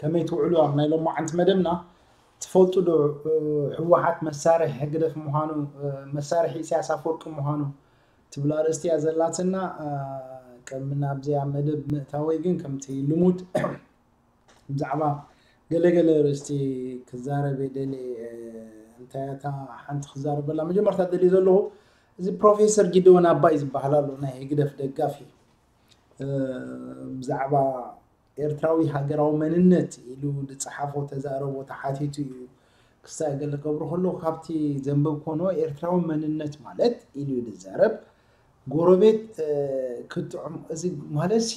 ከመይ ትውዕሉ ኣብ ናይ ሎማዓንቲ መደብና ትፈልጡ ዶ? ህወሓት መሳርሒ ህግደፍ ምዃኑ፣ መሳርሒ ኢሳያስ ኣፈወርቂ ምዃኑ ትብል ኣርእስቲ እያ ዘላትና። ቅድሚ ናብዚኣ መደብ ምእታወይ ግን ከምቲ ልሙድ ብዛዕባ ገለገለ ርእስቲ ክዛረብ የደሊ። እንታይ እታ ሓንቲ ክዛረበላ መጀመርታ ደልዩ ዘለኹ፣ እዚ ፕሮፌሰር ጊደወን ኣባይ ዝበሃል ኣሎ፣ ናይ ህግደፍ ደጋፊ፣ ብዛዕባ ኤርትራዊ ሃገራዊ መንነት ኢሉ ዝጸሓፎ ተዛረቦ ተሓቲቱ እዩ። ክሳይ ገለ ገብሩ ከሎ ካብቲ ዘንበብ ኮኖ ኤርትራዊ መንነት ማለት ኢሉ እዩ ዝዛረብ። ጎረቤት ክትጥዕሞ፣ እዚ ማለት ሲ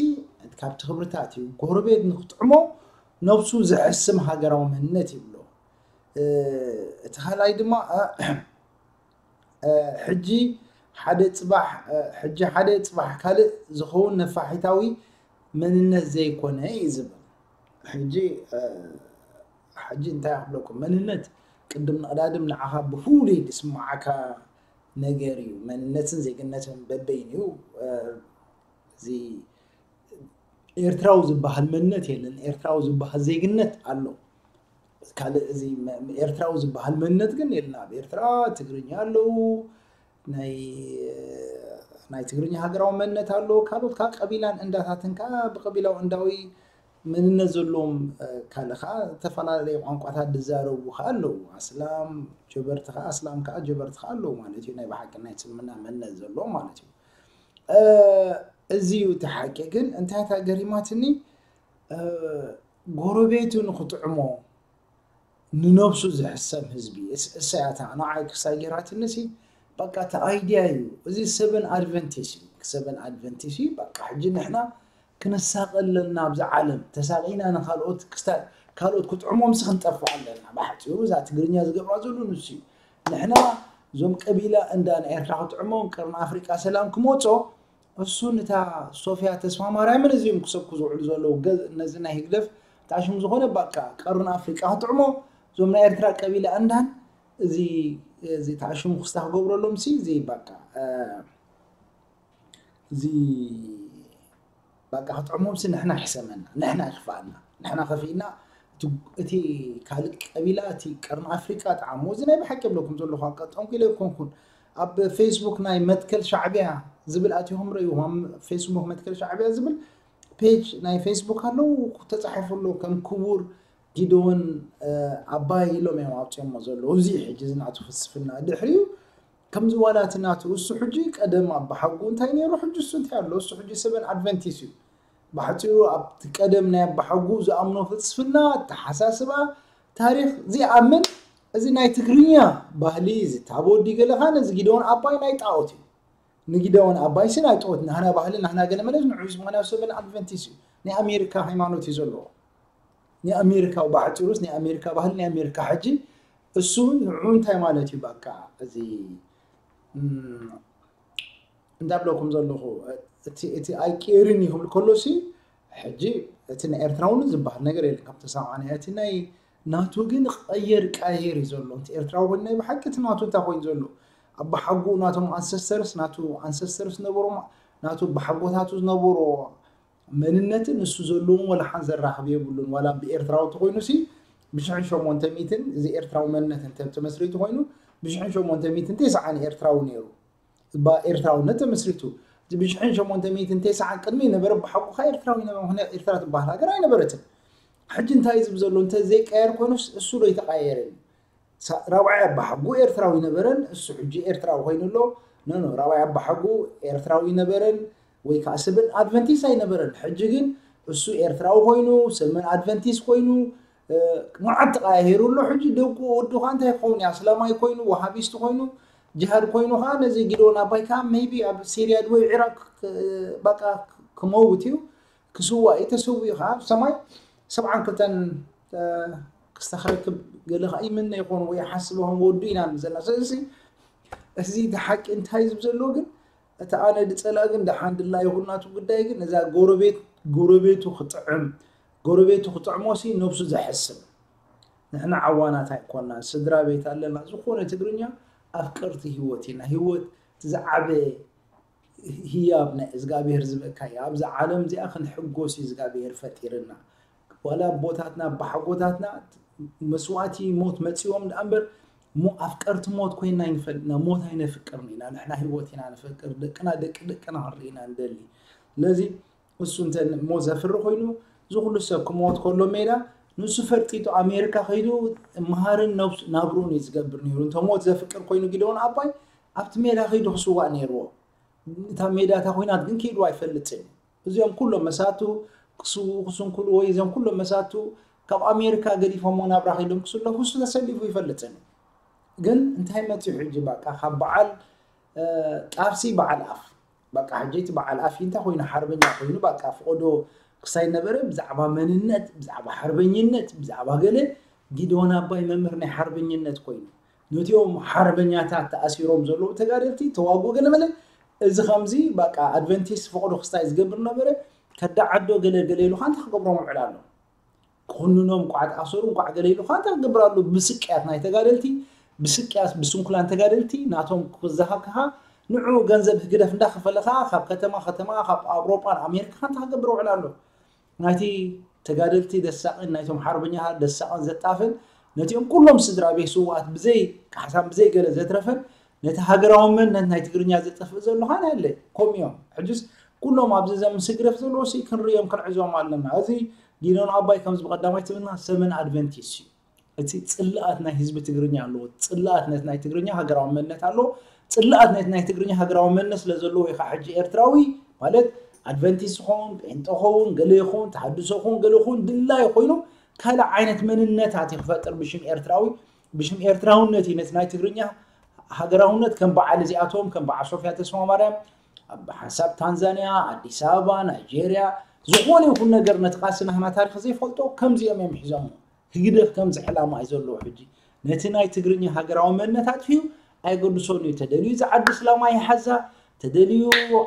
ካብቲ ክብርታት እዩ። ጎረቤት ንክጥዕሞ ነብሱ ዝሕስም ሃገራዊ መንነት ይብሎ። እቲ ካልኣይ ድማ ሕጂ ሓደ ጽባሕ ሕጂ ሓደ ጽባሕ ካልእ ዝኸውን ነፋሒታዊ መንነት ዘይኮነ እዩ ዝብል። ሕጂ ሕጂ እንታይ ክብለኩም፣ መንነት ቅድም ንቕዳድም ንዓኻ ብፍሉይ ዝስምዓካ ነገር እዩ። መንነትን ዜግነትን በበይኑ እዩ። እዚ ኤርትራዊ ዝበሃል መንነት የለን። ኤርትራዊ ዝበሃል ዜግነት ኣሎ። ካልእ እዚ ኤርትራዊ ዝበሃል መንነት ግን የለን። ኣብ ኤርትራ ትግርኛ ኣለዉ፣ ናይ ናይ ትግርኛ ሃገራዊ መንነት ኣለዎ። ካልኦት ካብ ቀቢላን እንዳታትን ከዓ ብቀቢላዊ እንዳዊ መንነት ዘለዎም፣ ካልእ ከዓ ዝተፈላለዩ ቋንቋታት ዝዛረቡ ከዓ ኣለዉ። ኣስላም ጀበርቲ ከዓ ኣስላም ከዓ ጀበርቲ ከዓ ኣለዉ ማለት እዩ። ናይ ብሓቂ ናይ እስልምና መንነት ዘለዎም ማለት እዩ። እዚ እዩ እቲ ሓቂ። ግን እንታይ እታ ገሪማትኒ፣ ጎረቤቱ ንክጥዕሞ ንነብሱ ዝሕሰብ ህዝቢ እሰያታ ንዓይ ክሳይ ጌራትንሲ በቃ እቲ ኣይድያ እዩ። እዚ ሰበን ኣድቨንቲስ እዩ። ሰበን ኣድቨንቲስ እዩ። በቃ ሕጂ ንሕና ክንሳቐ ኣለና ኣብዚ ዓለም። ተሳቒና ንካልኦት ክስታ-፣ ካልኦት ክጥዕሞምሲ ክንጠፍእ ኣለና። ብሓፂሩ እዛ ትግርኛ ዝገብራ ዘሎ ንሱ እዩ። ንሕና እዞም ቀቢላ እንዳ ንኤርትራ ክጥዕሞም፣ ቀርኒ ኣፍሪቃ ሰላም ክመፆ፣ እሱን እታ ሶፍያ ተስፋማርያምን እዚኦም ክሰብኩ ዝውዕሉ ዘለዉ ገ-፣ ነዚ ናይ ህግደፍ ታሽሙ ዝኾነ በቃ ቀርኒ ኣፍሪቃ ክጥዕሞ፣ እዞም ናይ ኤርትራ ቀቢላ እንዳን እዚ እዚ ታሽሙ ክስታ ክገብረሎም ሲ እዚ በቃ እዚ በቃ ክጥዕሞም ሲ ንሕና ይሕሰመና፣ ንሕና ይኽፋኣና፣ ንሕና ከፊእና እቲ ካልእ ቀቢላ እቲ ቀርኒ ኣፍሪቃ ጣዕሞ። እዚ ናይ ብሓቂ ብለኩም ዘለኹ ኣጋጣሚ ኢለ ኣይኮንኩን። ኣብ ፌስቡክ ናይ መትከል ሻዕቢያ ዝብል ኣቲኹም ረእይዎም። ፌስቡክ መትከል ሻዕቢያ ዝብል ፔጅ ናይ ፌስቡክ ኣለዉ፣ ተጻሒፉ ኣሎ። ከም ክቡር ጊደዎን ኣባይ ኢሎም እዮም ኣውፅኦሞ ዘለዉ። እዚ ሕጂ እዚ ናቱ ፍልስፍና ድሕሪኡ ከምዚ ዋላ እቲ ናቱ እሱ ሕጂ ቀደም ኣባሓጉ እንታይ ነይሩ፣ ሕጂ እሱ እንታይ ኣሎ? እሱ ሕጂ ሰበን ኣድቨንቲስ እዩ። ብሓፂሩ ኣብቲ ቀደም ናይ ኣባሓጉ ዝኣምኖ ፍልስፍና፣ ኣተሓሳስባ፣ ታሪክ ዘይኣምን፣ እዚ ናይ ትግርኛ ባህሊ እዚ ታቦዲ ገለኻ ነዚ ጊደዎን ኣባይ ናይ ጣዖት እዩ። ንጊደዎን ኣባይሲ ናይ ጣዖት፣ ናህና ባህሊ ናህና ገለመለ ንዑ እዚ ምኽንያቱ ሰበን ኣድቨንቲስ እዩ። ናይ ኣሜሪካ ሃይማኖት እዩ ዘለዎ። ናይ ኣሜሪካ ብሓፂሩስ ናይ ኣሜሪካ ባህሊ ናይ ኣሜሪካ ሕጂ እሱ ንዑ እንታይ ማለት እዩ? በቃ እዚ እንታይ ብለኩም ዘለኹ፣ እቲ ኣይቅየርን እዩ ክብል ከሎሲ ሕጂ እቲ ናይ ኤርትራውነት ዝበሃል ነገር የለን። ከም ተሰማዕና እቲ ናይ ናቱ ግን ቀየር ቀያየር እዩ ዘሎ። እቲ ኤርትራዊ ኮይኑ ናይ ብሓቂ እቲ ናቱ እንታይ ኮይኑ ዘሎ፣ ኣባሓጉኡ ናቶም ኣንሰስተርስ ናቱ ኣንሰስተርስ ነበሮ፣ ናቱ ኣባሓጎታቱ ዝነበሮ መንነትን እሱ ዘለዎም ወላ ሓን ዘራኽብ የብሉን። ዋላ ብኤርትራዊ ተኮይኑ ሲ ብሽሕን ሸሞንተ ሚእትን እዚ ኤርትራዊ መንነት እንተ ተመስሪቱ ኮይኑ ብሽሕን ሸሞንተ ሚእትን ተስዓን ኤርትራዊ ነይሩ። እባ ኤርትራውነት ተመስሪቱ። እዚ ብሽሕን ሸሞንተ ሚእትን ተስዓን ቅድሚ ነበረ ብሓቁ ከኣ ኤርትራዊ ነበረ። ምኽንያቱ ኤርትራ ትበሃል ሃገር ኣይነበረትን። ሕጂ እንታይ ዝብ ዘሎ እንተ ዘይቀየር ኮይኑስ እሱ ዶ ይተቃየርን? ሳ-፣ ራብዓይ ኣባሓጉ ኤርትራዊ ነበረን፣ እሱ ሕጂ ኤርትራዊ ኮይኑ ኣሎ። ኖ፣ ኖ፣ ራብዓይ ኣባሓጉ ኤርትራዊ ነበረን ወይ ከዓ ሰበን ኣድቨንቲስት ኣይነበረን። ሕጂ ግን እሱ ኤርትራዊ ኮይኑ፣ ሰበን ኣድቨንቲስት ኮይኑ፣ እ፣ መዓት ተቃያሂሩ ኣሎ። ሕጂ ደቁ ወዱ ከዓ እንታይ ክኸውን እዩ? ኣስላማይ ኮይኑ፣ ዋሃቢስት ኮይኑ፣ ጅሃድ ኮይኑ ከዓ ነዚ ጊደዎን ኣባይ ከዓ ሜይቢ ኣብ ሲርያ ድወይ ዒራቅ ክ-፣ በቃ ክመውት እዩ፣ ክስዋእ እዩ። ተሰዊኡ ከዓ ኣብ ሰማይ ሰብዓን ክልተን፣ እ፣ ክስታ ክረክብ ገለ ከዓ ይምነ ይኾን ወይ ይሓስብ ይኾን ወዱ ኢና ንብል ዘለና። ስለዚ እዚ እቲ ሓቂ እንታይ ዝብ ዘሎ ግን እቲ ኣነ ድጸልኣ ግን ደሓን ድላ ይኹን ናቱ ጉዳይ ግን እዛ ጎረቤት፣ ጎረቤቱ ክጥዕም፣ ጎረቤቱ ክጥዕሞሲ ነብሱ ዘሕስብ። ንሕና ዓዋናት ኣይኮናን፣ ስድራ ቤት ኣለና። ዝኾነ ትግርኛ ኣፍቀርቲ ህይወት ኢና። ህይወት እቲ ዝዓበየ ህያብ ናይ እዝጋብሄር ዝበካ እዩ። ኣብዛ ዓለም እዚኣ ክንሕጎስ እዩ እዝጋብሄር ፈጢርና። ዋላ ኣቦታትና ኣባሓጎታትና መስዋእቲ ሞት መፂዎም ደኣ እምበር፣ ሞ ኣፍቀርቲ ሞት ኮይና ኣይንፈልጥና። ሞት ኣይነፍቅርን ኢና። ንሕና ህይወት ኢና ንፈቅር። ደቅና ደቂ ደቅና ክንርኢ ኢና ንደሊ። ስለዚ እሱ እንተ ሞት ዘፍሪ ኮይኑ፣ እዚ ኩሉ ሰብ ክሞት ከሎ ሜዳ ንሱ ፈርጢጡ ኣሜሪካ ከይዱ መሃርን ነብሱ ናብሩን እዩ ዝገብር ነይሩ። እንተ ሞት ዘፍቅር ኮይኑ ጊደዎን ኣባይ ኣብቲ ሜዳ ከይዱ ክስዋእ ነይርዎ። እታ ሜዳ እታ ኮይናት ግን ከይዱ ኣይፈልጥን እዩ። እዚኦም ኩሎም መሳቱ ክስውኡ ክስንኩሉ ወይ እዚኦም ኩሎም መሳቱ ካብ ኣሜሪካ ገዲፎሞ ናብራ ከይዶም ክስለፉ እሱ ተሰሊፉ ይፈልጥን እዩ። ግን እንታይ መፅዩ ሕጂ በቃ ካብ በዓል ጣፍሲ በዓል ኣፍ በቃ ሕጂ እቲ በዓል ኣፍ እንታይ ኮይኑ ሓርበኛ ኮይኑ በቃ ፍቆዶ ክሳይ ነበረ ብዛዕባ መንነት ብዛዕባ ሓርበኝነት ብዛዕባ ገለ ጊደዎን ኣባይ መምህር ናይ ሓርበኝነት ኮይኑ ነቲኦም ሓርበኛታት ተኣሲሮም ዘለዉ ተጋደልቲ ተዋግኡ ገለ መለ እዚ ከምዚ በቃ ኣድቨንቲስት ፍቆዶ ክስታይ ዝገብር ነበረ ከዳዓዶ ገለ ገለ ኢሉ ካንታ ክገብሮም ውዕል ኣሎ ክኹንኖም እንቋዕ ተኣሰሩ እንቋዕ ገለ ኢሉ ካንታ ክገብር ኣሎ ብስቅያት ናይ ተጋደልቲ ብስቅያት ብስንኩላን ተጋደልቲ ናቶም ክዘሃብካ ንዑ ገንዘብ ህግደፍ እንዳኸፈለ ከዓ ካብ ከተማ ከተማ ካብ ኣውሮጳን ኣሜሪካ ካንታ ክገብር ውዕል ኣሎ ናይቲ ተጋደልቲ ደሳቕን ናይቶም ሓርበኛታት ደሳቕን ዘጣፍን ነቲኦም ኩሎም ስድራ ቤት ስውኣት ብዘይ ካሕሳን ብዘይ ገለ ዘትረፈን ነቲ ሃገራዊ መንነት ናይ ትግርኛ ዘጠፍእ ዘሎ ኻን ያለ ከምኡ እዮም ሕጅስ ኩሎም ኣብዚ ዘምስ ህግደፍ ዘለዎ ሲ ክንርእዮም ክንዕዞም ኣለና እዚ ጊዶን ኣባይ ከምዚ ብቀዳማይ ትብልና ሰመን ኣድቨንቲስ እዩ እቲ ጽላኣት ናይ ህዝቢ ትግርኛ ኣለዎ ጽላኣት ነቲ ናይ ትግርኛ ሃገራዊ መንነት ኣለዎ ጽላኣት ነቲ ናይ ትግርኛ ሃገራዊ መንነት ስለ ዘለዎ ኢኻ ሕጂ ኤርትራዊ ማለት ኣድቨንቲስት ኸውን ጴንጠ ኸውን ገለ ይኹን ተሃድሶ ኹን ገለ ኹን ድላይ ኮይኑ ካልእ ዓይነት መንነታት እዩ ክፈጥር ብሽም ኤርትራዊ ብሽም ኤርትራውነት እዩ ነቲ ናይ ትግርኛ ሃገራውነት ከም በዓል እዚኣቶም ከም በዓል ሶፍያ ተስፋ ማርያም ኣብ ሓንሳብ ታንዛንያ ኣዲስ ኣበባ ናይጄርያ ዝኾነ ይኹን ነገር ነቲ ቃልሲ ናህና ታሪክ ዘይፈልጦ ከምዚኦም እዮም ሒዞሞ ህግደፍ ከምዚ ዕላማ እዩ ዘለዎ ሕጂ ነቲ ናይ ትግርኛ ሃገራዊ መንነት ኣጥፊኡ ኣይገድሶን እዩ ተደልዩ እዚ ዓዲ እስላማ ይሓዛ ተደልዩ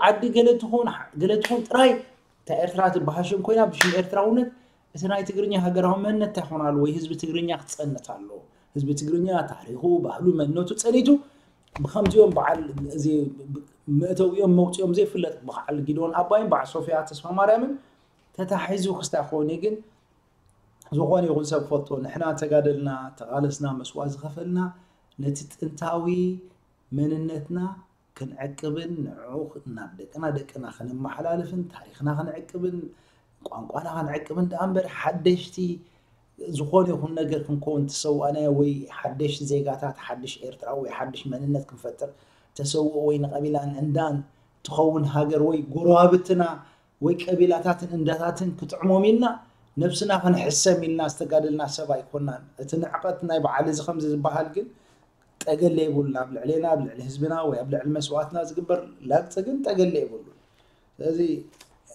ዓዲ ገለ ትኹን ገለ ትኹን ጥራይ እታ ኤርትራ ትበሃል ሽም ኮይና ብሽም ኤርትራውነት እቲ ናይ ትግርኛ ሃገራዊ መንነት እንታይ ክኾን ኣለዎ ወይ ህዝቢ ትግርኛ ክፀንት ኣለዎ ህዝቢ ትግርኛ ታሪኹ ባህሉ መንነቱ ፀኒቱ ብከምዚኦም በዓል እዚ መእተዊኦም መውፅኦም ዘይፍለጥ በዓል ጊዶን ኣባይን በዓል ሶፊያ ተስፋ ማርያምን ተታሒዙ ክስታይ ክኸውን እዩ ግን ዝኾነ ይኹን ሰብ ክፈልጦ ንሕና ተጋደልና ተቓለስና መስዋእቲ ዝኸፈልና ነቲ ጥንታዊ መንነትና ክንዕቅብን ንዕኡ ናብ ደቅና ደቅና ክንመሓላልፍን ታሪኽና ክንዕቅብን ቋንቋና ክንዕቅብን ደኣ እምበር ሓደሽቲ ዝኾነ ይኹን ነገር ክንከውን ተሰዋእናዮ ወይ ሓደሽቲ ዜጋታት ሓድሽ ኤርትራዊ ወይ ሓድሽ መንነት ክንፈጥር ተሰውኦ ወይ ንቐቢላን እንዳን ትኸውን ሃገር ወይ ጎረባብትና ወይ ቀቢላታትን እንዳታትን ክጥዕሞም ኢልና ነብስና ክንሕሰም ኢልና ዝተጋደልና ሰብ ኣይኮናን። እቲ ንዕቐት ናይ በዓል እዚ ከምዚ ዝበሃል ግን ጠገለ የብሉን። ኣብ ልዕሌና፣ ኣብ ልዕሊ ህዝብና ወይ ኣብ ልዕሊ መስዋእትና ዝግበር ላግፂ ግን ጠገለ የብሉን። ስለዚ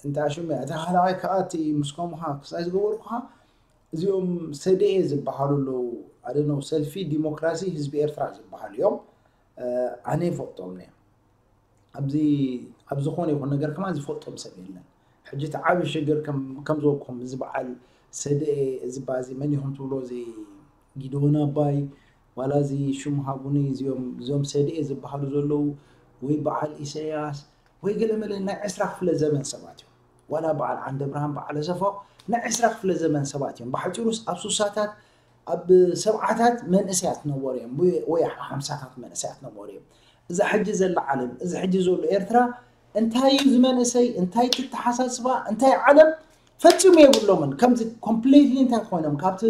እንታ ሽሙ እያ፣ እታ ካልኣይ ከዓ እቲ ምስ ከሙኻ ክሳይ ዝገበርኩኻ እዚኦም ሰደኤ ዝበሃሉ ኣለዉ። ኣደነው ሰልፊ ዲሞክራሲ ህዝቢ ኤርትራ ዝበሃሉ እዮም። ኣነ ይፈልጦም ነየ። ኣብዚ ኣብ ዝኾነ ይኹን ነገር ከማን ዝፈልጦም ሰብ የለን። ሕጂ እቲ ዓቢ ሽግር ከም ከም ዝበልኩም እዚ በዓል ሰደኤ እዚ ባዚ መን ይኹም ትብሎ እዚ ጊደዎን ኣባይ ዋላ እዚ ሽሙ ሃቡኒ እዚኦም እዞም ሰደኤ ዝበሃሉ ዘለዉ ወይ በዓል ኢሳያስ ወይ ገለ መለ ናይ ዕስራ ክፍለ ዘመን ሰባት እዮም። ዋላ በዓል ዓንደብርሃን በዓል ኣሰፋው ናይ ዕስራ ክፍለ ዘመን ሰባት እዮም። ብሓጺሩስ ኣብ ሱሳታት ኣብ ሰብዓታት መንእሰያት ነበሩ እዮም ወይ ሓምሳታት መንእሰያት ነበሩ እዮም። እዛ ሕጂ ዘላ ዓለም እዚ ሕጂ ዘሎ ኤርትራ እንታይ እዩ እዚ መንእሰይ እንታይ ትተሓሳስባ እንታይ ዓለም ፈጺሙ የብሎምን። ከምዚ ኮምፕሊትሊ እንታይ ኮይኖም ካብቲ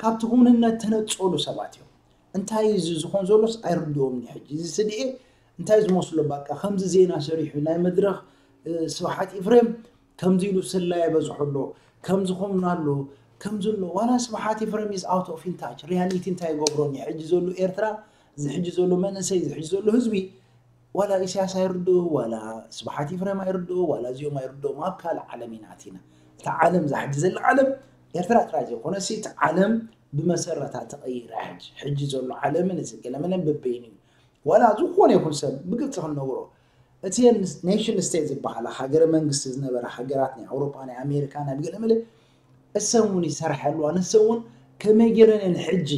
ካብቲ ክውንነት ተነጸሉ ሰባት እዮም። እንታይ እዩ እዚ ዝኾን ዘሎስ ኣይርድኦምን እዩ ሕጂ እዚ ስድኤ እንታይ ዝመስሎ በቃ ከምዚ ዜና ሰሪሑ ናይ መድረኽ ስብሓት ኢፍሬም ከምዚ ኢሉ ስላ የበዝሖ ኣሎ ከምዚ ኾምና ኣሎ ከምዚ ኣሎ ዋላ ስብሓት ኢፍሬም is out of in touch reality እንታይ ይገብሮን እዩ ሕጂ ዘሎ ኤርትራ እዚ ሕጂ ዘሎ መንእሰይ እዚ ሕጂ ዘሎ ህዝቢ ዋላ ኢሳያስ ኣይርድኡ ዋላ ስብሓት ኢፍሬም ኣይርድኡ ዋላ እዚኦም ኣይርድኦም ኣብ ካልእ ዓለም ኢና ኣቲና እታ ዓለም እዛ ሕጂ ዘላ ዓለም ኤርትራ ጥራይ ዘይኮነ እቲ ዓለም ብመሰረታ ተቐይራ ሕጂ ሕጂ ዘሎ ዓለምን እዚ ገለመለን በበይኑ እዩ ዋላ ዝኾነ ይኹን ሰብ ብግልፂ ክንነግሮ እቲ ኔሽን ስቴት ዝበሃላ ሃገረ መንግስቲ ዝነበራ ሃገራት ናይ ኣውሮጳ ናይ ኣሜሪካ ናይ ብገለመለ እሰን እውን ይሰርሐ ኣለዋ ንሰን እውን ከመይ ገይረን እየን ሕጂ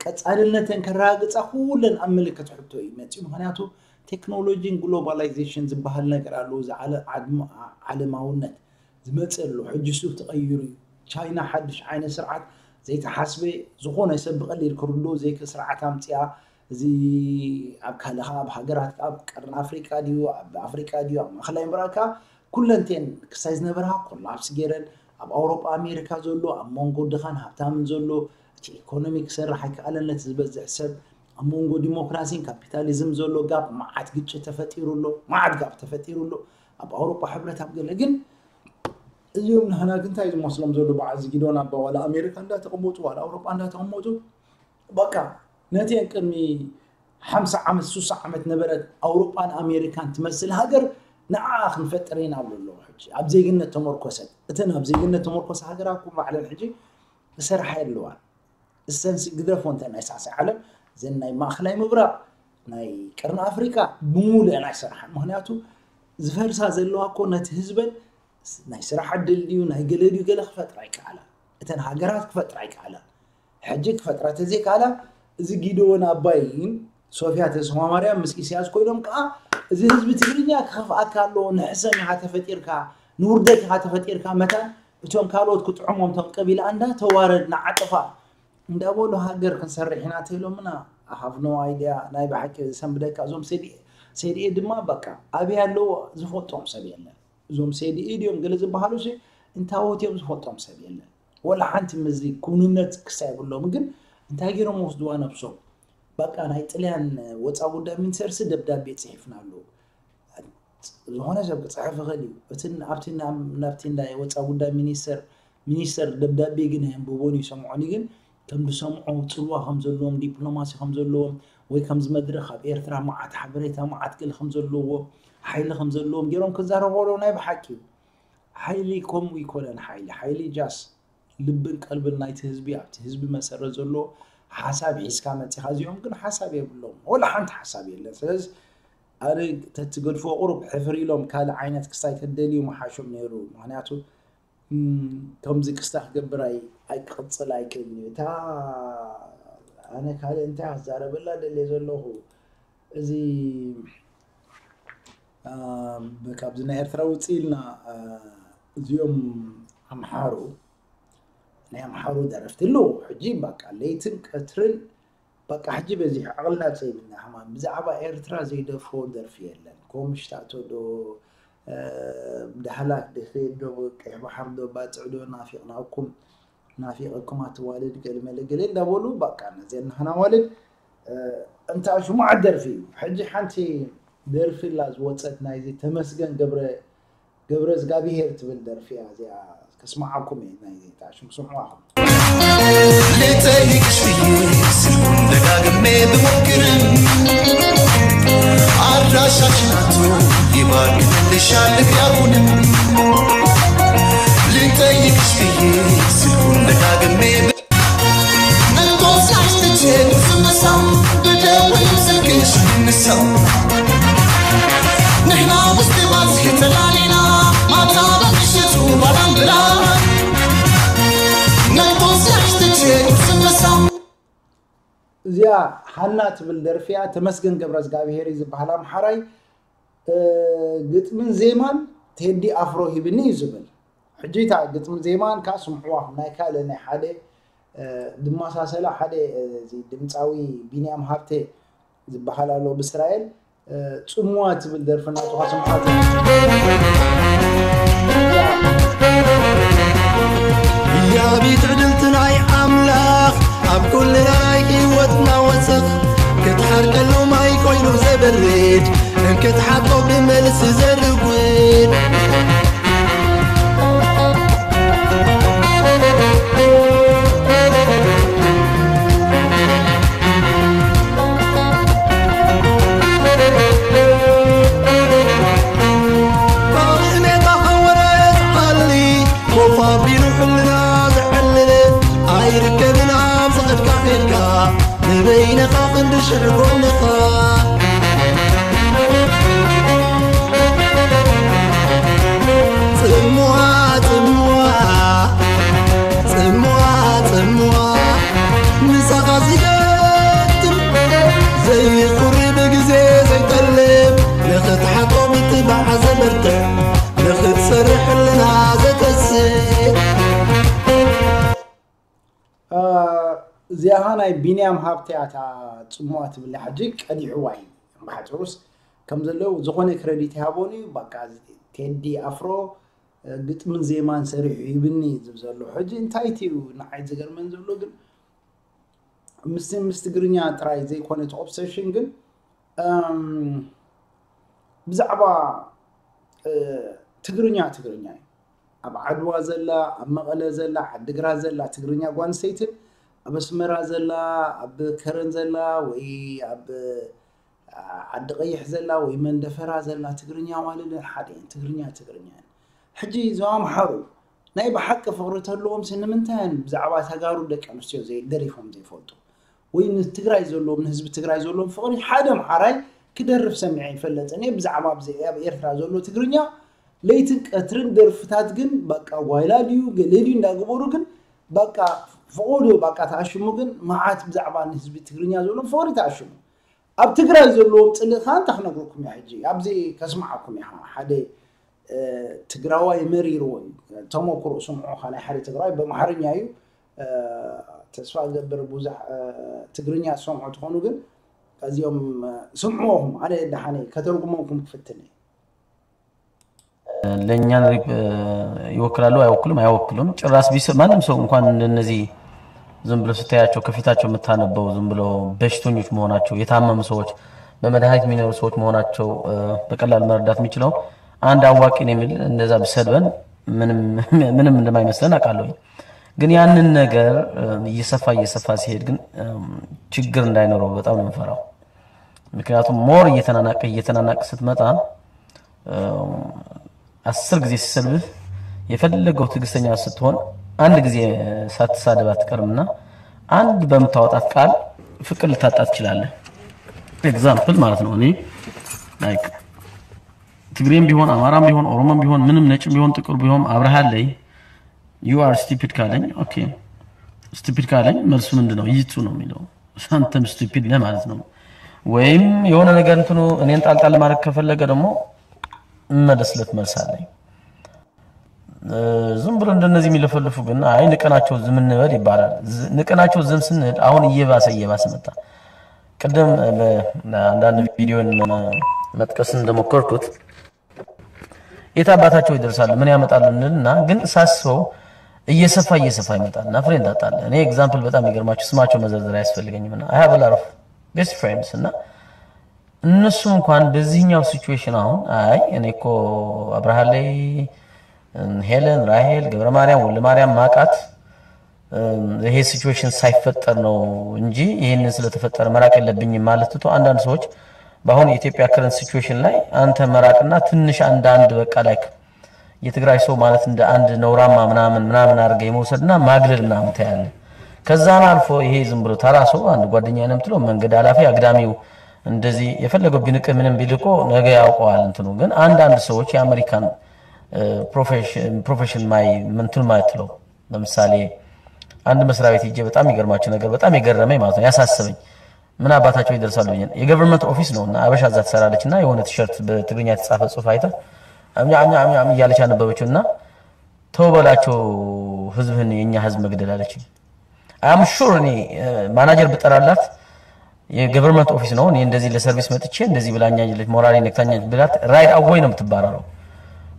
ቀፃልነተን ከረጋግፃ ኩለን ኣብ ምልክት ሕቶ እዩ መፅኡ ምክንያቱ ቴክኖሎጂን ግሎባላይዜሽን ዝበሃል ነገር ኣለዎ እዚ ዓለማውነት ዝመፅእ ኣሎ ሕጂ ሱ ተቐይሩ እዩ ቻይና ሓድሽ ዓይነት ስርዓት ዘይተሓስበ፣ ዝኾነ ሰብ ብቐሊል ክርድኦ ዘይክእል ስርዓት ኣምፅኣ። እዚ ኣብ ካልእ ኣብ ሃገራት ኣብ ቀርኒ ኣፍሪቃ ድዩ ኣብ ኣፍሪቃ ድዩ ኣብ ማእኸላይ ምብራቅ ከኣ ኩለንቴን ክሳይ ዝነበራ ኮላፕስ ገይረን። ኣብ ኣውሮጳ ኣሜሪካ ዘሎ ኣብ መንጎ ድኻን ሃብታምን ዘሎ እቲ ኢኮኖሚ ክሰርሕ ኣይከኣለን። ነቲ ዝበዝሕ ሰብ ኣብ መንጎ ዲሞክራሲን ካፒታሊዝም ዘሎ ጋፕ መዓት ግጭት ተፈጢሩ ኣሎ፣ መዓት ጋፕ ተፈጢሩ ኣሎ ኣብ ኣውሮጳ ሕብረት ኣብ ገለ። ግን እዚኦም ንሕና ግን እንታይ ዝመስሎም ዘሎ በዓል ዝጊዶን ኣባ ዋላ ኣሜሪካ እንዳተቐመጡ ዋላ ኣውሮጳ እንዳተቐመጡ በቃ ነቲአን ቅድሚ ሓምሳ ዓመት ሱሳ ዓመት ነበረት ኣውሮጳን ኣሜሪካን ትመስል ሃገር ንዓ ክንፈጥር ኢና ኣብሉ ኣለዉ። ሕጂ ኣብ ዜግነት ተመርኮሰት እተን ኣብ ዜግነት ተመርኮሰ ሃገራት ኩን ባዕለን ሕጂ እሰርሓ ኣለዋን እሰንሲ ግደፎ እንተ ናይ ሳዕሳዕ ዓለም ዘን ናይ ማእኸላይ ምብራቕ ናይ ቀርኒ ኣፍሪቃ ብሙሉአን ኣይሰርሓን። ምክንያቱ ዝፈርሳ ዘለዋ እኮ ነቲ ህዝበን ናይ ስራሕ ዕድል ድዩ ናይ ገለ ድዩ ገለ ክፈጥራ ኣይከኣላ። እተን ሃገራት ክፈጥራ ኣይከኣላ። ሕጂ ክፈጥራ ተዘይከኣላ እዚ ጊደዎን ኣባይን ሶፊያ ተስፋማርያም ምስ ኢሳያስ ኮይኖም ከዓ እዚ ህዝቢ ትግርኛ ክኸፍኣካ ኣለዎ። ንሕሰም ኢኻ ተፈጢርካ ንውርደት ኢኻ ተፈጢርካ መታን እቶም ካልኦት ክጥዕሞም እቶም ቀቢላ እንዳ ተዋረድና ዓጥፋ እንዳበሉ ሃገር ክንሰርሕ ኢና ተኢሎምና። I have no idea ናይ ብሓቂ ዘሰንብደካ እዞም ሰዲኤ ድማ በቃ ኣበይ ኣለዎ ዝፈልጦም ሰብ የለን። እዞም ሰዲኤ ድዮም ገለ ዝበሃሉ ሲ እንታወት እዮም ዝፈልጦም ሰብ የለን። ወላ ሓንቲ ምስዚ ኩንነት ክሳይ የብሎም ግን እንታይ ገይሮም ወስድዋ ነብሶም። በቃ ናይ ጥልያን ወፃ ጉዳይ ሚኒስተር ሲ ደብዳቤ ፅሒፍና ኣለዉ። ዝኾነ ሰብ ክፅሕፍ ይኽእል እዩ። እቲ ኣብቲ ናብቲ ናይ ወፃ ጉዳይ ሚኒስተር ሚኒስተር ደብዳቤ ግን ኣየንብቦን ይሰምዖን ግን ከም ዝሰምዖ ፅልዋ ከም ዘለዎም ዲፕሎማሲ ከም ዘለዎም ወይ ከምዚ መድረኽ ኣብ ኤርትራ መዓት ሓበሬታ መዓት ገለ ከም ዘለዎ ሓይሊ ከም ዘለዎም ገይሮም ክዛረቡ ከለዉ ናይ ብሓቂ እዩ። ሓይሊ ከምኡ ይኮነን። ሓይሊ ሓይሊ ጃስ ልብን ቀልብን ናይቲ ህዝቢ ኣብቲ ህዝቢ መሰረት ዘሎ ሓሳብ ሒዝካ መፂኻ እዚኦም ግን ሓሳብ የብሎም ወላ ሓንቲ ሓሳብ የለን። ስለዚ ኣነ ተትገድፎ ቁሩብ ሕፍር ኢሎም ካልእ ዓይነት ክስታይ ተደልዩ ምሓሾም ነይሩ። ምክንያቱ ከምዚ ክስታ ክገብር ኣይቅፅል ኣይክእልን እዩ። እታ ኣነ ካልእ እንታይ ክዛረበላ ደልየ ዘለኹ እዚ ካብዚ ናይ ኤርትራ ውፅእ ኢልና እዚኦም ኣምሓሩ ናይ ኣምሓሩ ደረፍቲ ኣለዉ ሕጂ በቃ ለይትን ቀትርን በቃ ሕጂ በዚሑ ዓቕልና ጸይብና ሕማም ብዛዕባ ኤርትራ ዘይደርፎ ደርፊ የለን። ኮምሽታቶ ዶ ዳህላክ ድኺድ ዶ ቀይሕ ባሕር ዶ ባጽዕ ዶ ናፊቕናኩም ናፊቐኩም ኣትዋልድ ገለመለ ገለ እንዳበሉ በቃ ነዚአን ንሕና ዋልድ እንታ ሽሙዓት ደርፊ እዩ። ሕጂ ሓንቲ ደርፊ ላ ዝወጸት ናይዚ ተመስገን ገብረ ገብረ እዝጋብሄር ትብል ደርፊ እያ እዚኣ ከስምዓኩም እየ ናይ ዜጣ ሽም ስምዑ ኣኹም። ልጠይቅሽ ብዬ ስልኩን ደጋግሜ ብሞክርም ኣድራሻሽ ናቱ ይባክንልሻል ያሁንም ልጠይቅሽ ብዬ ስልኩን ደጋግሜ እዚኣ ሃና ትብል ደርፊያ ተመስገን ገብረ እግዚኣብሄር እዩ ዝበሃል ኣምሓራይ ግጥምን ዜማን ቴዲ ኣፍሮ ሂብኒ እዩ ዝብል ሕጂ እታ ግጥምን ዜማን ከዓ ስምዕዋ ናይ ካልእ ናይ ሓደ ድመሳሰላ ሓደ እዚ ድምፃዊ ቢንያም ሃብተ ዝበሃል ኣሎ ብእስራኤል ፅምዋ ትብል ደርፊ እናተኳ ስምዓት ያቢት ዕድልቲ ናይ ኣምላኽ ኣብ ኩልና ናይ ህይወትና ወሰኽ ክትሓር ከሎ ማይ ኮይኑ ዘበርድ እንክትሓቶ ብመልሲ ዘርጉድ እዚኣ ናይ ቢንያም ሃብተ እያ እታ ጽምዋ ትብል። ሕጂ ቀዲሕዋ እዩ። ብሓፂሩስ ከም ዘለዉ ዝኾነ ክረዲት ይሃቦን እዩ። በቃ ቴዲ ኣፍሮ ግጥምን ዜማን ሰሪሑ ይብኒ ዝብ ዘሎ። ሕጂ እንታይ እዩ ንዓይ ዝገርመን ዘሎ ግን ምስ ምስ ትግርኛ ጥራይ ዘይኮነ እቲ ኦብሰሽን ግን ብዛዕባ ትግርኛ ትግርኛ እዩ። ኣብ ዓድዋ ዘላ፣ ኣብ መቐለ ዘላ፣ ዓድግራት ዘላ ትግርኛ ጓንስተይትን ኣብ ኣስመራ ዘላ፣ ኣብ ከረን ዘላ ወይ ኣብ ዓዲ ቀይሕ ዘላ ወይ መንደፈራ ዘላ ትግርኛ ማለት ሓደ እየን። ትግርኛ ትግርኛ እየን። ሕጂ እዞም ኣምሓሩ ናይ ብሓቂ ፍቕሪ ተለዎም ሲ ንምንታይ እዮም ብዛዕባ ተጋሩ ደቂ ኣንስትዮ ዘይ- ደሪፎም ዘይፈልጡ? ወይ ንትግራይ ዘለዎም ንህዝቢ ትግራይ ዘለዎም ፍቕሪ ሓደ ኣምሓራይ ክደርፍ ሰሚዐ ይፈለጥን እየ። ብዛዕባ ኣብዚ ኣብ ኤርትራ ዘሎ ትግርኛ ለይትን ቀትርን ደርፍታት ግን በቃ ጓይላ ድዩ ገለ ድዩ እንዳገበሩ ግን በቃ ፍቑዱ በቃ ተኣሽሙ ግን መዓት ብዛዕባ ንህዝቢ ትግርኛ ዘለዎም ፍቕሪ ተኣሽሙ። ኣብ ትግራይ ዘለዎም ፅልእ ከዓ እንታይ ክነግረኩም እያ ሕጂ ኣብዚ ከስምዓኩም እያ ሓደ ትግራዋይ መሪርዎ እዩ። ተመክሮ ስምዑ ናይ ሓደ ትግራዋይ በምሓርኛ እዩ። ተስፋ ገብር ብዙሕ ትግርኛ ዝሰምዑ ትኾኑ ግን እዚኦም ስምዕዎም ኣነ ደሓነ ከተርጉመኩም ክፍትን እየ። ለእኛን ይወክላሉ አይወክሉም አይወክሉም ጭራስ ቢስ ማንም ሰው እንኳን እንደነዚህ ዝም ብሎ ስታያቸው ከፊታቸው የምታነበው ዝም ብሎ በሽተኞች መሆናቸው የታመሙ ሰዎች በመድኃኒት የሚኖሩ ሰዎች መሆናቸው በቀላል መረዳት የሚችለው አንድ አዋቂ ነው የሚል እንደዛ ቢሰድበን ምንም እንደማይመስለን አውቃለሁ። ግን ያንን ነገር እየሰፋ እየሰፋ ሲሄድ ግን ችግር እንዳይኖረው በጣም ነው የምፈራው። ምክንያቱም more እየተናናቀ እየተናናቀ ስትመጣ አስር ጊዜ ሲሰድብህ የፈለገው ትዕግስተኛ ስትሆን አንድ ጊዜ ሳትሳደብ አትቀርምና አንድ በምታወጣት ቃል ፍቅር ልታጣ ትችላለህ። Example ማለት ነው። እኔ like ትግሬም ቢሆን አማራም ቢሆን ኦሮሞም ቢሆን ምንም ነጭም ቢሆን ጥቁር ቢሆን አብረሃለይ you are stupid ካለኝ okay stupid ካለኝ መልሱ ምንድን ነው? ይቱ ነው የሚለው። አንተም stupid ነህ ማለት ነው። ወይም የሆነ ነገር እንትኑ እኔን ጣልጣል ማድረግ ከፈለገ ደግሞ እመለስለት መልስ አለኝ። ዝም ብሎ እንደነዚህ የሚለፈልፉ ግን አይ ንቀናቸው ዝም እንበል ይባላል። ንቀናቸው ዝም ስንል አሁን እየባሰ እየባሰ መጣ። ቅድም አንዳንድ ቪዲዮን መጥቀስ እንደሞከርኩት የት አባታቸው ይደርሳሉ ምን ያመጣሉ እንልና ግን ሳስበው እየሰፋ እየሰፋ ይመጣል እና ፍሬንድ አጣለ። እኔ example በጣም የሚገርማችሁ ስማቸው መዘርዘር አያስፈልገኝም እና I have a lot of best friends እና እነሱ እንኳን በዚህኛው situation አሁን አይ እኔ እኮ አብርሃለይ ሄለን ራሄል ገብረ ማርያም ወልደ ማርያም ማቃት ይሄ situation ሳይፈጠር ነው እንጂ ይሄንን ስለተፈጠረ መራቅ የለብኝም ማለት ትቶ አንዳንድ ሰዎች በአሁኑ የኢትዮጵያ current situation ላይ አንተ መራቅና ትንሽ አንዳንድ በቃ like የትግራይ ሰው ማለት እንደ አንድ ነውራማ ምናምን ምናምን አድርገህ የመውሰድና ማግለል ምናምን ታያለህ። ከዛም አልፎ ይሄ ዝም ብሎ ተራ ሰው አንድ ጓደኛ ነው የምትለው መንገድ አላፊ አግዳሚው እንደዚህ የፈለገው ቢንቅህ ምንም ቢል እኮ ነገ ያውቀዋል እንትኑ። ግን አንዳንድ ሰዎች የአሜሪካን profession my ምንትን ማትለው ለምሳሌ አንድ መስሪያ ቤት ሄጄ በጣም ይገርማችሁ ነገር በጣም የገረመኝ ማለት ነው ያሳሰበኝ ምን አባታቸው ይደርሳሉ ብዬ ነው። የ government office ነው እና አበሻ እዛ ትሰራለች እና የሆነ ቲሸርት በትግርኛ የተጻፈ ጽሁፍ አይታ አምኛ አምኛ አምኛ አምኛ እያለች አነበበችው እና ተው በላቸው ህዝብህን የእኛ ህዝብ መግደል አለች። I'm sure እኔ ማናጀር ብጠራላት የ government office ነው እኔ እንደዚህ ለ service መጥቼ እንደዚህ ብላኛለች ሞራሌን ነክታኛለች ብላት right away ነው የምትባረረው።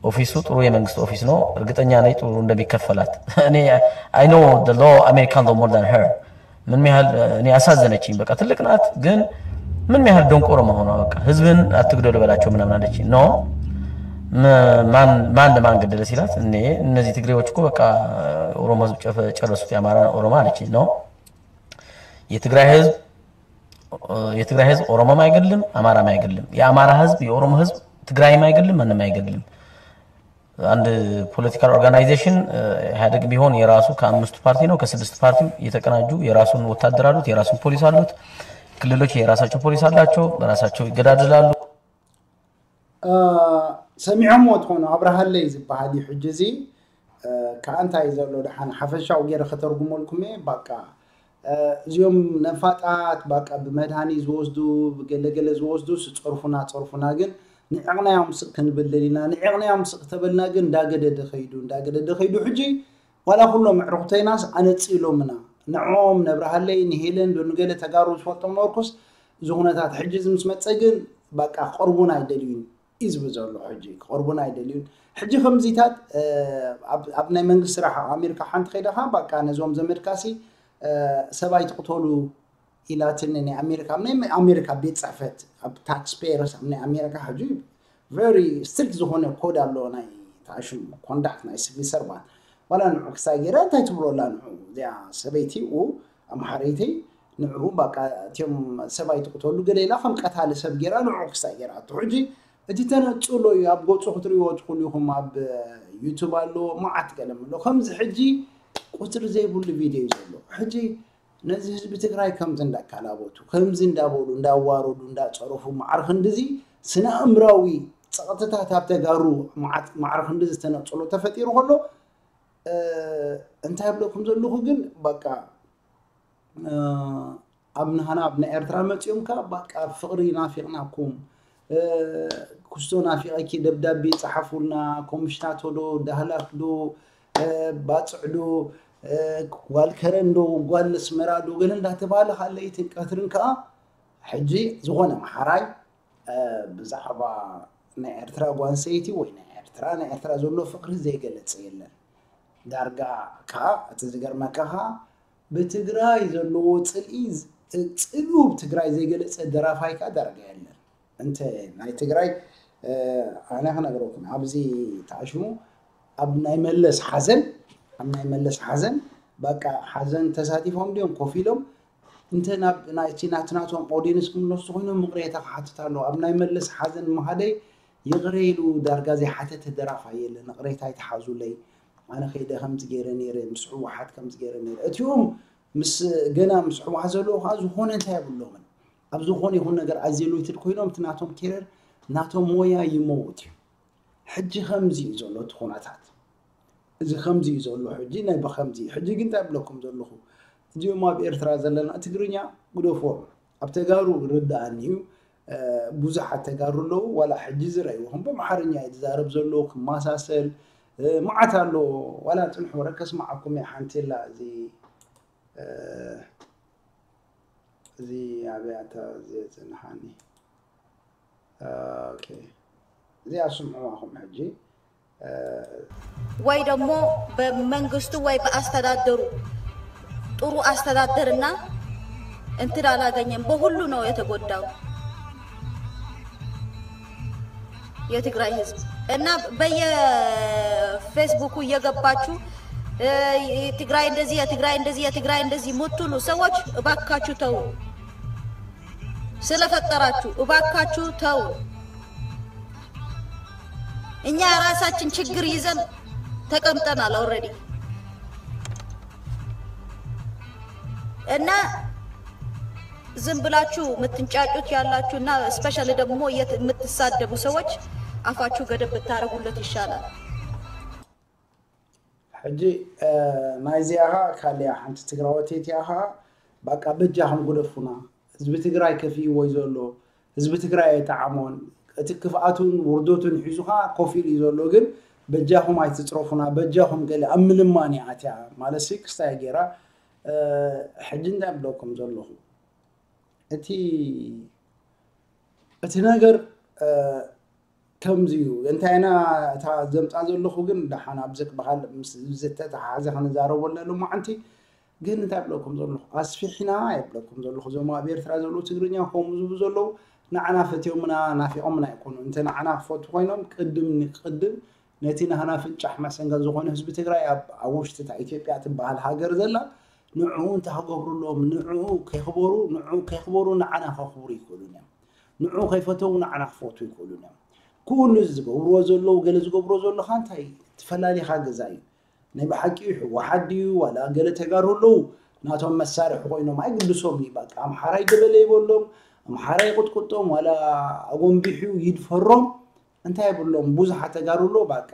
ኦፊሱ ጥሩ የመንግስት ኦፊስ ነው። እርግጠኛ ነኝ ጥሩ እንደሚከፈላት። እኔ I know the law American law more than her። ምን ያህል እኔ አሳዘነችኝ። በቃ ትልቅ ናት ግን ምን ያህል ደንቆሮ መሆኗ በቃ ህዝብን አትግደሉ በላቸው ምናምን አለች። No ማን ማን ለማን ገደለ ሲላት እኔ እነዚህ ትግሬዎች እኮ በቃ ኦሮሞ ህዝብ ጨረሱት የአማራ ኦሮሞ አለች። No የትግራይ ህዝብ የትግራይ ህዝብ ኦሮሞም አይገድልም፣ አማራም አይገድልም። የአማራ ህዝብ፣ የኦሮሞ ህዝብ፣ ትግራይም አይገድልም፣ ማንም አይገድልም። አንድ political organization ኢህአዴግ ቢሆን የራሱ ከአምስቱ ፓርቲ ነው ከስድስት ፓርቲ የተቀናጁ የራሱን ወታደር አሉት፣ የራሱን ፖሊስ አሉት። ክልሎች የራሳቸው ፖሊስ አላቸው፣ በራሳቸው ይገዳደላሉ። ሰሚዖምዎ ትኾኑ ኣብርሃለይ ዝበሃል እዩ ሕጂ እዚ ከዓ እንታይ ዘሎ ደሓን ሓፈሻዊ ገይረ ከተርጉመልኩም እየ ባቃ እዚኦም ነፋጣት ባቃ ብመድሃኒ ዝወስዱ ብገለገለ ዝወስዱ ስፀርፉና ፀርፉና ግን ንዕቕናዮም ስቕ ክንብል ደሊና ንዕቕናዮም ስቕ ተበልና ግን እንዳገደደ ከይዱ እንዳገደደ ከይዱ ሕጂ ዋላ ኩሎም ኣዕሩኽተይናስ ኣነፂሎምና ንዕኦም ነብርሃለይ ንሄለን ዶ ንገለ ተጋሩ ዝፈልጦም ነበርኩስ፣ እዚ ኩነታት ሕጂ እዚ ምስ መፀ ግን በቃ ክቐርቡና ኣይደልዩን እዩ ዝብል ዘሎ። ሕጂ ክቐርቡና ኣይደልዩን። ሕጂ ከምዚታት ኣብ ናይ መንግስቲ ስራሕ ኣብ ኣሜሪካ ሓንቲ ከይደኻ በቃ ነዞም ዘመድካሲ ሰብኣይ ትቕተሉ ኢላትኒ ናይ ኣሜሪካ ናይ ኣሜሪካ ቤት ፅሕፈት ኣብ ታክስ ፔየርስ ኣብ ናይ ኣሜሪካ ሕጂ ቨሪ ስትሪክት ዝኾነ ኮድ ኣሎ ናይ ተኣሽሙ ኮንዳክት ናይ ሲቪል ሰርቫንት ዋላ ንዑ ክሳይ ገይራ እንታይ ትብሎ ኣላ ንዑ እዚኣ ሰበይቲ ኡ ኣምሓረይተይ ንዑ በቃ እቲኦም ሰብኣይ ትቕተሉ ገለ ኢላ ከም ቀታሊ ሰብ ገይራ ንዑ ክሳይ ገይራ ኣቶ ሕጂ እቲ ተነፅሎ እዩ ኣብ ገፁ ክትሪእዎ ትኽእሉ ኢኹም ኣብ ዩቱብ ኣሎ መዓት ገለ ኣሎ ከምዚ ሕጂ ቁፅሪ ዘይብሉ ቪድዮ እዩ ዘሎ ሕጂ ነዚ ህዝቢ ትግራይ ከምዚ እንዳካላበቱ ከምዚ እንዳበሉ እንዳዋረዱ እንዳፀረፉ ማዕረ ክንድዚ ስነ ኣእምራዊ ፀቕጥታት ኣብ ተጋሩ ማዕረ ክንድዚ ዝተነፅሎ ተፈጢሩ ከሎ እንታይ ብለኩም ዘለኹ ግን በቃ ኣብ ንሃና ኣብ ናይ ኤርትራ መፂኦም ከ በቃ ፍቕሪ ናፊቕናኩም ክስቶ ናፊቐኪ ደብዳቤ ፀሓፉልና ኮምሽናቶ ዶ ዳህላክ ዶ ባፅዕ ዶ ጓል ከረን ዶ ጓል ኣስመራ ዶ ገለ እንዳተባሃለ ካብ ለይትን ቀትርን ከዓ ሕጂ ዝኾነ ኣምሓራይ ብዛዕባ ናይ ኤርትራ ጓል ኣንስተይቲ ወይ ናይ ኤርትራ ናይ ኤርትራ ዘሎ ፍቕሪ ዘይገለፀ የለን ዳርጋ ከዓ እቲ ዝገርመካ ከዓ ብትግራይ ዘለዎ ፅልኢ ፅልኡ ብትግራይ ዘይገለፀ ደራፋይ ከዓ ዳርጋ የለን እንተ ናይ ትግራይ ኣነ ክነግረኩም ኣብዚ ተኣሽሙ ኣብ ናይ መለስ ሓዘን ኣብ ናይ መለስ ሓዘን በቃ ሓዘን ተሳቲፎም ድዮም ኮፍ ኢሎም እንተ ናብ ናይቲ ናትናቶም ኦዲየንስ ክምለሱ ኮይኖም ምቕሬታ ክሓትት ኣለዎ ኣብ ናይ መለስ ሓዘን መሃደይ ይቕረ ኢሉ ዳርጋ ዘይሓተተ ደራፋይ የለን ይቕሬታ ይትሓዙለይ ኣነ ከይደ ከምዚ ገይረ ነይረ ምስ ህወሓት ከምዚ ገይረ ነይረ እቲኦም ምስ ገና ምስ ህወሓት ዘለዉ ከዓ ዝኾነ እንታይ የብሎምን ኣብ ዝኾነ ይኹን ነገር ኣዜሎይትድ ኮይኖም እቲ ናቶም ኬረር ናቶም ሞያ ይመውት እዩ ሕጂ ከምዚ እዩ ዘሎ እቲ ኩነታት እዚ ከምዚ እዩ ዘሎ ሕጂ ናይ ብከምዚ ሕጂ ግን እንታይ ብለኩም ዘለኹ እዚኦም ኣብ ኤርትራ ዘለና ትግርኛ ግደፎም ኣብ ተጋሩ ርዳኣኒ እዩ ብዙሓት ተጋሩ ኣለዉ ዋላ ሕጂ ዝረእይዎ ከም ብኣምሓርኛ እዩ ዝዛረብ ዘሎ ክመሳሰል መዓት ኣሎ ዋላ ፅንሑ ወረ ከስማዓኩም እየ ሓንቲ ላ እዚ እዚ ኣበያታ እዚ የፅንሓኒ እዚኣ ስምዕዋ ኹም ሕጂ ወይ ደግሞ በመንግስቱ ወይ በአስተዳደሩ ጥሩ አስተዳደርና እንትን አላገኘም። በሁሉ ነው የተጎዳው የትግራይ ህዝብ እና በየፌስቡኩ እየገባችሁ ትግራይ እንደዚህ የትግራይ እንደዚህ የትግራይ እንደዚህ የምትሉ ሰዎች እባካችሁ ተው፣ ስለፈጠራችሁ እባካችሁ ተው። እኛ ራሳችን ችግር ይዘን ተቀምጠናል already እና ዝም ብላችሁ የምትንጫጩት ያላችሁ እና especially ደግሞ የምትሳደቡ ሰዎች አፋችሁ ገደብ ብታደርጉለት ይሻላል። ሕጂ ናይዚኣ ኸዓ ካልያ ሓንቲ ትግራወተይቲ እያ ኸዓ በቃ በጃኹም ግደፉና ህዝቢ ትግራይ ከፊእዎ እዩ ዘሎ ህዝቢ ትግራይ ኣይጠዓሞን እቲ ክፍኣቱን ውርደቱን ሒዙ ኸዓ ኮፍ ኢሉ እዩ ዘሎ ግን በጃኹም ኣይትፅረፉና በጃኹም ገለ ኣብ ምልማን እያ ኣትያ ማለት ሲ ክስታይ ገይራ ሕጂ እንታይ ብለኩም ዘለኹ እቲ እቲ ነገር ከምዚ እዩ እንታይ ኢና እታ ዘምፃ ዘለኹ ግን ደሓን ኣብዚ ክበሃል ምስ ዝተተሓሓዘ ክንዛረበሉ ሎማዓንቲ ግን እንታይ ብለኩም ዘለኹ ኣስፊሕና የብለኩም ዘለኹ እዞም ኣብ ኤርትራ ዘለዉ ትግርኛ ከምኡ ዝብሉ ዘለዉ ንዓና ፈትዮምና ናፊቖምና ኣይኮኑ እንተ ንዓና ክፈቱ ኮይኖም ቅድም ንቅድም ነቲ ናህና ፍንጫሕ መሰንገል ዝኾነ ህዝቢ ትግራይ ኣብ ውሽጢ እታ ኢትዮጵያ ትበሃል ሃገር ዘላ ንዕኡ እንታይ ክገብሩ ኣለዎም ንዕኡ ከይኽበሩ ንዕኡ ከይኽበሩ ንዓና ከኽብሩ ይኽእሉን እዮም ንዕኡ ከይፈተው ንዓና ክፈቱ ይኽእሉን እዮም ክኡ ንዚ ዝገብርዎ ዘለዉ ገለ ዝገብርዎ ዘለኻ እንታይ ትፈላሊኻ ገዛ እዩ ናይ ብሓቂ ህወሓት ድዩ ዋላ ገለ ተጋሩ ኣለዉ ናቶም መሳርሒ ኮይኖም ኣይግድሶም እዩ በቃ ኣምሓራይ ገበለ ይበሎም ኣምሓራይ ይቕጥቅጦም ዋላ ኣጎንቢሑ ይድፈሮም እንታይ የብሎም ብዙሓት ተጋሩ ኣሎ በቃ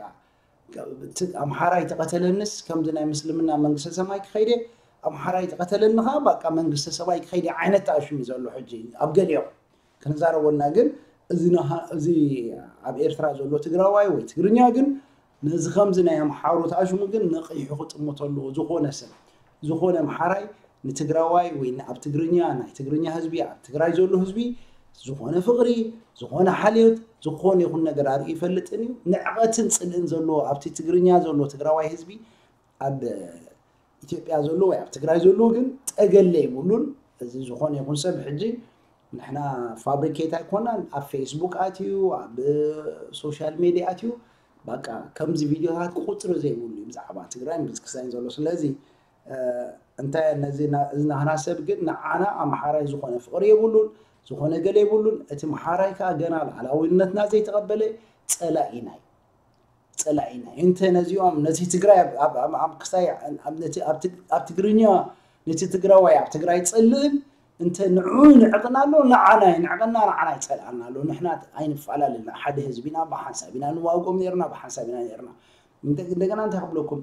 ኣምሓራይ ተቐተለንስ ከምዚ ናይ ምስልምና መንግስተ ሰማይ ክኸይደ ኣምሓራይ ተቐተለኒ ከዓ በቃ መንግስተ ሰማይ ክኸይደ ዓይነት ተኣሽሙ ዘሎ ሕጂ ኣብ ገሊኦም ክንዛረበልና ግን እዚ እዚ ኣብ ኤርትራ ዘሎ ትግራዋይ ወይ ትግርኛ ግን ነዚ ከምዚ ናይ ኣምሓሩ ተኣሽሙ ግን ነቒሑ ክጥምቶ ኣለዎ ዝኾነ ሰብ ዝኾነ ኣምሓራይ ንትግራዋይ ወይ ኣብ ትግርኛ፣ ናይ ትግርኛ ህዝቢ፣ ኣብ ትግራይ ዘሎ ህዝቢ ዝኾነ ፍቕሪ፣ ዝኾነ ሓልዮት፣ ዝኾነ ይኹን ነገር ኣርኢ ይፈልጥን እዩ። ንዕቐትን ጽልእን ዘለዎ ኣብቲ ትግርኛ ዘሎ ትግራዋይ ህዝቢ ኣብ ኢትዮጵያ ዘሎ ወይ ኣብ ትግራይ ዘሎ ግን ጠገለ የብሉን። እዚ ዝኾነ ይኹን ሰብ ሕጂ ንሕና ፋብሪኬት ኣይኮናን። ኣብ ፌስቡክ ኣትዩ፣ ኣብ ሶሻል ሜድያ ኣትዩ፣ በቃ ከምዚ ቪድዮታት ቁፅሪ ዘይብሉ እዩ ብዛዕባ ትግራይን ብዝክሳይን ዘሎ። ስለዚ እንታይ ነዚ እዚ ናህና ሰብ ግን ንዓና ኣምሓራይ ዝኾነ ፍቕሪ የብሉን፣ ዝኾነ ገለ የብሉን። እቲ ምሓራይ ከዓ ገና ላዕላዊነትና ዘይተቐበለ ፀላኢና እዩ። ፀላኢና እዩ። እንተ ነዚኦም ነቲ ትግራይ ኣብ ክስታይ ኣብ ትግርኛ ነቲ ትግራዋይ ኣብ ትግራይ ፀልእን እንተ ንዑ ንዕቕና ኣሎ ንዓና ይንዕቐና ንዓና ይፀልኣና ኣሎ። ንሕና ኣይንፈላለና፣ ሓደ ህዝቢና ብሓንሳብ ኢና ንዋግኦም ነርና፣ ብሓንሳብ ኢና ነርና። እንደገና እንታይ ክብለኩም፣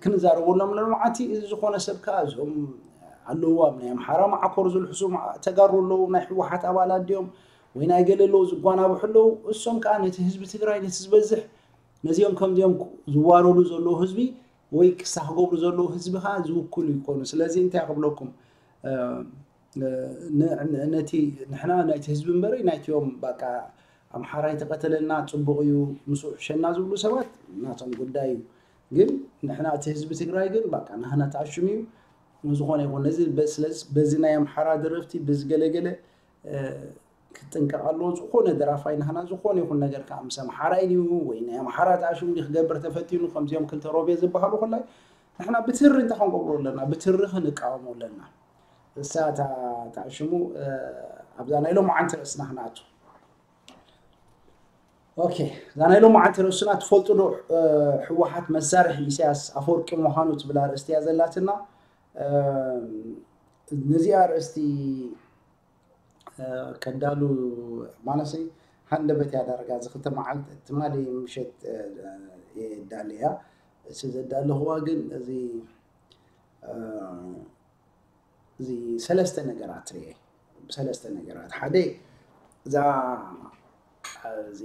ክንዛረበሎም ለመዓቲ እዚ ዝኾነ ሰብ ከዓ እዞም ኣለዉ ኣብ ናይ ኣምሓራ ማዓኮር ዝልሕሱ ተጋሩ ኣለዉ፣ ናይ ህወሓት ኣባላት ድዮም ወይ ናይ ገለ ኣለዉ ዝጓናብሑ ኣለዉ። እሶም ከዓ ነቲ ህዝቢ ትግራይ ነቲ ዝበዝሕ ነዚኦም ከምዚኦም ዝዋረዱ ዘለዉ ህዝቢ ወይ ክሳ ክገብሩ ዘለዉ ህዝቢ ከዓ ዝውክሉ ይኮኑ። ስለዚ እንታይ ክብለኩም፣ ነቲ ንሕና ናይቲ ህዝቢ እምበረይ ናይቲኦም በቃ ኣምሓራይ ተቐተለና ፅቡቕ እዩ ምስኡ ሕሸና ዝብሉ ሰባት ናቶም ጉዳይ እዩ። ግን ንሕና እቲ ህዝቢ ትግራይ ግን በቃ ናህና ተኣሽሙ እዩ። ዝኾነ ይኹን ነዚ በዚ ናይ ኣምሓራ ደረፍቲ ብዝገለገለ ክጥንቀቕ ኣለዎ። ዝኾነ ደራፋይ ናህና ዝኾነ ይኹን ነገር ከዓ ምስ ኣምሓራይ ድዩ ወይ ናይ ኣምሓራ ተኣሽሙ ድዩ ክገብር ተፈቲኑ ከምዚኦም ክልተ ሮቤ ዝበሃሉ ኮላይ ንሕና ብትሪ እንታይ ክንገብሮ ኣለና? ብትሪ ክንቃወሞ ኣለና። እሳ እታ ተኣሽሙ ኣብዛ ናይ ሎማዓንቲ ርእስና ክንኣቱ። ኦኬ፣ እዛ ናይ ሎማዓንቲ ርእስና ትፈልጡ ዶ? ህወሓት መሳርሒ ኢሳያስ ኣፈወርቂ ምዃኑ ትብል ኣርእስቲ እያ ዘላትና። ነዚኣ ኣርእስቲ ከዳሉ ማለሰይ ሃንደበት እያ ዳርጋ እዚ ክልተ መዓልቲ ትማሊ ምሸት እየ ዳለያ። እሱ ዘዳለኽዋ ግን እዚ እዚ ሰለስተ ነገራት ርኤ። ብሰለስተ ነገራት፣ ሓደ እዛ እዚ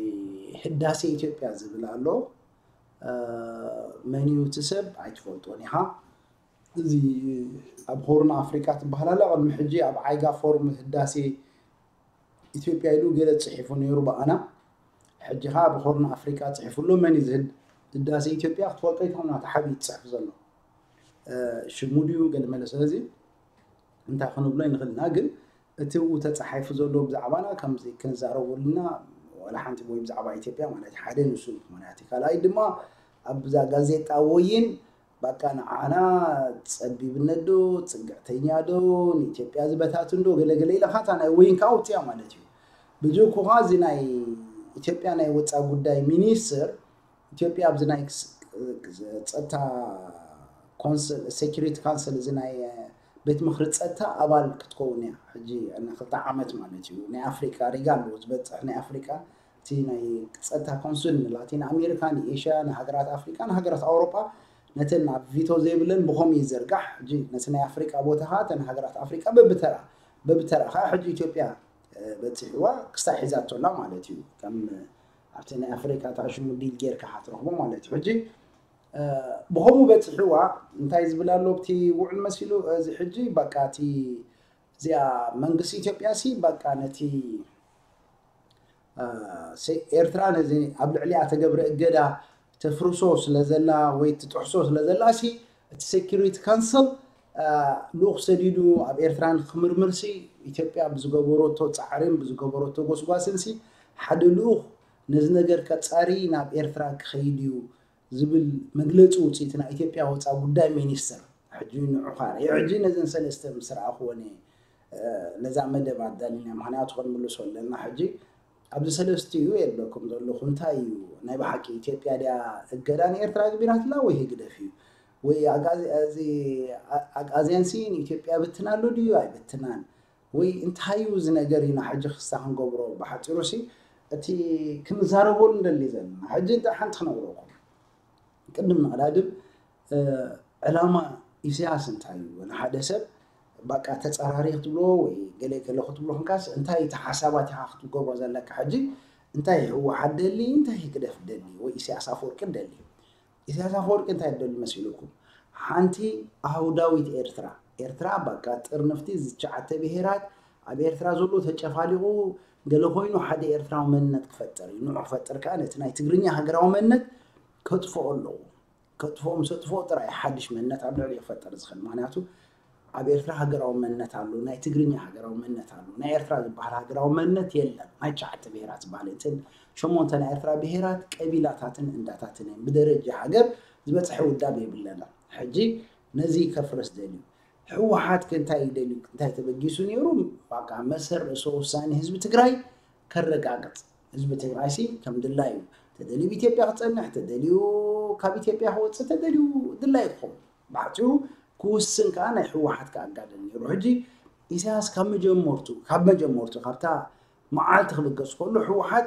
ህዳሴ ኢትዮጵያ ዝብል ኣሎ። መን እዩ እቲ ሰብ ኣይትፈልጦን ኢኻ። እዚ ኣብ ሆርን ኣፍሪካ ትበሃል ኣላ። ቅድሚ ሕጂ ኣብ ዓይጋ ፎርም ህዳሴ ኢትዮጵያ ኢሉ ገለ ፅሒፉ ነይሩ ብኣና። ሕጂ ኸዓ ኣብ ሆርን ኣፍሪካ ፅሒፉ ኣሎ። መን እዩ ዝህድ ህዳሴ ኢትዮጵያ ክትፈልጦ ይትኽእልና ተሓቢኡ ዝፅሕፍ ዘሎ ሽሙ ድዩ ገለ መለ። ስለዚ እንታይ ክንብሎ ይንኽእል ኢና፣ ግን እቲ ኡ ተፃሒፉ ዘሎ ብዛዕባና ከምዚ ክንዛረበሉና ዋላ ሓንቲ ወይ ብዛዕባ ኢትዮጵያ ማለት ሓደ ንሱ እዩ። ምክንያቱ ካልኣይ ድማ ኣብዛ ጋዜጣ ወይን በቃ ንዓና ፀቢብነት ዶ ፅግዕተኛ ዶ ንኢትዮጵያ ዝበታትን ዶ ገለገለ ኢለ ካታ ናይ ወይን ከዓ ውፅያ ማለት እዩ። ብጅኩኻ እዚ ናይ ኢትዮጵያ ናይ ወፃ ጉዳይ ሚኒስትር ኢትዮጵያ ኣብዚ ናይ ጸጥታ ኮንስል ሴኩሪቲ ካውንስል እዚ ናይ ቤት ምክሪ ጸጥታ ኣባል ክትከውን እያ ሕጂ ንክልተ ዓመት ማለት እዩ። ናይ ኣፍሪካ ሪጋ ኣለዎ ዝበፅሕ ናይ ኣፍሪካ እቲ ናይ ጸጥታ ኮንስል ንላቲን ኣሜሪካ ንኤሽያ ንሃገራት ኣፍሪካ ንሃገራት ኣውሮጳ ነተን ኣብ ቪቶ ዘይብለን ብኸምኡ ይዘርጋሕ። ሕጂ ነቲ ናይ ኣፍሪካ ቦታ ከዓ እተን ሃገራት ኣፍሪካ በብተራ በብተራ ከዓ ሕጂ ኢትዮጵያ በፂሕዋ ክስታይ ሒዛቶ ኣላ ማለት እዩ። ከም ኣብቲ ናይ ኣፍሪካ እታ ሽሙ ዲል ጌርካ ክትረኽቦ ማለት እዩ። ሕጂ ብኸምኡ በፂሕዋ እንታይ ዝብል ኣሎ ኣብቲ ውዕል መሲሉ እዚ ሕጂ በቃ እቲ እዚኣ መንግስቲ ኢትዮጵያ ሲ በቃ ነቲ ኤርትራ ነዚ ኣብ ልዕሊኣ ተገብረ እገዳ ተፍርሶ ስለዘላ ወይ ትጥሕሶ ስለዘላ ሲ እቲ ሴኩሪቲ ካንስል ልኡኽ ሰዲዱ ኣብ ኤርትራ ንክምርምር ሲ ኢትዮጵያ ብዝገበረቶ ፃዕርን ብዝገበረቶ ጎስጓስን ሲ ሓደ ልኡኽ ነዚ ነገር ከፃሪ ናብ ኤርትራ ክኸይድ እዩ ዝብል መግለፂ ውፅኢት ናይ ኢትዮጵያ ወፃ ጉዳይ ሚኒስትር ሕጂ ንዑኻ ሕጂ ነዘን ሰለስተ ምስ ረኣኽወን ነዛ መደብ ኣዳሊና ምክንያቱ ክንምልሶ ኣለና። ሕጂ ኣብዚ ሰለስቲኡ የለኩም ዘለኹ እንታይ እዩ ናይ ብሓቂ ኢትዮጵያ ድያ እገዳ ንኤርትራ ግቢራትላ ወይ ህግደፍ እዩ ወይ ኣግኣዝያን ሲ ንኢትዮጵያ ብትና ኣሎ ድዩ ኣይብትናን ወይ እንታይ እዩ እዚ ነገር ኢና ሕጂ ክስታ ክንገብሮ ብሓፂሩ ሲ እቲ ክንዛረበሉ እንደሊ ዘለና ሕጂ እንታይ ሓንቲ ክነግረኩም ቅድም ምቕዳድም ዕላማ ኢሳያስ እንታይ እዩ ንሓደ ሰብ በቃ ተፀራሪ ክትብሎ ወይ ገለ ገለ ክትብሎ ክንካስ እንታይ እቲ ሓሳባት ኢኻ ክትገብሮ ዘለካ ሕጂ እንታይ ህወሓት ደሊ እንታይ ህግደፍ ደሊ ወይ ኢሳያስ ኣፈወርቂ ደሊ ኢሳያስ ኣፈወርቂ እንታይ ደሊ መሲልኩም ሓንቲ ኣህውዳዊት ኤርትራ ኤርትራ በቃ ጥርንፍቲ ዝትሽዓተ ብሄራት ኣብ ኤርትራ ዘሎ ተጨፋሊቑ ገለ ኮይኑ ሓደ ኤርትራዊ መንነት ክፈጥር እዩ። ንዑ ክፈጥር ከኣ ነቲ ናይ ትግርኛ ሃገራዊ መንነት ከጥፍኦ ኣለዎ። ከጥፍኦ ምስ ኣጥፍኦ ጥራይ ሓድሽ መንነት ኣብ ልዕሊ ክፈጥር ዝኽእል። ምክንያቱ ኣብ ኤርትራ ሃገራዊ መንነት ኣሎ፣ ናይ ትግርኛ ሃገራዊ መንነት ኣሎ። ናይ ኤርትራ ዝበሃል ሃገራዊ መንነት የለን። ናይ ትሽዓተ ብሄራት ዝበሃል እተን ሸሞንተ ናይ ኤርትራ ብሄራት ቀቢላታትን እንዳታትን እየን። ብደረጃ ሃገር ዝበፅሐ ውዳብ የብለና። ሕጂ ነዚ ከፍርስ ደልዩ። ህወሓት ከ እንታይ ይደልዩ? እንታይ ተበጊሱ ነይሩ? በቃ መሰል ርእሰ ውሳኔ ህዝቢ ትግራይ ከረጋግፅ። ህዝቢ ትግራይ ሲ ከም ድላዩ ተደልዩ ኢትዮጵያ ክፀንሕ፣ ተደልዩ ካብ ኢትዮጵያ ክወፅእ፣ ተደልዩ ድላዩ ክኸውን። ብሓፂሩ ክውስን ከዓ ናይ ህወሓት ከኣጋደል ነይሩ። ሕጂ ኢሳያስ ካብ መጀመርቱ ካብ መጀመርቱ ካብታ መዓልቲ ክብገስ ከሎ ህወሓት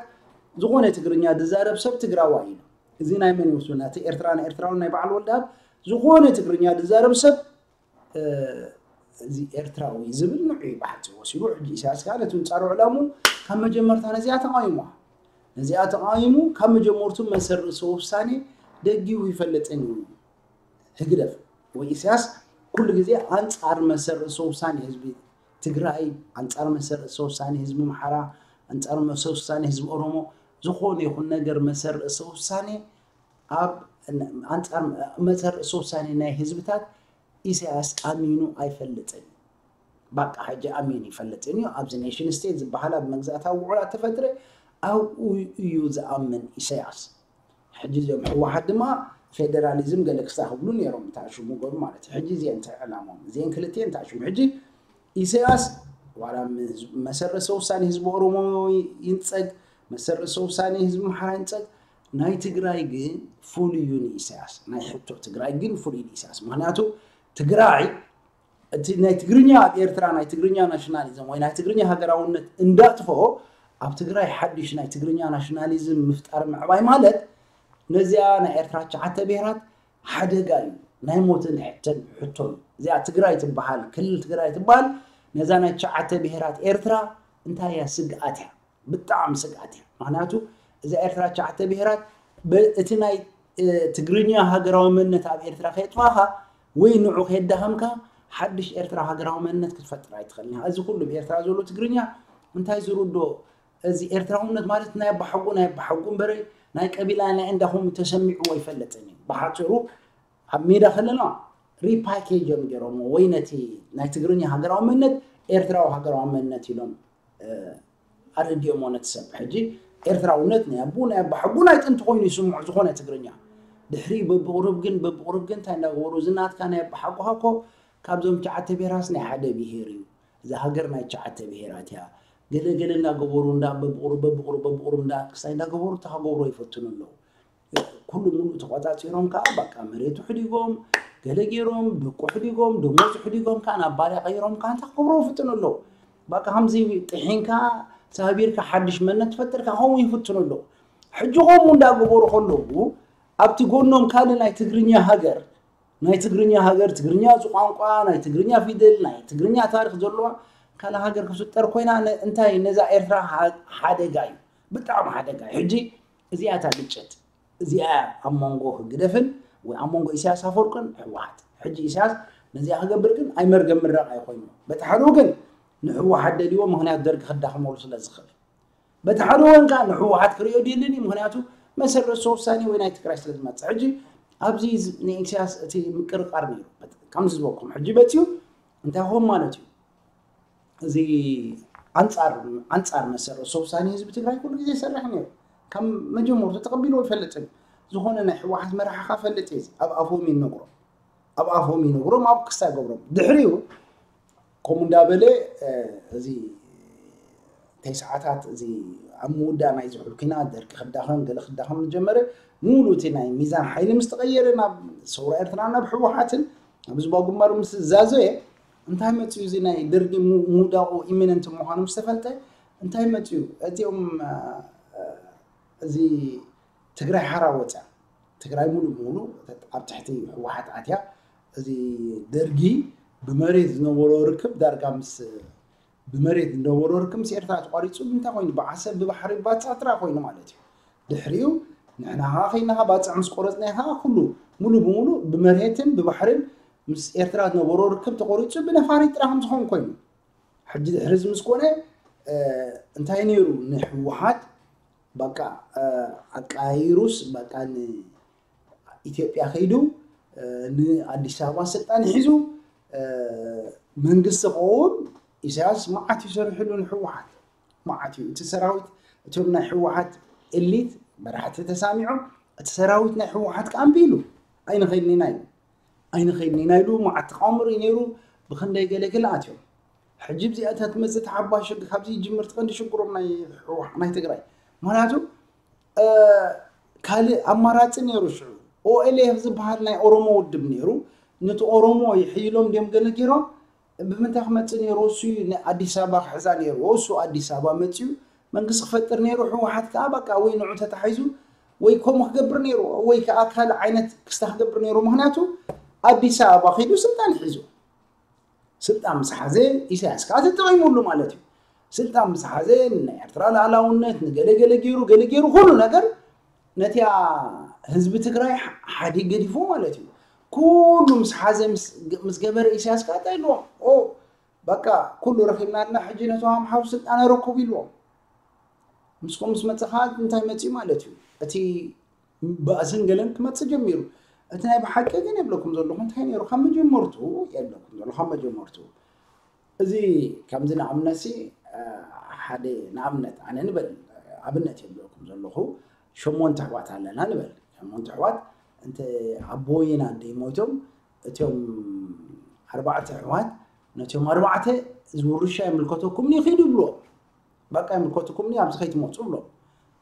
ዝኾነ ትግርኛ ዝዛረብ ሰብ ትግራዋይ እዩ። እዚ ናይ መን ይወስዱና? እቲ ኤርትራ ናይ ኤርትራውን ናይ በዓል ወልደኣብ ዝኾነ ትግርኛ ዝዛረብ ሰብ እዚ ኤርትራዊ ዝብል ንዑ እዩ ብሓፂሩ ወሲዱ። ሕጂ ኢሳያስ ከዓ ነቲ ምንፃሩ ዕላሙ ካብ መጀመርታ ነዚኣ ተቃዊሙ ነዚኣ ተቃዊሙ ካብ መጀመርቱ መሰል ርእሰ ውሳኔ ደጊቡ ይፈልጥን እዩ። ህግደፍ ወይ ኢሳያስ ኩሉ ግዜ ኣንፃር መሰል ርእሰ ውሳኔ ህዝቢ ትግራይ፣ ኣንፃር መሰል ርእሰ ውሳኔ ህዝቢ ኣምሓራ፣ ኣንፃር መሰል ውሳኔ ህዝቢ ኦሮሞ፣ ዝኾነ ይኹን ነገር መሰል ርእሰ ውሳኔ ኣብ ኣንፃር መሰል ርእሰ ውሳኔ ናይ ህዝብታት ኢሳያስ ኣሚኑ ኣይፈልጥን። ባቃ ሕጂ ኣሚኑ ይፈልጥን እዩ። ኣብዚ ኔሽን ስቴት ዝበሃል ኣብ መግዛእታዊ ውዕላት ተፈጥረ ኣብኡ እዩ ዝኣምን ኢሳያስ። ሕጂ እዚኦም ህወሓት ድማ ፌደራሊዝም ገለ ክስታ ክብሉ ነይሮም እታ ሽሙ ገሩ ማለት እዩ። ሕጂ እዚአን እንታይ ዕላሞም? እዚአን ክልቲአን እንታይ ሽሙ? ሕጂ ኢሳያስ ዋላ መሰረሰ ውሳኔ ህዝቢ ኦሮሞ ይንጸግ፣ መሰረሰ ውሳኔ ህዝቢ ኣምሓራ ይንጸግ፣ ናይ ትግራይ ግን ፍሉይ እዩ ንኢሳያስ። ናይ ሕቶ ትግራይ ግን ፍሉይ ንኢሳያስ። ምክንያቱ ትግራይ እቲ ናይ ትግርኛ ኣብ ኤርትራ ናይ ትግርኛ ናሽናሊዝም ወይ ናይ ትግርኛ ሃገራውነት እንዳጥፍኦ ኣብ ትግራይ ሓድሽ ናይ ትግርኛ ናሽናሊዝም ምፍጣር ምዕባይ ማለት ነዚኣ ናይ ኤርትራ ትሽዓተ ብሄራት ሓደጋ እዩ። ናይ ሞትን ሕተን ሕቶን እዚኣ ትግራይ ትበሃል ክልል ትግራይ ትበሃል ነዛ ናይ ትሽዓተ ብሄራት ኤርትራ እንታይ እያ ስግኣት እያ። ብጣዕሚ ስግኣት እያ። ምክንያቱ እዛ ኤርትራ ትሽዓተ ብሄራት እቲ ናይ ትግርኛ ሃገራዊ መንነት ኣብ ኤርትራ ከየጥፋኻ ወይ ንዑ ከየዳኸምካ ሓድሽ ኤርትራ ሃገራዊ መንነት ክትፈጥር ኣይትኽእልን። እዚ ኩሉ ብኤርትራ ዘሎ ትግርኛ እንታይ ዝርዶ እዚ ኤርትራውነት ማለት ናይ ኣባሓጎ ናይ ኣባሓጎ እምበረ ናይ ቀቢላ ናይ እንዳኹም ተሰሚዕዎ ኣይፈልጥን እዩ። ብሓፂሩ ኣብ ሜዳ ከለና ሪፓኬጅ እዮም ገይሮሞ ወይ ነቲ ናይ ትግርኛ ሃገራዊ መንነት ኤርትራዊ ሃገራዊ መንነት ኢሎም ኣረዲኦሞ ነቲ ሰብ። ሕጂ ኤርትራውነት ናይ ኣቦ ናይ ኣባሓጎ ናይ ጥንቲ ኮይኑ ይስምዑ ዝኾነ ትግርኛ ድሕሪ በብቕሩብ ግን በብቕሩብ ግን እንታይ እንዳገበሩ እዚ ናትካ ናይ ኣባሓጎኻ እኮ ካብዞም ትሽዓተ ብሄራትስ ናይ ሓደ ብሄር እዩ። እዛ ሃገር ናይ ትሽዓተ ብሄራት እያ። ገለ ገለ እንዳገበሩ እንዳ በብቕሩብ በብቕሩብ በብቕሩብ እንዳ ክሳይ እንዳገበሩ እታ ክገብሮ ይፈትኑ ኣለዉ። ኩሉ ሙሉእ ተቆፃፂሮም ከዓ በቃ መሬቱ ሕዲጎም ገለ ገይሮም ደቁ ሕዲጎም ደሞዙ ሕዲጎም ከዓ ናብ ባርያ ቀይሮም ከዓ እንታይ ክገብሩ ይፍትኑ ኣለዉ። በቃ ከምዚ ጥሒንካ ሳቢርካ ሓድሽ መነት ትፈጥርካ ከምኡ ይፍትኑ ኣለዉ። ሕጂ ከምኡ እንዳገበሩ ከለዉ ኣብቲ ጎኖም ካልእ ናይ ትግርኛ ሃገር ናይ ትግርኛ ሃገር ትግርኛ እዚ ቋንቋ ናይ ትግርኛ ፊደል ናይ ትግርኛ ታሪክ ዘለዋ ካልእ ሃገር ክፍጠር ኮይና እንታይ ነዛ ኤርትራ ሓደጋ እዩ። ብጣዕሚ ሓደጋ እዩ። ሕጂ እዚኣ እታ ግጭት እዚኣ ኣብ መንጎ ህግደፍን ወይ ኣብ መንጎ ኢሳያስ ኣፈወርቅን ህወሓት። ሕጂ ኢሳያስ ነዚኣ ክገብር ግን ኣይመርገም ምረቕ ኣይኮይኑ። በቲ ሓደ ወገን ንህወሓት ደልይዎ ምክንያት ደርጊ ክዳኽመሉ ስለ ዝኽእል በቲ ሓደ ወገን ከዓ ንህወሓት ክሪኦ ድልን እዩ። ምክንያቱ መሰል ርእሰ ውሳኔ ወይ ናይ ትግራይ ስለ ዝመፅእ ሕጂ ኣብዚ ንኢሳያስ እቲ ምቅርቃር ነይሩ። ከምዚ ዝበልኩም ሕጂ በፂዩ እንታይ ኾን ማለት እዩ እዚ ኣንፃር ኣንፃር መሰል ርእሰ ውሳኔ ህዝቢ ትግራይ ኩሉ ግዜ ይሰርሕ ነይሩ። ካብ መጀመርቱ ተቐቢልዎ ይፈልጥን ዝኾነ ናይ ህወሓት መራሒ ካ ፈልጥ እዩ ኣብ ኣፎም ይነግሮም ኣብ ኣፎም ይነግሮም ኣብ ክስታ ይገብሮም ድሕሪኡ ከምኡ እንዳበለ እዚ ተስዓታት እዚ ኣብ ምውዳእ ናይ ዝሑል ኩናት ደርጊ ክዳኸም ገለ ክዳኸም ዝጀመረ ሙሉ እቲ ናይ ሚዛን ሓይሊ ምስ ተቐየረ ናብ ሰውራ ኤርትራ ናብ ህወሓትን ኣብ ዝባ ግንባሩ ምስ ዝዛዘየ እንታይ መፅኡ እዚ ናይ ደርጊ ምውዳቑ ኢሚነንት ምዃኑ ምስ ተፈልጠ እንታይ መፅኡ እዚኦም እዚ ትግራይ ሓራ ወፅያ ትግራይ ሙሉ ብሙሉ ኣብ ትሕቲ ህወሓት ኣትያ እዚ ደርጊ ብመሬት ዝነበሮ ርክብ ዳርጋ ምስ ብመሬት ዝነበሮ ርክብ ምስ ኤርትራ ተቋሪፁ እንታይ ኮይኑ ብዓሰብ ብባሕሪ ባፃ ጥራ ኮይኑ ማለት እዩ ድሕሪኡ ንሕና ከዓ ከይና ከዓ ባፅዕ ምስ ቆረፅና ከዓ ኩሉ ሙሉ ብሙሉ ብመሬትን ብባሕርን ምስ ኤርትራ ዝነበሮ ርክብ ተቆሪፁ ብነፋሪት ጥራሕ ዝኸውን ኮይኑ፣ ሕጂ ድሕሪ እዚ ምስ ኮነ እንታይ ነይሩ? ንህወሓት በቃ ኣቃይሩስ በቃ ንኢትዮጵያ ከይዱ ንኣዲስ ኣበባ ስልጣን ሒዙ መንግስቲ ክኸውን ኢሳያስ መዓት እዩ ሰሪሕሉ ንህወሓት። መዓት እዩ እቲ ሰራዊት። እቶም ናይ ህወሓት ኤሊት መራሕቲ ተሳሚዖም፣ እቲ ሰራዊት ናይ ህወሓት ከኣ እምቢ ኢሉ። ኣይንኸይድን ኢና ኢሉ። ኣይንኸይድን ኢና ኢሉ። መዓት ተቃውሞ ርኢ ነይሩ። ብክንደይ ገለ ገለ ኣትዮም። ሕጂ ብዚኣታ ትመጽእ ተሓባሽ ካብዚ ይጅምር። ትቐንዲ ሽግሮም ናይ ህወሓት ናይ ትግራይ። ምክንያቱ ካልእ ኣማራፂ ነይሩ። ሽዑ ኦኤልኤፍ ዝበሃል ናይ ኦሮሞ ውድብ ነይሩ። ነቲ ኦሮሞ ይሕይሎም ድዮም ገለ ገይሮም። ብምንታይ ክመፅእ ነይሩ? እሱ ኣዲስ ኣበባ ክሕዛ ነይሩ። እሱ ኣዲስ ኣበባ መፅዩ መንግስቲ ክፈጥር ነይሩ። ህወሓት ከዓ በቃ ወይ ንዑ ተታሒዙ ወይ ከምኡ ክገብር ነይሩ፣ ወይ ከዓ ካልእ ዓይነት ክስታ ክገብር ነይሩ። ምክንያቱ ኣዲስ ኣበባ ከይዱ ስልጣን ሒዙ። ስልጣን ምስ ሓዘ ኢሳያስ ከዓ ተጠቒሙሉ ማለት እዩ። ስልጣን ምስ ሓዘ ንናይ ኤርትራ ሉዓላውነት ንገለ ገለ ገይሩ፣ ገለ ገይሩ፣ ኩሉ ነገር ነቲኣ ህዝቢ ትግራይ ሓዲግ ገዲፉ ማለት እዩ። ኩሉ ምስ ሓዘ ምስ ገበረ ኢሳያስ ከዓ እንታይ ኢልዎም? ኦ በቃ ኩሉ ረኺብና ኣለና፣ ሕጂ ነቶም ኣምሓሩ ስልጣን ኣረክቡ ኢልዎም። ምስኩም ምስ መፀ ከዓ እንታይ መፅኡ ማለት እዩ? እቲ ባእስን ገለን ክመፅእ ጀሚሩ። እቲ ናይ ብሓቂ ግን የብለኩም ዘለኹ እንታይ ነይሩ ካብ መጀመርቱ? የብለኩም ዘለኹ ካብ መጀመርቱ። እዚ ከምዚ ንኣብነት ሲ ሓደ ንኣብነት ኣነ ንበል ኣብነት የብለኩም ዘለኹ። ሸሞንተ ኣሕዋት ኣለና ንበል። ሸሞንተ ኣሕዋት እንተ ኣቦይን ኣደይ ሞይቶም እቶም ኣርባዕተ ኣሕዋት ነቶም ኣርባዕተ እዚ ውርሻ ይምልከተኩም እዩ ኪዱ ይብልዎም። በቃ ይምልከተኩም እዩ ኣብዚ ከይትመፁ ይብሎም።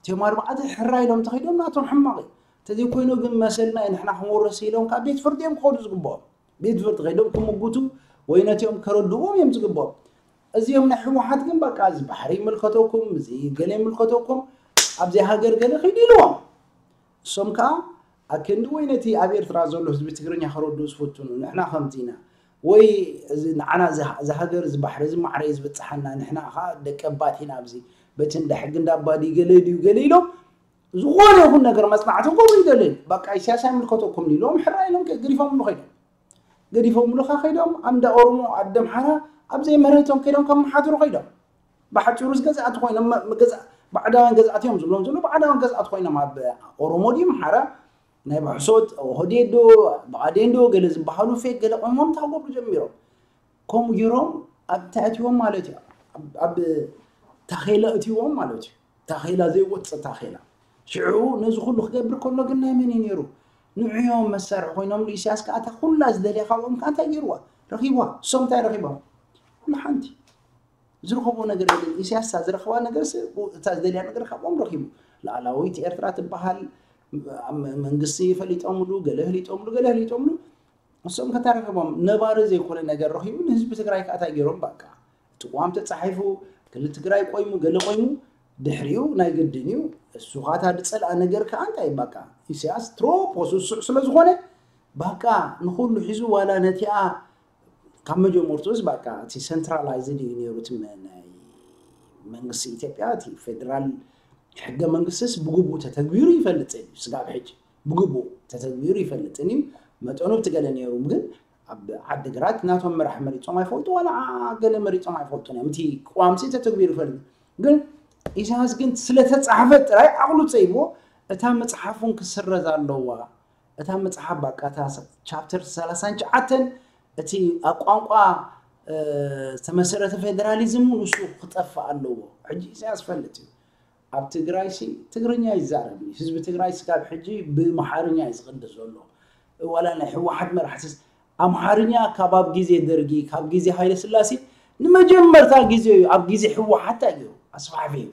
እቶም ኣርባዕተ ሕራ ኢሎም ተኸይዶም ናቶም ሕማቕ እዩ። እንተዘይኮይኑ ግን መሰልና እዩ ንሕና ክንወርስ ኢሎም ካብ ቤት ፍርዲ እዮም ክኸዱ ዝግብኦም። ቤት ፍርዲ ከይዶም ክምጉቱ ወይ ነቲኦም ከረድዎም እዮም ዝግብኦም። እዚኦም ናይ ህወሓት ግን በቃ እዚ ባሕሪ ይምልከተኩም፣ እዚ ገለ ይምልከተኩም፣ ኣብዚ ሃገር ገለ ኪዱ ኢልዎም። እሶም ከዓ ኣክንዲ ወይ ነቲ ኣብ ኤርትራ ዘሎ ህዝቢ ትግርኛ ከረድኡ ዝፍትኑ ንሕና ከምዚ ኢና ወይ እዚ ንዓና እዚ እዚ ሃገር እዚ ባሕሪ እዚ ማዕረ እዩ ዝበፅሓና ንሕና ከዓ ደቂ ኣባት ኢና ኣብዚ በቲ እንዳ ሕጊ እንዳ ኣባዲ ገለ ድዩ ገለ ኢሎም ዝኾነ ይኹን ነገር መፅናዕቲ ክገብሩ ይደልን በቃ ኢሳያስ ኣይምልከተኩም ኢሎም ሕራ ኢሎም ገዲፎምሉ ከይዶም። ገዲፎምሉ ከ ከይዶም ኣንዳ ኦሮሞ ኣደ ኣምሓራ ኣብ ዘይመሬቶም ከይዶም ከመሓድሩ ከይዶም። ብሓፂሩ ገዛእቲ ኮይኖም ባዕዳውያን ገዛእቲ እዮም ዝብሎም ዘሎ ባዕዳውያን ገዛእቲ ኮይኖም ኣብ ኦሮሞ ድዩ ኣምሓራ ናይ ብሕሶት ኦህዴድ ዶ ብኣዴን ዶ ገለ ዝበሃሉ ፌክ ገለ ቆይሞም እንታይ ክገብሩ ጀሚሮም። ከምኡ ገይሮም ኣብ እንታይ ኣትዎም ማለት እዩ። ኣብ ታኼላ ኣትዎም ማለት እዩ። ታኼላ ዘይወፅእ ታኼላ። ሽዑ ነዚ ኩሉ ክገብር ከሎ ግን ናይ መን እዩ ነይሩ? ንዕዮም መሳርሒ ኮይኖም ኢሳያስ ከዓ እታ ኩላ ዝደልያ ካብኦም ከዓ እንታይ ገይርዋ? ረኺብዋ። እሶም እንታይ ረኺቦም? ወላ ሓንቲ ዝረኸቦ ነገር የለን። ኢሳያስ እታ ዝረኸባ ነገር እታ ዝደልያ ነገር ካብኦም ረኺቡ። ላዕላዊት ኤርትራ ትበሃል መንግስቲ ፈሊጦምሉ፣ ገለ ፈሊጦምሉ፣ ገለ ፈሊጦምሉ። እሶም ከታ ረኺቦም ነባሪ ዘይኮነ ነገር ረኺቡ ንህዝቢ ትግራይ ከዓ እንታይ ገይሮም በቃ እቲ ቅዋም ተፃሒፉ ክልል ትግራይ ቆይሙ ገለ ቆይሙ ድሕሪኡ ናይ ግድን እዩ እሱ ካታ ዝፀልኣ ነገር ከዓ እንታይ በቃ ኢሳያስ ትሮፖስ እሱዕ ስለዝኾነ በቃ ንኩሉ ሒዙ ዋላ ነቲኣ ካብ መጀመርትኡስ በቃ እቲ ሰንትራላይዝድ እዩ ነይሩ እቲ ናይ መንግስቲ ኢትዮጵያ እቲ ፌደራል ሕገ መንግስትስ ብግቡእ ተተግቢሩ ይፈልጥን እዩ ስጋብ ሕጂ ብግቡእ ተተግቢሩ ይፈልጥን እዩ መጠኑ ብትገለ ነይሩ ግን ኣብ ዓዲ ግራት ናቶም መራሕ መሪፆም ኣይፈልጡ ዋላ ገለ መሪፆም ኣይፈልጡን እዮም እቲ ቅዋምሲ ተተግቢሩ ይፈልጥ ግን ኢሳያስ ግን ስለተፃሕፈ ጥራይ ዓቕሉ ፀይብዎ እታ መፅሓፉን ክስረዝ ኣለዋ እታ መፅሓፍ ባቃ እታ ቻፕተር ሰላሳን ትሽዓተን እቲ ኣብ ቋንቋ ዝተመሰረተ ፌደራሊዝም እውን እሱ ክጠፍእ ኣለዎ። ሕጂ ኢሳያስ ፈልጥ እዩ። ኣብ ትግራይ ሲ ትግርኛ ይዛረብ እዩ። ህዝቢ ትግራይ ስጋብ ሕጂ ብኣምሓርኛ እዩ ዝቕድስ ዘሎ። ዋላ ናይ ህወሓት መራሕትስ ኣምሓርኛ ካብ ኣብ ግዜ ደርጊ ካብ ግዜ ሃይለ ስላሴ ንመጀመርታ ግዜ እዩ ኣብ ግዜ ህወሓት እንታይ ገይሩ ኣስፋሕፊሑ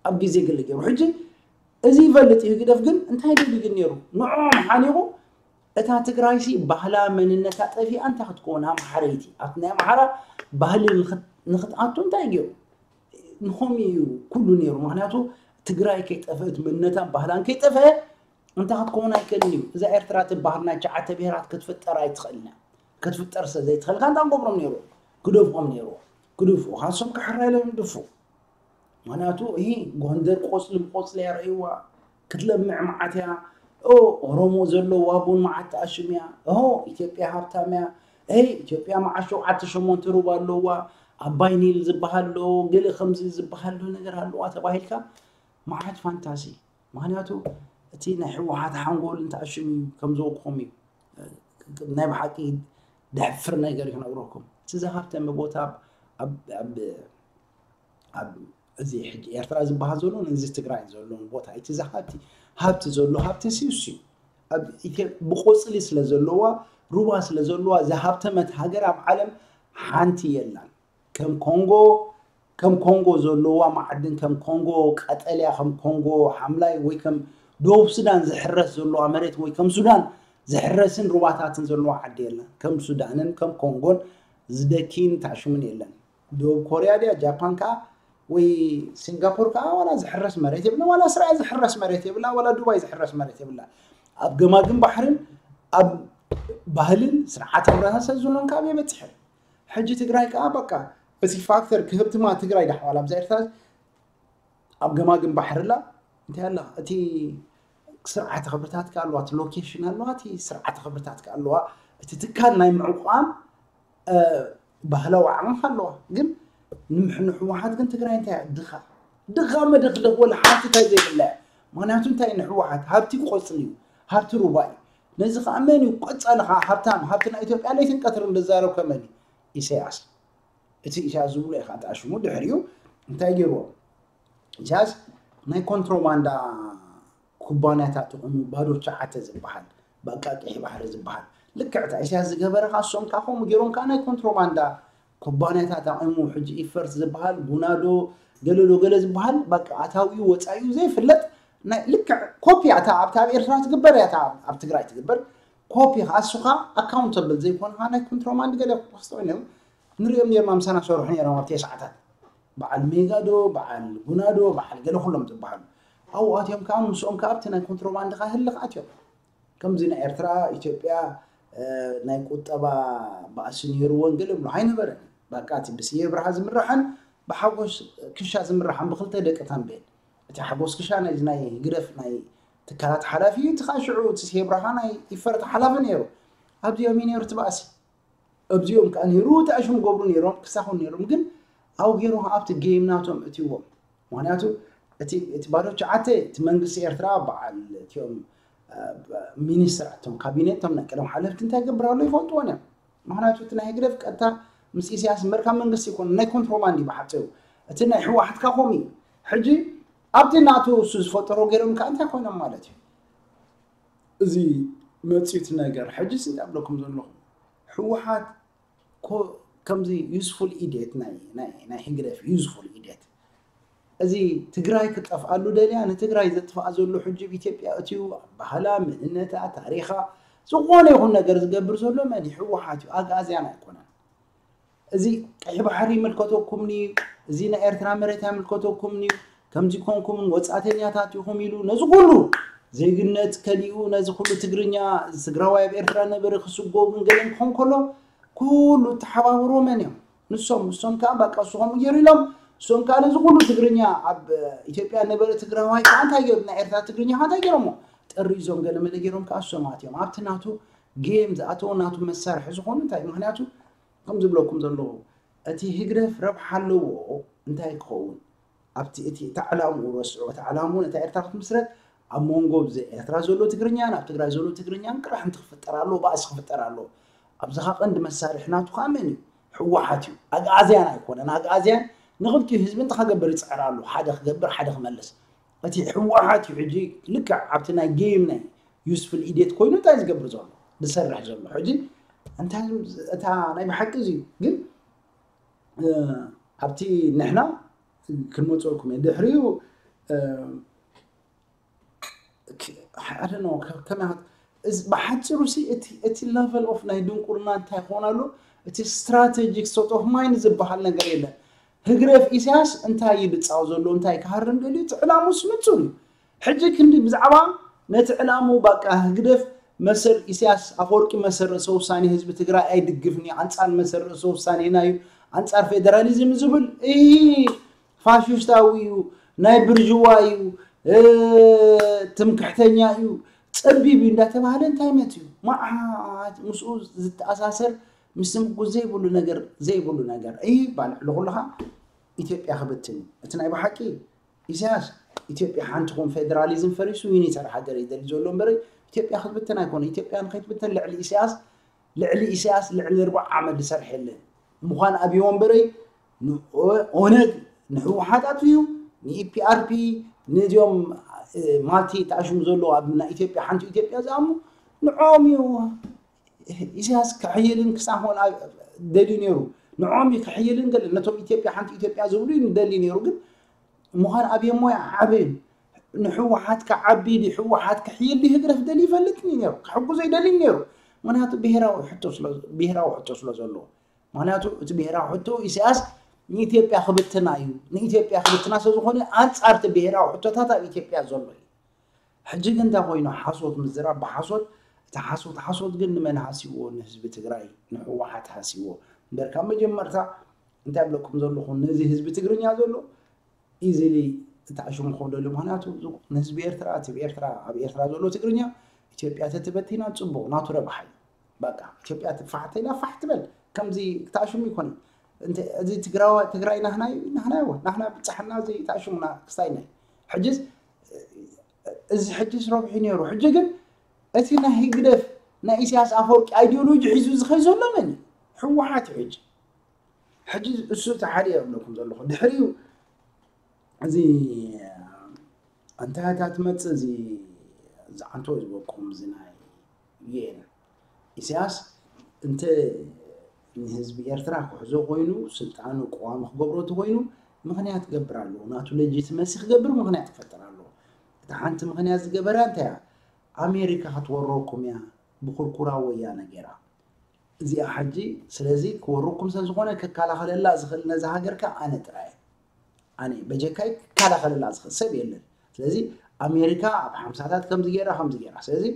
ኣብ ግዜ ገለ ገይሩ ሕጂ እዚ ይፈልጥ እዩ ህግደፍ ግን እንታይ ደሊግን ነይሩ ንዕኦም ሓኒቑ እታ ትግራይሲ ባህላ መንነታ ጠፊኣ እንታይ ክትከውን ኣምሓረይቲ ኣብቲ ናይ ኣምሓራ ባህሊ ንክትኣቱ እንታይ ገይሩ ንኸም እዩ ኩሉ ነይሩ ምክንያቱ ትግራይ ከይጠፍእት መንነታን ባህላን ከይጠፍአ እንታይ ክትከውን ኣይክእልን እዩ እዛ ኤርትራ ትበሃል ናይ ትሽዓተ ብሄራት ክትፍጠር ኣይትኽእልን ክትፍጠር ስለ ዘይትኽእል ካንታ ንገብሮም ነይሩ ክደፍኦም ነይሩ ክድፍኡ ካሶም ክሕራ ኢሎም ይድፉ ምክንያቱ ይሄ ጎንደር ቆፅሊ ብቆፅሊ እያ ረእይዋ ክትለምዕ መዓት እያ ኦ ኦሮሞ ዘለዋ ቡን መዓት ተኣሽም እያ። ኦ ኢትዮጵያ ሃብታም እያ። እ ኢትዮጵያ መዓት ሸውዓተ ሸሞንተ ሩባ ኣለዋ። ኣባይ ኒል ዝበሃል ኣሎ፣ ገለ ከምዚ ዝበሃል ኣሎ ነገር ኣለዋ ተባሂልካ መዓት ፋንታሲ። ምክንያቱ እቲ ናይ ህወሓት ሓንጎል እንተኣሽም እዩ ከም ዝበልኩኹም እዩ። ናይ ብሓቂ ደሕፍር ነገር ክነግረኩም። እቲ ዝሃብተመ ቦታ ኣብ ኣብ ኣብ ኣብ እዚ ሕጂ ኤርትራ ዝበሃል ዘሎ እዚ ትግራይ ዘሎ ቦታ እቲ ዝሃብቲ ሃብቲ ዘሎ ሃብቲ ሲውሲ ኣብ ኢትዮ- ብቆፅሊ ስለ ዘለዋ ሩባ ስለ ዘለዋ ዝሃብተመት ሃገር ኣብ ዓለም ሓንቲ የላን። ከም ኮንጎ ከም ኮንጎ ዘለዋ ማዕድን ከም ኮንጎ ቀጠልያ ከም ኮንጎ ሓምላይ ወይ ከም ደቡብ ሱዳን ዝሕረስ ዘለዋ መሬት ወይ ከም ሱዳን ዝሕረስን ሩባታትን ዘለዋ ዓዲ የላን። ከም ሱዳንን ከም ኮንጎን ዝደኪን ታሽምን የለን። ደቡብ ኮርያ ድያ ጃፓን ከዓ ወይ ሲንጋፖር ከዓ ዋላ ዝሕረስ መሬት የብላ፣ ዋላ እስራኤል ዝሕረስ መሬት የብላ፣ ዋላ ዱባይ ዝሕረስ መሬት የብላ። ኣብ ገማግም ባሕርን ኣብ ባህልን ስርዓት ሕብረተሰብ ዝብሎን ካብ የበፅሕን። ሕጂ ትግራይ ከዓ በቃ እቲ ፋክተር ክህብትማ ትግራይ ዳሕዋል ኣብዛ ኤርትራ ኣብ ገማግም ባሕሪ ላ እንታይ ኣላ እቲ ስርዓተ ክብርታት ከ ኣለዋ፣ እቲ ሎኬሽን ኣለዋ፣ እቲ ስርዓተ ክብርታት ከ ኣለዋ፣ እቲ ትካል ናይ ምዕቋም እ፣ ባህላዊ ዓቕሚ ከ ኣለዋ። ግን ንምሕ- ንሕወሓት ግን ትግራይ እንታይ እያ? ድኻ ድኻ መደኽደኽ ወላ ሓንቲ እንታይ ዘይብላ እያ። ምክንያቱ እንታይ ንሕወሓት ሃብቲ ቆፅሊ እዩ፣ ሃብቲ ሩባ እዩ። ነዚ ከዓ መን እዩ ቆፃሊ ከዓ ሃብታም ሃብቲ ናይ ኢትዮጵያ ለይትን ቀትርን ዝዛረብ ከመን እዩ? ኢሳያስ። እቲ ኢሳያስ ዝብሎ እዩ ከዓ ተኣሽሙ ድሕሪኡ እንታይ ገይርዎ? ኢሳያስ ናይ ኮንትሮባንዳ ኩባንያታት ይኹኑ ባዶ ቻዓተ ዝበሃል በቃ ቀይሕ ባሕሪ ዝበሃል ልክዕ እታ ኢሳያስ ዝገበረ ከዓ እሶም ከዓ ከምኡ ገይሮም ከዓ ናይ ኮንትሮባንዳ ኩባንያታት ኣቑሙ ሕጂ ኢፈርት ዝበሃል ጉናዶ ገለዶ ገለ ዝበሃል በቃ ኣታዊኡ ወፃኢኡ ዘይፍለጥ ናይ ልክዕ ኮፒ እታ ኣብታ ኣብ ኤርትራ ትግበር እያ እታ ኣብ ትግራይ ትግበር ኮፒ ከዓ እሱ ከዓ ኣካውንተብል ዘይኮነ ከዓ ናይ ኮንትሮባንድ ገለ ክወስዶ እዮም ንሪኦም ነርና ምሳና ሰርሑ ነሮም ኣብ ተስዓታት በዓል ሜጋ ዶ በዓል ጉና ዶ በዓል ገለ ኩሎም ዝበሃሉ ኣብኡ ኣትዮም ከዓ ምስኦም ከዓ ኣብቲ ናይ ኮንትሮባንድ ከዓ ህልኽ ኣትዮም ከምዚ ናይ ኤርትራ ኢትዮጵያ ናይ ቁጠባ ባእሲ ነይርዎን ገለ ብሎ ኣይነበረን በቃ እቲ ብስየ ብርሃ ዝምራሕን ብሓጎስ ክሻ ዝምራሕን ብክልተ ደቂ ታንቤን እቲ ሓጎስ ክሻ ናይ ናይ ግደፍ ናይ ትካላት ሓላፊ እዩ እቲ ከዓ ሽዑ እቲ ስየ ብርሃ ናይ ይፈርት ሓላፊ ነይሩ ኣብዚኦም እዩ ነይሩ እቲ ባእሲ ኣብዚኦም ከዓ ነይሩ ተኣሽሙ ገብሩ ነይሮም ክሳኹን ነይሮም ግን ኣብኡ ገይሮም ኣብቲ ጌም ናቶም እትዎም ምክንያቱ እቲ እቲ ባዶ ሸዓተ እቲ መንግስቲ ኤርትራ በዓል እቲኦም ሚኒስትር ኣቶም ካቢኔት ቶም ናይ ቀደም ሓለፍቲ እንታይ ገብር ኣሎ ይፈልጥዎን እዮም ምክንያቱ እቲ ናይ ህግደፍ ቀጥታ ምስ ኢሳያስ መርካብ መንግስቲ ይኮን ናይ ኮንትሮባንድ እዩ ብሓፂሩ እቲ ናይ ህወሓትካ ከምኡ እዩ ሕጂ ኣብቲ ናቱ እሱ ዝፈጠሮ ገይሮም ከዓ እንታይ ኮይኖም ማለት እዩ እዚ መፅዩት ነገር ሕጂ ስንት ኣብለኩም ዘለኹም ህወሓት ከምዚ useful idiot ናይ ናይ ናይ ህግደፍ useful idiot እዚ ትግራይ ክጠፍኣሉ ደልያ ንትግራይ ዘጥፍኣ ዘሎ ሕጂ ኣብ ኢትዮጵያ እትዩ ባህላ መንነታ ታሪኻ ዝኾነ ይኹን ነገር ዝገብር ዘሎ መን ህወሓት እዩ ኣግኣዝያን ኣይኮነን እዚ ቀይ ባሕሪ ይምልከተኩም እዩ እዚ ናይ ኤርትራ መሬት ኣይምልከተኩም እዩ ከምዚ ኮንኩምን ወፃተኛታት ኢኹም ኢሉ ነዚ ኩሉ ዜግነት ከሊኡ ነዚ ኩሉ ትግርኛ ትግራዋይ ኣብ ኤርትራ ነበረ ክስጎ ግን ገለን ክኾን ከሎ ኩሉ ተሓባብሮ መን እዮም ንሶም ንሶም ከዓ በቃ እሱ ከምኡ ገይሩ ኢሎም እሶም ከዓ ነዚ ኩሉ ትግርኛ ኣብ ኢትዮጵያ ነበረ ትግራዋይ ከዓ እንታይ ገይሩ ናይ ኤርትራ ትግርኛ ከዓ እንታይ ገይሮሞ ጥሪ እዞም ገለመለ ገይሮም ከዓ እሶም ኣትዮም ኣብቲ ናቱ ጌም ዝኣተዎ ናቱ መሳርሒ ዝኾኑ እንታይ ምክንያቱ ከም ዝብለኩም ዘለኹ እቲ ህግደፍ ረብሓ ኣለዎ እንታይ ክኸውን ኣብቲ እቲ እቲ ዕላምኡ ረስዑ እቲ ዕላምኡ ነታ ኤርትራ ክትምስረት ኣብ መንጎ ብዚ ኤርትራ ዘሎ ትግርኛን ኣብ ትግራይ ዘሎ ትግርኛን ቅራሕንቲ ክፍጠር ኣለዎ ባእሲ ክፍጠር ኣለዎ ኣብዚኻ ቀንዲ መሳርሒ ናቱ ከዓ መን እዩ ህወሓት እዩ ኣግኣዝያን ኣይኮነን ኣግኣዝያን ንክልቲኡ ህዝቢ እንታይ ከገብር ይፅዕር ኣሎ ሓደ ክገብር ሓደ ክመልስ እቲ ህወሓት እዩ ሕጂ ልክዕ ኣብቲ ናይ ጌም ናይ useful idiot ኮይኑ እንታይ ዝገብር ዘሎ ዝሰርሕ ዘሎ ሕጂ እንታይ እታ ናይ ብሓቂ እዚ ግን ኣብቲ ንሕና ክንመፀልኩም እየ ድሕሪኡ ከመይ ብሓፂሩ እቲ level of ናይ ድንቁርና እንታይ ክኾን ኣሎ እቲ strategic state of mind ዝበሃል ነገር የለን ህግደፍ ኢሳያስ እንታይ እዩ ዝፃወ ዘሎ እንታይ ክሃርም ደልዩ እቲ ዕላሙስ ንፁር እዩ ሕጂ ክንዲ ብዛዕባ ነቲ ዕላሙ ባቃ ህግደፍ መሰል ኢሳያስ ኣፈወርቂ መሰል ርእሰ ውሳኔ ህዝቢ ትግራይ ኣይድግፍን እዩ ኣንጻር መሰል ርእሰ ውሳኔና እዩ ኣንጻር ፌደራሊዝም ዝብል እሂ ፋሽስታዊ እዩ ናይ ብርጅዋ እዩ ትምክሕተኛ እዩ ጸቢብ እዩ እንዳተባሃለ እንታይ መት እዩ? መዓት ምስኡ ዝተኣሳሰር፣ ምስ ምጉዝ ዘይብሉ ነገር ዘይብሉ ነገር ይባል። ልኹልኻ ኢትዮጵያ ክብትን እዩ። እቲ ናይ ብሓቂ ኢሳያስ ኢትዮጵያ ሓንቲ ኾን፣ ፌደራሊዝም ፈሪሱ ዩኒተር ሃገር ይደሊ ዘሎ እምበር ኢትዮጵያ ክትብትን ኣይኮነ። ኢትዮጵያ ንኸይትብትን ልዕሊ ኢሳያስ ልዕሊ ኢሳያስ ልዕሊ ርባዕ ዓመት ዝሰርሐ የለን። ምዃን ኣብዮ እምበረይ ንኦነግ ንህወሓት ኣትዩ ንኢፒኣርፒ ነዚኦም ማልቲ ተኣሽሙ ዘለዉ ኣብ ናይ ኢትዮጵያ ሓንቲ ኢትዮጵያ ዝኣምኑ ንዖም እዩ ኢሳያስ ክሕይልን ክሳኾን ደልዩ ነይሩ። ንዖም እዩ ክሕይልን ገለ ነቶም ኢትዮጵያ ሓንቲ ኢትዮጵያ ዝብሉ እዩ ንደሊ ነይሩ። ግን ምዃን ኣብዮ ሞያ ዓብን ንህወሓት ክዓቢ ድዩ ህወሓት ክሕይል ድዩ ህግደፍ ደልዩ ይፈልጥ እዩ ነይሩ። ክሕግዞ ይደሊ ነይሩ። ምክንያቱ ብሄራዊ ሕቶ ስለ ብሄራዊ ሕቶ ስለ ዘለዎ። ምክንያቱ እቲ ብሄራዊ ሕቶ ኢሳያስ ንኢትዮጵያ ክብትና እዩ። ንኢትዮጵያ ክብትና ስለ ዝኾነ ኣንጻር እቲ ብሄራዊ ሕቶታት ኣብ ኢትዮጵያ ዘሎ እዩ። ሕጂ ግን እንታይ ኮይኑ ሓሶት ምዝራብ ብሓሶት እቲ ሓሶት ሓሶት ግን ንመን ሃስይዎ ንህዝቢ ትግራይ ንህወሓት ሃስይዎ እምበር ካብ መጀመርታ እንታይ ብለኩም ዘለኹ ነዚ ህዝቢ ትግርኛ ዘሎ ኢዚሊ ተኣሽሙ ክኾን ደልዩ ምክንያቱ ንህዝቢ ኤርትራ እቲ ኤርትራ ኣብ ኤርትራ ዘሎ ትግርኛ ኢትዮጵያ ተትበቲና ፅቡቅ ናቱ ረብሓ እዩ በቃ ኢትዮጵያ ትፋሕተ ኢላ ፋሕ ትበል ከምዚ ክተኣሽሙ ይኮነ እዚ ትግራዋ ትግራይ ናህና እዩ ናህና ይዎ ናህና ብፃሕና እዚ ተኣሽሙና ክስታይና እዩ ሕጅስ እዚ ሕጅስ ረብሑ ነይሩ ሕጂ ግን እቲ ናይ ህግደፍ ናይ ኢሳያስ ኣፈወርቂ ኣይዲዮሎጂ ሒዙ ዝኸይ ዘሎ መን ህወሓት እዩ ሕጂ ሕጂ እሱ እቲ ሓደ እየ እብለኩም ዘለኹ ድሕሪኡ እዚ እንታይ እታ ትመፅእ እዚ ዝዓንቶ ዝበኩም እዚ ናይ ዩኤን ኢሳያስ እንተ ንህዝቢ ኤርትራ ክሕዞ ኮይኑ ስልጣኑ ቀዋሚ ክገብሮ እቲ ኮይኑ ምክንያት ክገብር ኣለዎ ናቱ ሌጂትመሲ ክገብር ምክንያት ክፈጥር ኣለዎ እታ ሓንቲ ምክንያት ዝገበራ እንታይ እያ ኣሜሪካ ክትወረኩም እያ ብኩርኩራ ወያነ ገይራ እዚኣ ሕጂ ስለዚ ክወረኩም ሰብ ዝኾነ ክከላኸለላ ዝኽእል ነዛ ሃገር ከ ኣነ ጥራይ ኣነ በጀካይ ክከላኸለላ ዝኽእል ሰብ የለን ስለዚ ኣሜሪካ ኣብ ሓምሳታት ከምዚ ገይራ ከምዚ ገይራ ስለዚ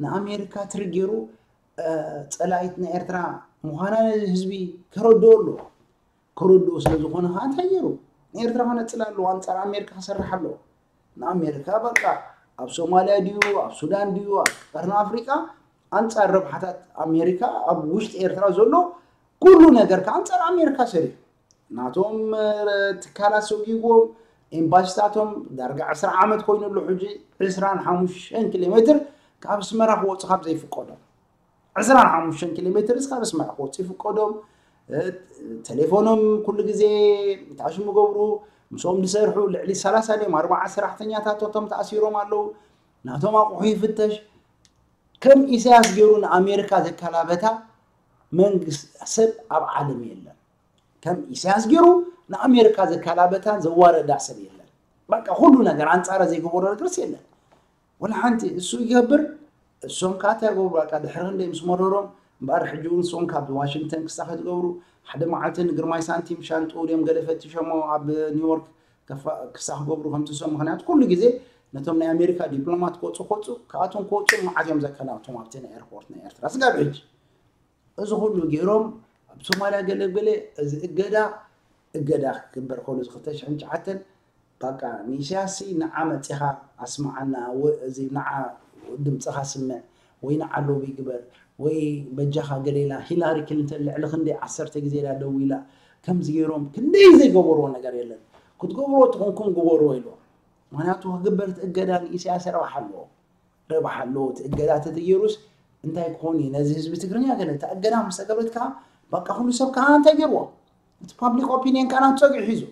ንኣሜሪካ ትርጌሩ ፀላኢት ንኤርትራ ምዃና ነዚ ህዝቢ ከረድኦ ኣለዎ ከረድኦ ስለ ዝኾነ ከዓ እንታይ ገይሩ ንኤርትራ ከነፅላ ኣለዎ ኣንፃር ኣሜሪካ ክሰርሕ ኣለዎ ንኣሜሪካ በቃ ኣብ ሶማልያ ድዩ ኣብ ሱዳን ድዩ ኣብ ቀርኒ ኣፍሪቃ ኣንፃር ረብሓታት ኣሜሪካ ኣብ ውሽጢ ኤርትራ ዘሎ ኩሉ ነገር ከዓ ኣንፃር ኣሜሪካ ሰሪሑ ናቶም ትካላት ሰጒግዎም ኤምባሲታቶም ዳርጋ ዕስራ ዓመት ኮይኑ ኣሎ ሕጂ ዕስራን ሓሙሽተን ኪሎ ሜትር ካብ ኣስመራ ክወፁ ካብ ዘይፍቀዶም ዕስራን ሓሙሽተን ኪሎ ሜትር እስካብ ኣስመራ ክወፁ ይፍቀዶም ቴሌፎኖም ኩሉ ግዜ ታሽሙ ገብሩ ምስኦም ዝሰርሑ ልዕሊ ሰላሳ ድዮም ኣርባዓ ሰራሕተኛታት እቶም ተኣሲሮም ኣለዉ ናቶም ኣቑሑ ይፍተሽ ከም ኢሳያስ ገይሩ ንኣሜሪካ ዘከላበታ መንግስት ሰብ ኣብ ዓለም የለን ከም ኢሳያስ ገይሩ ንኣሜሪካ ዘከላበታ ዘዋረዳ ሰብ የለን በቃ ኩሉ ነገር ኣንፃረ ዘይገበሮ ነገርስ የለን ወላ ሓንቲ እሱ ይገብር እሶም ከዓ እንታይ ይገብሩ በቃ ድሕሪ ክንደይ ምስ መረሮም እምበኣር ሕጂ እውን እሶም ካብ ዋሽንግተን ክሳ ከትገብሩ ሓደ መዓልቲ ንግርማይ ሳንቲም ሻንጡ ድዮም ገለ ፈቲሾሞ ኣብ ኒውዮርክ ክሳ ክገብሩ ከምትሶም ምክንያቱ ኩሉ ግዜ ነቶም ናይ ኣሜሪካ ዲፕሎማት ክወፁ ክወፁ ካብኣቶም ክወፁ መዓት እዮም ዘከላብቶም ኣብቲ ናይ ኤርፖርት ናይ ኤርትራ ስጋብ ሕጂ እዚ ኩሉ ገይሮም ኣብ ሶማልያ ገለገለ እዚ እገዳ እገዳ ክግበር ከሎ እዚ ክልተ ሽሕን ትሽዓተን በቃ ንኢሳያስ ንዓ መፂኻ ኣስምዓና እዚ ንዓ ድምፅኻ ስምዕ ወይ ንዓ ሎቢ ግበር ወይ በጃኻ ገሌላ ሂላሪ ክሊንተን ልዕሊ ክንደይ ዓሰርተ ግዜ ኢላ ደዊላ ከምዚ ገይሮም ክንደይ ዘይገበርዎ ነገር የለን ክትገብርዎ ትኾንኩም ግበርዎ ኢልዎም ምክንያቱ ክግበር እቲ እገዳ ንኢሳያስ ረብሓ ኣለዎ ረብሓ ኣለዎ እቲ እገዳ ተተገይሩስ እንታይ ክኾን እዩ ነዚ ህዝቢ ትግርኛ ገለ እታ እገዳ ምስ ተገብረት ከዓ በቃ ኩሉ ሰብ ከዓ እንታይ ገይርዎ እቲ ፓብሊክ ኦፒኒየን ከዓ ናብ ፀግዒ ሒዙ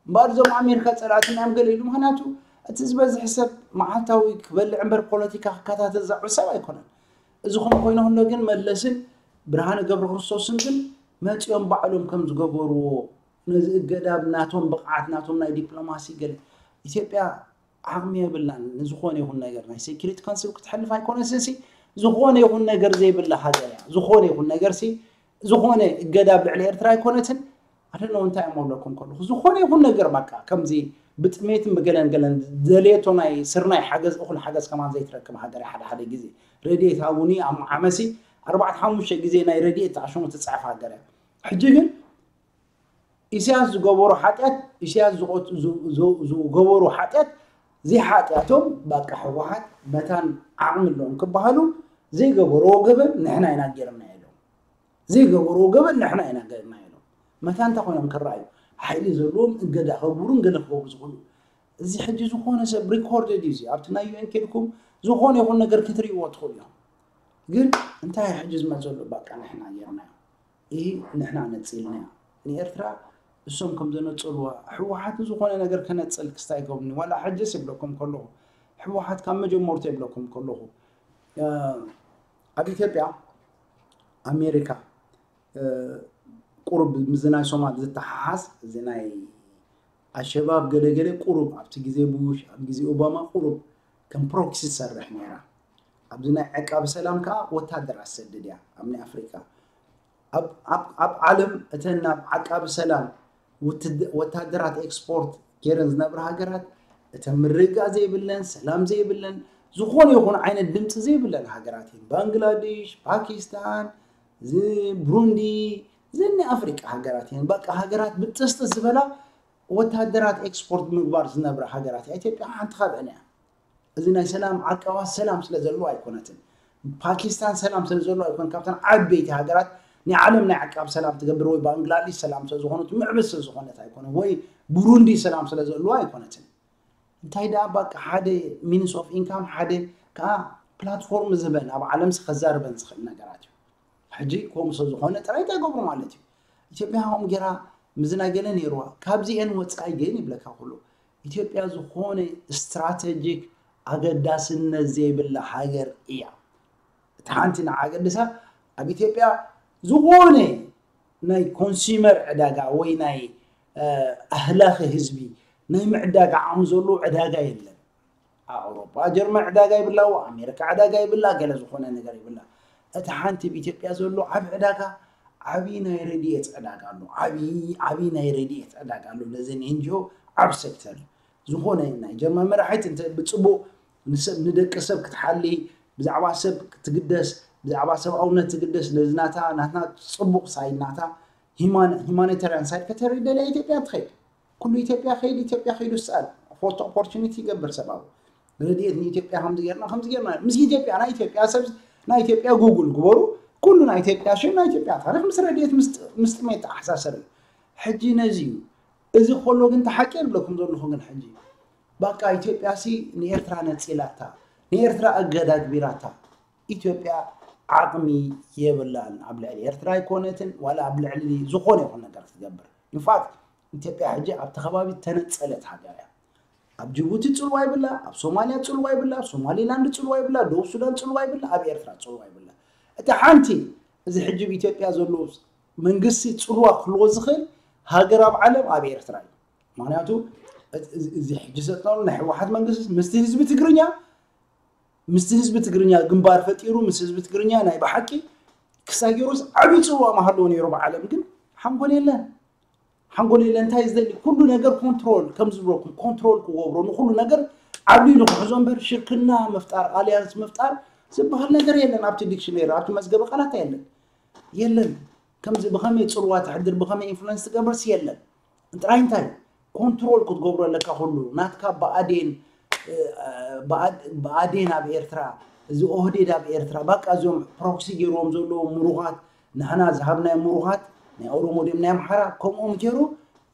እምበኣር እዞም ኣሜሪካ ፀላእትና እዮም ገለ ኢሉ ምክንያቱ እቲ ዝበዝሕ ሰብ መዓልታዊ ክበልዕ እምበር ፖለቲካ ክከታተል ዘዕብ ሰብ ኣይኮነን እዚ ኹም ኮይነ ኩሎ ግን መለስን ብርሃነ ገብረ ክርስቶስን ግን መፂኦም ባዕሎም ከም ዝገበርዎ ነዚ እገዳ ናቶም ብቕዓት ናቶም ናይ ዲፕሎማሲ ገለ ኢትዮጵያ ዓቕሚ የብላን ንዝኾነ ይኹን ነገር ናይ ሴኩሪቲ ካውንስል ክትሕልፍ ኣይኮነትን ሲ ዝኾነ ይኹን ነገር ዘይብላ ሃገር እያ ዝኾነ ይኹን ነገር ሲ ዝኾነ እገዳ ኣብ ልዕሊ ኤርትራ ኣይኮነትን ኣደነው እንታይ እሞ ኣለኩም ከለኹ ዝኾነ ይኹን ነገር በቃ ከምዚ ብጥሜትን ብገለን ገለን ዘልየቶ ናይ ስርናይ ሓገዝ እኹል ሓገዝ ከማን ዘይትረክብ ሃገር እያ ሓደ ሓደ ግዜ ረድኤት ሃቡኒ ኣብ መዓመሲ ኣርባዕተ ሓሙሽተ ግዜ ናይ ረድኤት ተኣሽሙ ትፅዕፍ ሃገር እያ ሕጂ ግን ኢሳያስ ዝገበሮ ሓጢኣት ኢሳያስ ዝገበሮ ሓጢኣት ዘይሓጢኣቶም ባቃ ህወሓት መታን ዓቕሚ ኣለዎም ክበሃሉ ዘይገበርዎ ገበን ንሕና ኢና ጌርና ኢሎም። ዘይገበርዎ ገበን ንሕና ኢና ጌርና ኢሎም። መታን እንታይ ኮይኖም ክረኣዩ? ሓይሊ ዘለዎም እገዳ ከግብሩን ገለ ክገብሩ ዝኽእሉ። እዚ ሕጂ ዝኾነ ሰብ ሪኮርድድ እዩ። እዚ ኣብቲ ናይ ዩ ኤን ኬድኩም ዝኾነ ይኹን ነገር ክትርእይዎ ትኽእሉ እዮም። ግን እንታይ እዩ ሕጂ ዝመፅ ዘሎ? ባቃ ንሕና ጌርናዮ። ይህ ንሕና ነፂልናዮ። ንኤርትራ እሶም ከም ዘነፀልዋ ህወሓት ዝኾነ ነገር ከነፅል ክስታይ ይገብርኒ ዋላ ሕጅስ ይብለኩም ከለኹ ህወሓት ካብ መጀመርቱ ይብለኩም ከለኹ ኣብ ኢትዮጵያ ኣሜሪካ ቁሩብ ምስ ናይ ሶማል ዝተሓሓዝ እዚ ናይ ኣሸባብ ገለገለ ቁሩብ ኣብቲ ግዜ ቡሽ ኣብ ግዜ ኦባማ ቁሩብ ከም ፕሮክሲ ትሰርሕ ነይራ። ኣብዚ ናይ ዕቃብ ሰላም ከዓ ወታደር ኣሰድድ እያ ኣብ ናይ ኣፍሪካ ኣብ ዓለም እተን ናብ ዓቃቢ ሰላም ወታደራት ኤክስፖርት ገይረን ዝነብራ ሃገራት እተን ምርግጋእ ዘይብለን ሰላም ዘይብለን ዝኾነ ይኹን ዓይነት ድምፂ ዘይብለን ሃገራት እየን። ባንግላዴሽ፣ ፓኪስታን፣ ብሩንዲ፣ ዘን ናይ ኣፍሪቃ ሃገራት እየን። በቃ ሃገራት ብጥስጥስ ዝበላ ወታደራት ኤክስፖርት ምግባር ዝነብራ ሃገራት እያ። ኢትዮጵያ ሓንቲ ካብአን እያ። እዚ ናይ ሰላም ዓቃባት ሰላም ስለ ዘለዎ ኣይኮነትን። ፓኪስታን ሰላም ስለ ዘለዎ ኣይኮነ ካብተን ዓበይቲ ሃገራት ናይ ዓለም ናይ ዓቃብ ሰላም ትገብር ወይ ባንግላዴሽ ሰላም ስለ ዝኾነት ምዕብል ስለ ዝኾነት ኣይኮነ ወይ ብሩንዲ ሰላም ስለ ዘለዎ ኣይኮነትን። እንታይ ደኣ ባቃ ሓደ ሚንስ ኦፍ ኢንካም ሓደ ከዓ ፕላትፎርም ዝህበን ኣብ ዓለም ከዛርበን ዝኽእል ነገራት እዩ። ሕጂ ከምኡ ስለ ዝኾነ ጥራይ እንታይ ይገብሩ ማለት እዩ። ኢትዮጵያ ከምኡ ጌራ ምዝና ገለ ነይርዋ ካብዚአን ወፃኢ ግን ይብለካ ኩሉ ኢትዮጵያ ዝኾነ ስትራቴጂክ ኣገዳስነት ዘይብላ ሃገር እያ። እቲ ሓንቲ ንዓገድሳ ኣብ ኢትዮጵያ ዝኾነ ናይ ኮንሱመር ዕዳጋ ወይ ናይ ኣህላኺ ህዝቢ ናይ ምዕዳግ ዓቕሚ ዘለዎ ዕዳጋ የለን። ኣውሮፓ ጀርመን ዕዳጋ ይብላዎ ኣሜሪካ ዕዳጋ ይብላ ገለ ዝኾነ ነገር ይብላ። እቲ ሓንቲ ኣብ ኢትዮጵያ ዘሎ ዓብ ዕዳጋ ዓብዪ ናይ ረድኤት ዕዳጋ ኣሎ። ዓብዪ ናይ ረድኤት ዕዳጋ ኣሎ። ነዘን ኤንጂኦ ዓብ ሴክተር እዩ። ዝኾነ ናይ ጀርመን መራሒት እንተ ብፅቡቕ ንሰብ ንደቂ ሰብ ክትሓሊ ብዛዕባ ሰብ ክትግደስ ብዛዕባ ሰብኣውነት ትግደስ ነዚ ናታ ናትና ፅቡቕ ሳይድ ናታ ሂማኒታርያን ሳይድ ከተርኢ ደልያ ኢትዮጵያ ትኸይድ። ኩሉ ኢትዮጵያ ከይድ ኢትዮጵያ ከይዱ ስኣል ፎቶ ኦፖርቹኒቲ ይገብር ሰብኣዊ ረድኤት ንኢትዮጵያ ከምዚ ጌርና ከምዚ ጌርና ምስ ኢትዮጵያ ናይ ኢትዮጵያ ሰብ ናይ ኢትዮጵያ ጉግል ግበሩ። ኩሉ ናይ ኢትዮጵያ ሽም ናይ ኢትዮጵያ ታሪክ ምስ ረድኤት ምስ ጥሜት ተኣሓሳሰር እዩ። ሕጂ ነዚ እዩ እዚ ከሎ ግን ተሓቂ የብለኩም ዘለኹ ግን ሕጂ ባቃ ኢትዮጵያ ሲ ንኤርትራ ነፂላታ ንኤርትራ እገዳ ግቢራታ ኢትዮጵያ ዓቕሚ የብላን ኣብ ልዕሊ ኤርትራ ኣይኮነትን ዋላ ኣብ ልዕሊ ዝኾነ ይኹን ነገር ክትገብር ኢንፋክት ኢትዮጵያ ሕጂ ኣብቲ ከባቢ ተነፀለት ሃገር እያ። ኣብ ጅቡቲ ፅልዋ ይብላ ኣብ ሶማልያ ፅልዋ ይብላ ኣብ ሶማሊላንድ ፅልዋ ይብላ ደቡብ ሱዳን ፅልዋ ይብላ ኣብ ኤርትራ ፅልዋ ይብላ። እቲ ሓንቲ እዚ ሕጂ ኣብ ኢትዮጵያ ዘሎ መንግስቲ ፅልዋ ክህልዎ ዝኽእል ሃገር ኣብ ዓለም ኣብ ኤርትራ እዩ። ምክንያቱ እዚ ሕጂ ሰጥናሉ ናይ ህወሓት መንግስቲ ምስቲ ህዝቢ ትግርኛ ምስቲ ህዝቢ ትግርኛ ግንባር ፈጢሩ ምስ ህዝቢ ትግርኛ ናይ ብሓቂ ክሳጊሮስ ዓብዪ ፅልዋ ምሃለዎ ነይሩ ብዓለም ግን ሓንጎል የለን። ሓንጎል የለን እንታይ ዝደሊ ኩሉ ነገር ኮንትሮል ከም ዝብለኩም ኮንትሮል ክገብሮ ንኩሉ ነገር ዓብሊሉ ክሕዞ እምበር ሽርክና ምፍጣር ኣልያንስ ምፍጣር ዝበሃል ነገር የለን። ኣብቲ ዲክሽነሪ ኣብቲ መዝገበ ቃላት የለን የለን። ከምዚ ብኸመይ ፅልዋ ተሕድር ብኸመይ ኢንፍሉንስ ትገብርስ የለን። ጥራይ እንታይ ኮንትሮል ክትገብሮ ኣለካ ኩሉ ናትካ ብኣዴን ብኣዴን ኣብ ኤርትራ እዚ ኦህዴድ ኣብ ኤርትራ ባቃ እዚኦም ፕሮክሲ ገይርዎም ዘለዉ ምሩኻት ንሕና ዝሃብናዮ ምሩኻት ናይ ኦሮሞ ድም ናይ ኣምሓራ ከምኦም ገይሩ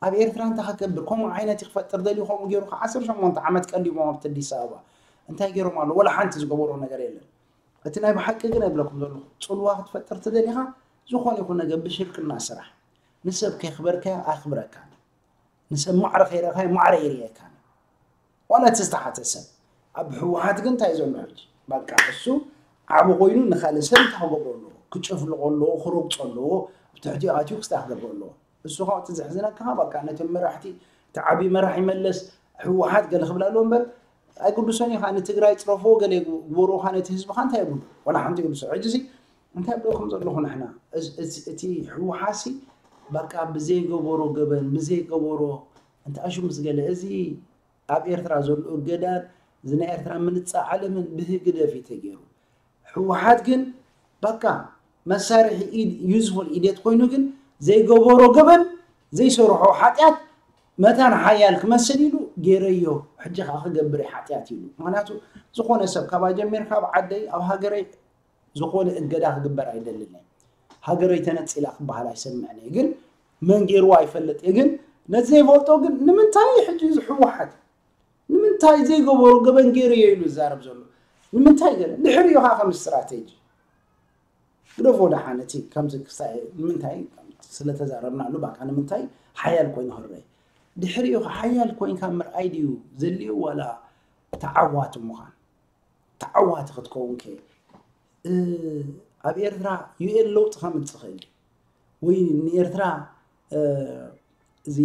ኣብ ኤርትራ እንታይ ከገብር ከምኡ ዓይነት ክፈጥር ደልዩ ከምኡ ገይሩ ከ ዓሰርተ ሸሞንተ ዓመት ቀሊቦም ኣብቲ ኣዲስ ኣበባ እንታይ ገይሮም ኣሎ ወላ ሓንቲ ዝገበሮ ነገር የለን። እቲ ናይ ብሓቂ ግን እብለኩም ዘለኹ ፅልዋ ክትፈጥር ትደሊኻ ዝኾነ ይኹን ነገር ብሽርክና ስራሕ ንሰብ ከየኽበርካዮ ኣኽብረካን ንሰብ ማዕረ ከይረእኻዮ ማዕረ ይርእየካን ዋላ እቲ ዝተሓተ ሰብ ኣብ ህወሓት ግን እንታይ ዘሎ ሕጂ በቃ እሱ ዓቢ ኮይኑ ንኻልእ ሰብ እንታይ ክገብሮ ኣለዎ ክጨፍልቆ ኣለዎ ክረግፆ ኣለዎ ብትሕቲኡ ኣትዩ ክስታይ ክገብሮ ኣለዎ እሱ ከዓ እቲ ዘሕዝነካ በቃ ነቶም መራሕቲ እቲ ዓብዪ መራሒ መለስ ህወሓት ገለ ክብላ ኣለዎ እምበር ኣይግድሶን እዩ ከዓ ንትግራይ ፅረፍዎ ገለ ግበርዎ ከዓ ነቲ ህዝቢ ከዓ እንታይ የብሉ ዋላ ሓንቲ ይግድሶ ሕጂ ሲ እንታይ ብለኩም ዘለኹ ንሕና እቲ ህወሓት ሲ በቃ ብዘይገበሮ ገበን ብዘይገበሮ እንተ ኣሹ ምስ ገለ እዚ ኣብ ኤርትራ ዘሎ እገዳን እዚ ናይ ኤርትራ ምንፃ ዓለምን ብህግደፍ እዩ ተገይሩ ህወሓት ግን በቃ መሳርሒ ኢድ ዩዝፉል ኢዴት ኮይኑ ግን ዘይገበሮ ገበን ዘይሰርሖ ሓጢኣት መታን ሓያል ክመስል ኢሉ ገይረዮ፣ ሕጂ ከዓ ክገብር ሓጢኣት ኢሉ። ምክንያቱ ዝኾነ ሰብ ካብ ኣጀሚርካ ኣብ ዓደይ ኣብ ሃገረይ ዝኾነ እገዳ ክግበር ኣይደልን። ሃገረይ ተነፂላ ክበሃል ኣይሰምዕን እየ። ግን መን ገይርዎ ኣይፈልጥ እየ። ግን ነቲ ዘይፈልጦ ግን ንምንታይ ሕጂ እዚ ህወሓት ንምንታይ ዘይገበሮ ገበን ገይሩ እየ ኢሉ ዝዛረብ ዘሎ? ንምንታይ ገለ ድሕሪኡ ከዓ ከም ስትራቴጂ ግደፎ ደሓን። እቲ ከምዚ ክሳይ ንምንታይ ስለተዛረብናሉ ባካ ንምንታይ ሓያል ኮይኑ ክረይ ድሕሪኡ ሓያል ኮይንካ ምርኣይ ድዩ ዘልዩ ዋላ ተዓዋቲ ምዃን? ተዓዋቲ ክትከውን ከ ኣብ ኤርትራ ዩኤን ለውጢ ከምፅእ ክእል ወይ ንኤርትራ እዚ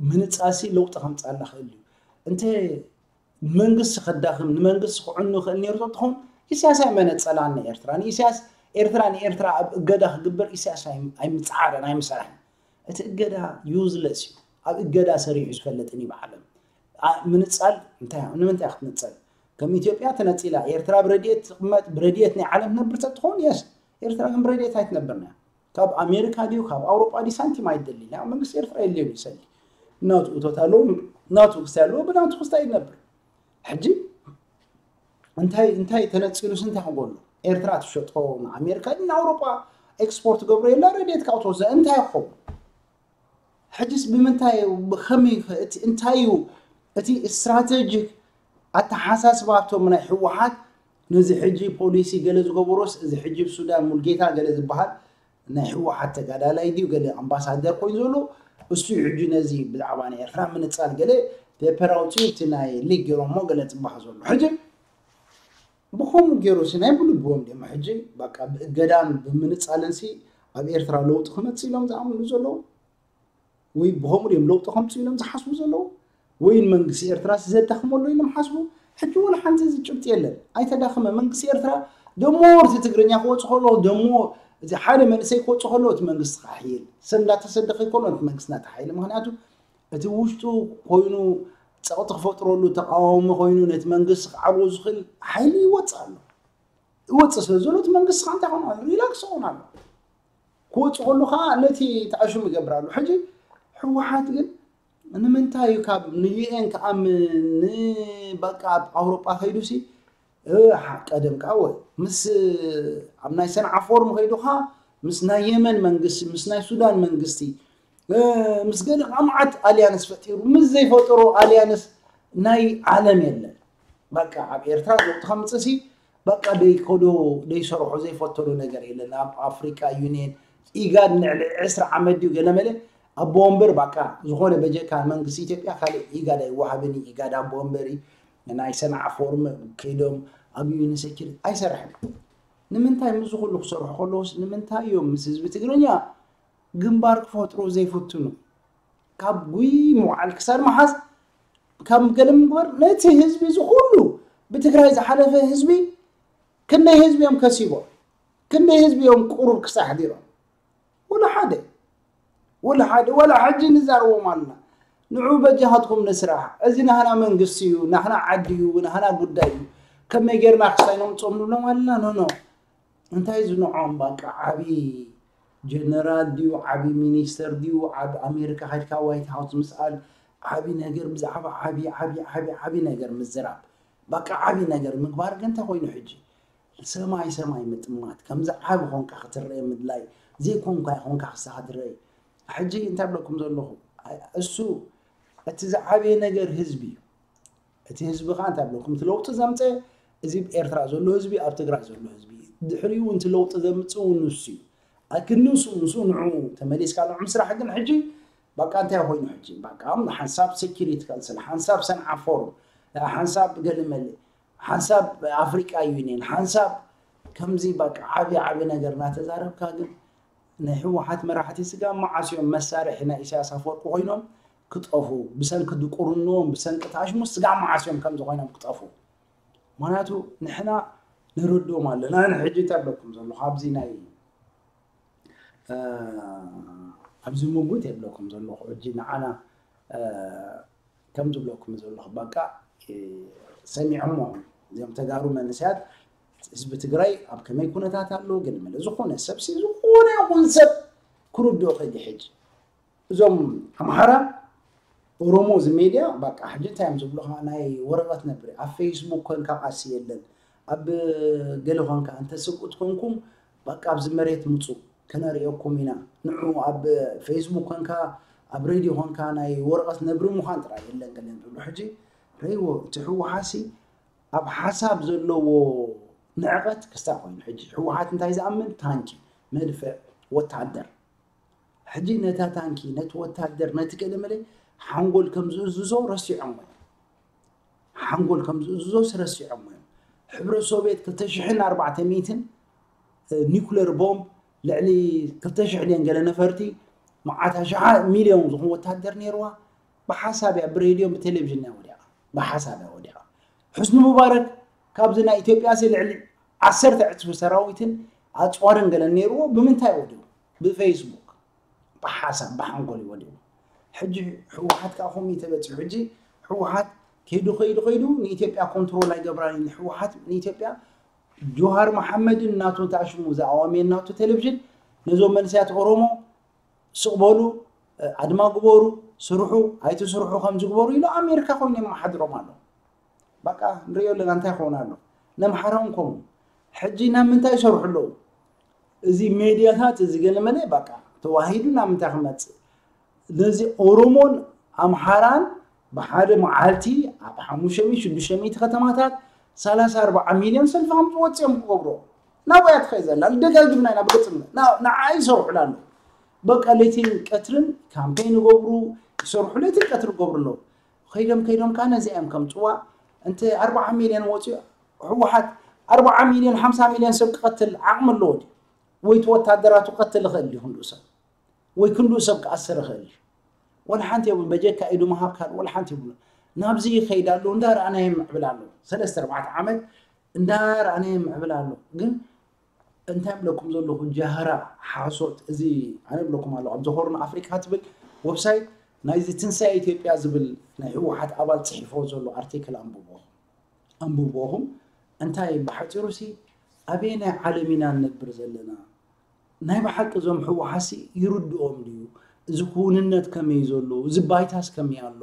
ምህንፃሲ ለውጢ ከምፃላ ክእል እዩ። እንተ መንግስቲ ከዳኽም ንመንግስቲ ክዕኑ ክእል ነይሩ ተትኾን ኢሳያስ ኣይመነፀላን ንኤርትራ ንኢሳያስ ኤርትራ ንኤርትራ ኣብ እገዳ ክግበር ኢሳያስ ኣይምፅዓረን ኣይምሰራሕን። እቲ እገዳ ዩዝለስ እዩ። ኣብ እገዳ ሰሪሑ ዝፈልጥን እዩ ብዓለም። ምንፃል እንታይ ንምንታይ ክትንፀል? ከም ኢትዮጵያ ተነፂላ ኤርትራ ብረድኤት ትቕመጥ ብረድኤት ናይ ዓለም ትነብር ተትኾን የስ ኤርትራ ግን ብረድኤት ኣይትነብርና። ካብ ኣሜሪካ ድዩ ካብ ኣውሮጳ ድዩ ሳንቲም ኣይደሊ ና መንግስቲ ኤርትራ የድልዮ ይሰሊ ናቱ እቶት ኣለዎ ናቱ ክስታይ ኣለዎ ብናቱ ክስታይ ይነብር። ሕጂ እንታይ እንታይ ተነፂሉስ እንታይ ክጎሎ? ኤርትራ ትሸጦ ንኣሜሪካ ንኣውሮጳ ኤክስፖርት ገብሮ የላ ረድኤት ካብ ተወሰ እንታይ ይኸውን? ሕጅስ ብምንታይ ብኸመይ እቲ እንታይ እዩ እቲ ስትራቴጂክ ኣተሓሳስባቶም ናይ ህወሓት ነዚ ሕጂ ፖሊሲ ገለ ዝገበሮስ እዚ ሕጂ ሱዳን ሙልጌታ ገለ ዝበሃል ናይ ህወሓት ተጋዳላይ ድዩ ገለ ኣምባሳደር ኮይኑ ዘሎ እሱ ሕጂ ነዚ ብዛዕባ ናይ ኤርትራ ምንፃል ገለ ፔፐር ኣውፅኡ እቲ ናይ ሊግ ገይሮሞ ገለ ፅባህ ዘሎ ሕጂ ብኸምኡ ገይሩ ሲ ናይ ብልብዎም ድዮም ሕጂ በቃ ብእገዳን ብምንፃልን ሲ ኣብ ኤርትራ ለውጢ ክመፅእ ኢሎም ዝኣምኑ ዘለዉ ወይ ብኸምኡ ድዮም ለውጢ ከምፅኡ ኢሎም ዝሓስቡ ዘለዉ ወይ መንግስቲ ኤርትራ ሲ ዘዳኽመሉ ኢሎም ሓስቡ። ሕጂ ወላ ሓንቲ እዚ ጭብጢ የለን። ኣይተዳኽመ መንግስቲ ኤርትራ ደሞ እቲ ትግርኛ ክወፅ ከሎ ደሞ እዚ ሓደ መንእሰይ ክወፅ ከሎ እቲ መንግስቲ ክሓይል ሰብ እንዳተሰደ ከይኮሎ እቲ መንግስቲ እናተሓይለ ምክንያቱ እቲ ውሽጡ ኮይኑ ፀቕጢ ክፈጥረሉ ተቃዋሚ ኮይኑ ነቲ መንግስቲ ክዓልዎ ዝኽእል ሓይሊ ይወፅእ ኣሎ። ይወፅእ ስለ ዘሎ እቲ መንግስቲ ከዓ እንታይ ኾን ኣሎ ሪላክስ ኾን ኣሎ። ክወፅእ ከሉ ከዓ ነቲ ተኣሽሙ ይገብር ኣሎ። ሕጂ ህወሓት ግን ንምንታይ እዩ ካብ ንዩኤን ክኣምን ንበቃ ኣብ ኣውሮጳ ከይዱ ሲ ቀደም ከዓ ወ ምስ ኣብ ናይ ሰንዓ ፎርም ከይዱ ከዓ ምስ ናይ የመን መንግስቲ ምስ ናይ ሱዳን መንግስቲ ምስ ገለ ከዓ መዓት ኣልያንስ ፈጢሩ ምስ ዘይፈጠሮ ኣልያንስ ናይ ዓለም የለን። በቃ ኣብ ኤርትራ ለውጢ ከምፅእ ሲ በቃ ደይከዶ ደይሰርሖ ዘይፈተዶ ነገር የለን። ኣብ ኣፍሪካ ዩኒየን ኢጋድ ንዕሊ ዕስራ ዓመት ድዩ ገለመለ ኣቦ ወንበር በቃ ዝኾነ በጀካ መንግስቲ ኢትዮጵያ ካልእ ኢጋድ ኣይወሃብን እዩ። ኢጋድ ኣቦ ወንበር እዩ። ናይ ሰንዓ ፎርም ከይዶም ኣብ ዩኒሴኪር ኣይሰርሐን። ንምንታይ ምስ ኩሉ ክሰርሑ ከለውስ ንምንታይ እዮም ምስ ህዝቢ ትግርኛ ግንባር ክፈጥሩ ዘይፍትኑ? ካብ ጉይ ምውዓል ክሳድ መሓዝ ካብ ገለ ምግባር ነቲ ህዝቢ ዝኩሉ ብትግራይ ዝሓለፈ ህዝቢ ክንደይ ህዝቢ እዮም ከሲቦም? ክንደይ ህዝቢ እዮም ቁሩብ ክሳሕ ዲሮም? ወላ ሓደ ወላ ሓደ ወላ ሕጂ ንዛረቦም ኣለና። ንዑ በጃኻትኩም ንስራሕ። እዚ ናህና መንግስቲ እዩ፣ ናህና ዓዲ እዩ፣ ናህና ጉዳይ እዩ። ከመይ ጌርና ክሳይ ነምፅኦም ንብሎም ኣለና። ኖ ኖ እንታይ ዝንዖም በቃ ዓብዪ ጀነራል ድዩ ዓብዪ ሚኒስተር ድዩ ዓብ ኣሜሪካ ከድካ ዋይት ሃውስ ምስኣል ዓብዪ ነገር ብዛዕባ ዓብዪ ዓብዪ ዓብዪ ዓብዪ ነገር ምዝራብ በቃ ዓብዪ ነገር ምግባር ግን እንታይ ኮይኑ ሕጂ ሰማይ ሰማይ ምጥማት ከምዚ ዓቢ ኮንካ ክትረአ ምድላይ ዘይኮንካ ኮንካ ክሳኻ ትረአ ሕጂ እንታይ ብለኩም ዘለኹ እሱ እቲ ዝዓበየ ነገር ህዝቢ እዩ እቲ ህዝቢ ከዓ እንታይ ብለኩም እቲ ለውጢ ዘምፀ እዚ ኤርትራ ዘሎ ህዝቢ ኣብ ትግራይ ዘሎ ህዝቢ እዩ ድሕሪኡ እውን እቲ ለውጢ ዘምፅእ እውን ንሱ እዩ ኣክንሱ ንሱ ንዑ ተመሊስካ ንዑ ምስራሕ ግን ሕጂ በቃ እንታይ ኮይኑ ሕጂ በቃ ሓንሳብ ሴኪሪቲ ካንስል ሓንሳብ ሰንዓ ፎርም ሓንሳብ ገለመለ ሓንሳብ ኣፍሪቃ ዩኒየን ሓንሳብ ከምዚ በቃ ዓብዪ ዓብዪ ነገር እናተዛረብካ ግን ናይ ህወሓት መራሕቲ ስጋ መዓስ እዮም መሳርሒ ናይ ኢሳያስ ኣፈወርቂ ኮይኖም ክጠፉ ብሰንኪ ድቁርንዎም ብሰንኪ ታሽሙ ስጋ መዓስ እዮም ከምዚ ኮይኖም ክጠፉ ምክንያቱ ንሕና ንረድኦም ኣለና ንሕጂ እንታይ ኣለኩም ዘሎ ካብዚ ናይ ኣብዚ ምጉት የብለኩም ዘለኹ ሕጂ ንዓና ከም ዝብለኩም ዘለኹ በቃ ሰሚዖሞ እዚኦም ተጋሩ መንእሰያት ህዝቢ ትግራይ ኣብ ከመይ ኩነታት ኣሎ ግን መለ ዝኾነ ሰብ ሲ ዝኾነ ይኹን ሰብ ክርድኦ ከይዲ ሕጂ እዞም ኣምሓራ ኦሮሞ እዚ ሜድያ በቃ ሕጂ እንታይ እዮም ዝብሉኻ? ናይ ወረቐት ነብሪ ኣብ ፌስቡክ ኮንካ ቃሲ የለን። ኣብ ገለ ኮንካ እንተ ስብኡት ኮንኩም በቃ ኣብዚ መሬት ምፁ ከነርእየኩም ኢና። ንዑ ኣብ ፌስቡክ ኮንካ ኣብ ሬድዮ ኮንካ ናይ ወረቐት ነብሪ ምዃን ጥራይ የለን ገለ ዝብሉ። ሕጂ ረይዎ እቲ ህወሓሲ ኣብ ሓሳብ ዘለዎ ንዕቐት ክስታ ኮይኑ ሕጂ ህወሓት እንታይ ዝኣምን ታንኪ፣ መድፍዕ፣ ወታደር ሕጂ ነታ ታንኪ ነቲ ወታደር ነቲ ገለመለ ሓንጎል ከም ዝእዝዞ ረሲዖሞ እዮም። ሓንጎል ከም ዝእዝዞስ ረሲዖሞ እዮም። ሕብረት ሶቪየት ክልተ ሽሕን ኣርባዕተ ሚእትን ኒኩለር ቦምብ ልዕሊ ክልተ ሽሕ ድየን ገለ ነፈርቲ መዓት ኣሽሓት ሚልዮን ዝኾኑ ወታደር ነይርዋ። ብሓሳብ እያ ብሬድዮን ብቴሌቪዥን እያ ወዲቓ። ብሓሳብ እያ ወዲቓ። ሕስኒ ሙባረክ ካብዚ ናይ ኢትዮጵያ ሲ ልዕሊ ዓሰርተ ዕፅፊ ሰራዊትን ኣፅዋርን ገለን ነይርዎ። ብምንታይ ወዲቑ? ብፌስቡክ ብሓሳብ ብሓንጎል እዩ ወዲቑ። ሕጂ ህወሓት ከዓ ከምኡ እዩ ተበፂሑ። ሕጂ ህወሓት ከይዱ ከይዱ ከይዱ ንኢትዮጵያ ኮንትሮል ኣይገብራን እዩ። ንህወሓት ንኢትዮጵያ ጆሃር መሓመድን ናቱ ታሽሙ ዝኣዋመየ ናቱ ቴሌቪዥን ነዞም መንእሰያት ኦሮሞ ስቕ በሉ፣ ኣድማ ግበሩ፣ ስርሑ፣ ኣይትስርሑ ከም ዝግበሩ ኢሉ ኣሜሪካ ኮይኑ የመሓድሮም ኣሎ። በቃ ንሪኦ ኣለና እንታይ ክኸውን ኣሎ። ነምሓራውን ከምኡ። ሕጂ ናብ ምንታይ ይሰርሑ ኣለዉ? እዚ ሜድያታት እዚ ገለመለ በቃ ተዋሂዱ ናብ ምንታይ ክመፅእ? ነዚ ኦሮሞን ኣምሓራን ብሓደ መዓልቲ ኣብ ሓሙሽተ ሚእቲ ሽዱሽተ ሚእቲ ከተማታት ሰላሳ ኣርባዓ ሚልዮን ሰልፊ ከም ዝወፅኦም ክገብሮ ናብያ ትኸይ ዘላ ደጋጊምና ኢና ብግፅም ንዓይ ይሰርሑላ ኣለዉ። በቃ ለይትን ቀትርን ካምፔን ይገብሩ ይሰርሑ ለይትን ቀትሪ ይገብሩ ኣለዉ። ከይዶም ከይዶም ከዓ ነዚኣ እዮም ከምፅዋ። እንተ ኣርባዓ ሚልዮን ወፂኡ ህወሓት ኣርባዓ ሚልዮን ሓምሳ ሚልዮን ሰብ ክቐትል ዓቕሚ ኣለዎ ድዩ? ወይ እቲ ወታደራቱ ክቐትል ይኽእል ድዩ ክንድኡ ሰብ? ወይ ክንድኡ ሰብ ክኣስር ይኽእል ድዩ? ወላ ሓንቲ የብሉን። በጀካ ኢዱ ምሃብ ካልእ ወላ ሓንቲ የብሉን። ናብዚ ይኸይድ ኣሎ እንዳረኣናዮ ይምዕብል ኣሎ። ሰለስተ ኣርባዕተ ዓመት እንዳረኣናዮ ይምዕብል ኣሎ። ግን እንታይ ብለኩም ዘለኹ ጃህራ ሓሶት እዚ ኣነ ብለኩም ኣለኹ ኣብዚ ሆርን ኣፍሪካ ትብል ወብሳይት ናይዚ ትንሳኤ ኢትዮጵያ ዝብል ናይ ህወሓት ኣባል ፅሒፎ ዘሎ ኣርቲክል ኣንብቦ ኣንብቦኹም እንታይ ብሓፂሩ ሲ ኣበየናይ ዓለም ኢና ንነብር ዘለና ናይ ብሓቂ እዞም ህወሓሲ ይርድኦም ድዩ እዚ ክውንነት ከመይ ዘሎ እዚ ባይታስ ከመይ ኣሎ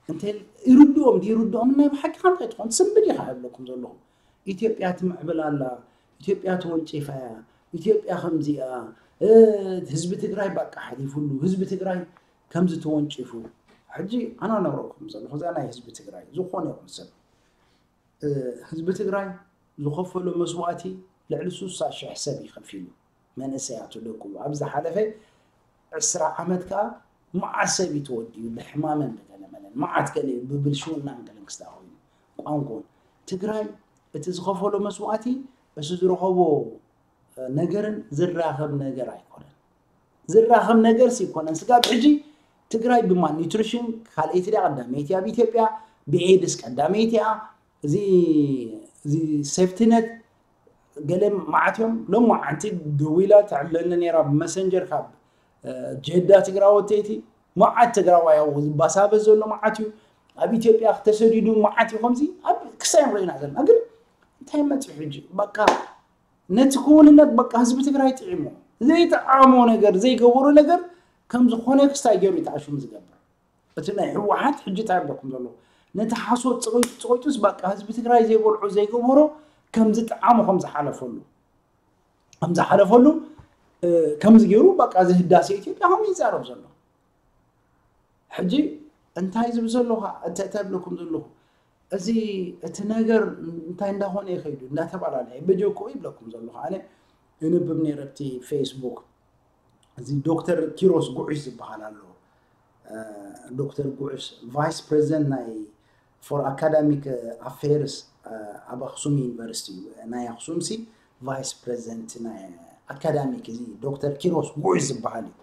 እንተ ይርድኦም ድዩ ይርድኦም ናይ ብሓቂ ከምታይ ትኾን ስንብድ ኢኻ ይብለኩም ዘለኹ ኢትዮጵያ ትምዕብል ኣላ ኢትዮጵያ ተወንጪፋ እያ ኢትዮጵያ ከምዚኣ ህዝቢ ትግራይ በቃ ሓሊፉሉ ህዝቢ ትግራይ ከምዚ ተወንጪፉ ሕጂ ኣነ ነግረኩም ዘለኹ እዛ ናይ ህዝቢ ትግራይ ዝኾነ ይኹን ሰብ ህዝቢ ትግራይ ዝኸፈሎ መስዋእቲ ልዕሊ ስሳ ሽሕ ሰብ እዩ ከፊሉ መንእሰያቱ ደቁ ኣብ ዝሓለፈ ዕስራ ዓመት ከዓ መዓት ሰብ እዩ ተወዲኡ ብሕማምን ብገለመለን መዓት ገለ ብብልሽውናን ገለን ክስታ ኮይኑ ቋንቋ ትግራይ እቲ ዝኸፈሎ መስዋእቲ እሱ ዝረኸቦ ነገርን ዝራኸብ ነገር ኣይኮነን ዝራኸብ ነገር ይኮነን ስጋብ ሕጂ ትግራይ ብማል ኒትሪሽን ካልኣይቲ ዳ ቀዳመይቲ ኣብ ኢትዮጵያ ብኤድስ ቀዳመይቲ እያ እዚ እዚ ሴፍቲነት ገለ መዓት እዮም ሎም መዓንቲ ደዊላ ተዕለኒ ነራ ብመሰንጀር ካብ ጀዳ ትግራወተይቲ መዓት ትግራዋይ ባሳበ ዘሎ መዓት እዩ ኣብ ኢትዮጵያ ተሰዲዱ መዓት እዩ ከምዚ ኣብ ክሳይ ንሪኢና ዘለና ግን እንታይ መፅኡ ሕጂ በቃ ነቲ ክውንነት በቃ ህዝቢ ትግራይ ጥዒሞ ዘይጠዓሞ ነገር ዘይገበሩ ነገር ከም ዝኾነ ክስታይ ገይሩ ይተዓሽሙ ዝገብር እቲ ናይ ህወሓት ሕጂ እንታይ ኣለኩም ዘሎ ነቲ ሓሶት ፅቂጡ ፅቂጡስ በቃ ህዝቢ ትግራይ ዘይበልዖ ዘይገበሮ ከም ዝጠዓሞ ከም ዝሓለፈሉ ከም ዝሓለፈሉ ከምዚ ገይሩ በቃ እዚ ህዳሴ ኢትዮጵያ ከም ይዛረብ ዘሎ ሕጂ እንታይ ዝብል ዘለኹ እንታይ ብለኩም ዘለኹ እዚ እቲ ነገር እንታይ እንዳኾነ ይኸይዱ እንዳተባላለየ በጀኮ ይብለኩም ዘለኹ ኣነ ይንብብ ነይረ ኣብቲ ፌስቡክ እዚ ዶክተር ኪሮስ ጉዑሽ ዝበሃል ኣሎ ዶክተር ጉዑሽ ቫይስ ፕሬዚደንት ናይ for academic affairs ኣብ ኣክሱም ዩኒቨርሲቲ ናይ ኣክሱም ሲ ቫይስ ፕሬዚደንት ናይ ኣካዳሚክ እዚ ዶክተር ኪሮስ ጉዑሽ ዝበሃል እዩ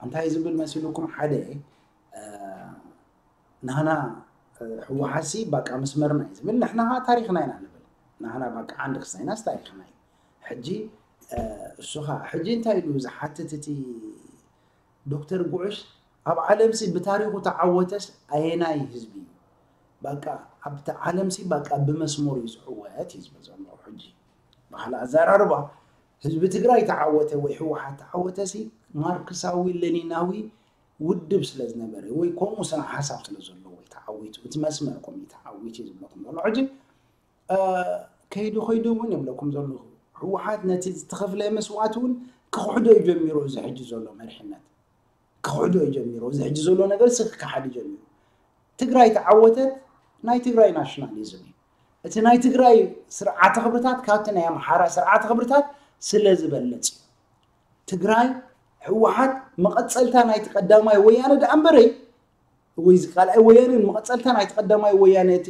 እንታይ ዝብል መሲልኩም ሓደ ናህና ህወሓሲ ባቃ መስመርና እዩ ዝብል ንሕና ከዓ ታሪክና ኢና ንብል ናህና ባቃ ዓንዲ ክስታይናስ ታሪክና እዩ ሕጂ እሱ ከዓ ሕጂ እንታይ ኢሉ ዝሓትት እቲ ዶክተር ጉዕሽ ኣብ ዓለምሲ ብታሪኹ ተዓወተስ ኣየናይ ህዝቢ እዩ በቃ ኣብቲ ዓለምሲ በቃ ብመስመሩ እዩ ዝዕወት እዩ ዝብል ዘሎ ሕጂ ባህሊ ኣዘራርባ ህዝቢ ትግራይ ተዓወተ ወይ ህወሓት ተዓወተሲ ማርክሳዊ ለኒናዊ ውድብ ስለ ዝነበረ ወይ ከምኡ ስነ ሓሳብ ስለ ዘለዎ እዩ ተዓዊቱ፣ እቲ መስመር ከምኡ እዩ ተዓዊቱ እዩ ዝብለኩም ዘሎ። ሕጂ ከይዱ ከይዱ እውን ይብለኩም ዘለኹ፣ ህወሓት ነቲ ዝተኸፍለ መስዋእቲ እውን ክኽሕዶ እዩ ጀሚሩ። እዚ ሕጂ ዘሎ መሪሕነት ክኽሕዶ እዩ ጀሚሩ። እዚ ሕጂ ዘሎ ነገር ሲ ክከሓድ እዩ ጀሚሩ። ትግራይ ተዓወተት፣ ናይ ትግራይ ናሽናሊዝም እዩ። እቲ ናይ ትግራይ ስርዓተ ክብርታት ካብቲ ናይ ኣምሓራ ስርዓተ ክብርታት ስለ ዝበለፅ እዩ። ትግራይ ህወሓት መቐፀልታ ናይቲ ቀዳማይ ወያነ ደኣ እምበረይ ወይ እዚ ካልኣይ ወያነ መቐፀልታ ናይቲ ቀዳማይ ወያነ እቲ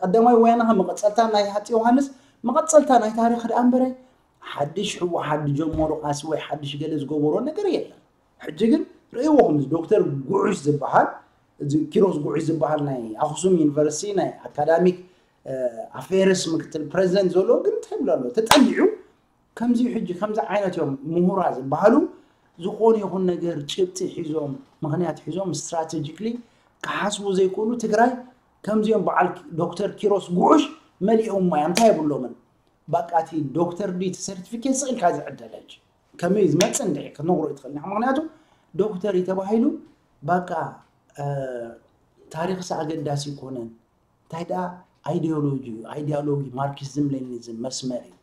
ቀዳማይ ወያነ መቐፀልታ ናይ ሃፂ ዮሃንስ መቐፀልታ ናይ ታሪክ ደኣ እምበረይ ሓድሽ ህወሓት ዝጀመሮ ቃሲ ወይ ሓድሽ ገለ ዝገበሮ ነገር የለን። ሕጂ ግን ርእይዎ ከምዚ ዶክተር ጉዑሽ ዝበሃል እዚ ኪሮስ ጉዑሽ ዝበሃል ናይ ኣክሱም ዩኒቨርሲቲ ናይ ኣካዳሚክ ኣፌርስ ምክትል ፕሬዚደንት ዘሎ ግን እንታይ ይብሎ ኣሎ ተጠሊዑ ከምዚ ሕጂ ከምዚ ዓይነት እዮም ምሁራ ዝበሃሉ ዝኾነ ይኹን ነገር ጭብጢ ሒዞም ምክንያት ሒዞም ስትራቴጂክሊ ክሓስቡ ዘይክእሉ ትግራይ ከምዚኦም በዓል ዶክተር ኪሮስ ጉዑሽ መሊኦማ እዮም እንታይ የብሎምን በቃ እቲ ዶክተር ዲ ሰርቲፊኬት ስእልካ ዝዕደለች ከመይ ዝመፅእ እንድዒ ክትነግሮ ይትኽእል ምክንያቱ ዶክተር እዩ ተባሂሉ በቃ ታሪክስ ኣገዳሲ ይኮነን እንታይ ደኣ ኣይዲዮሎጂ እዩ ኣይዲዮሎጂ ማርክሲዝም ሌኒኒዝም መስመር እዩ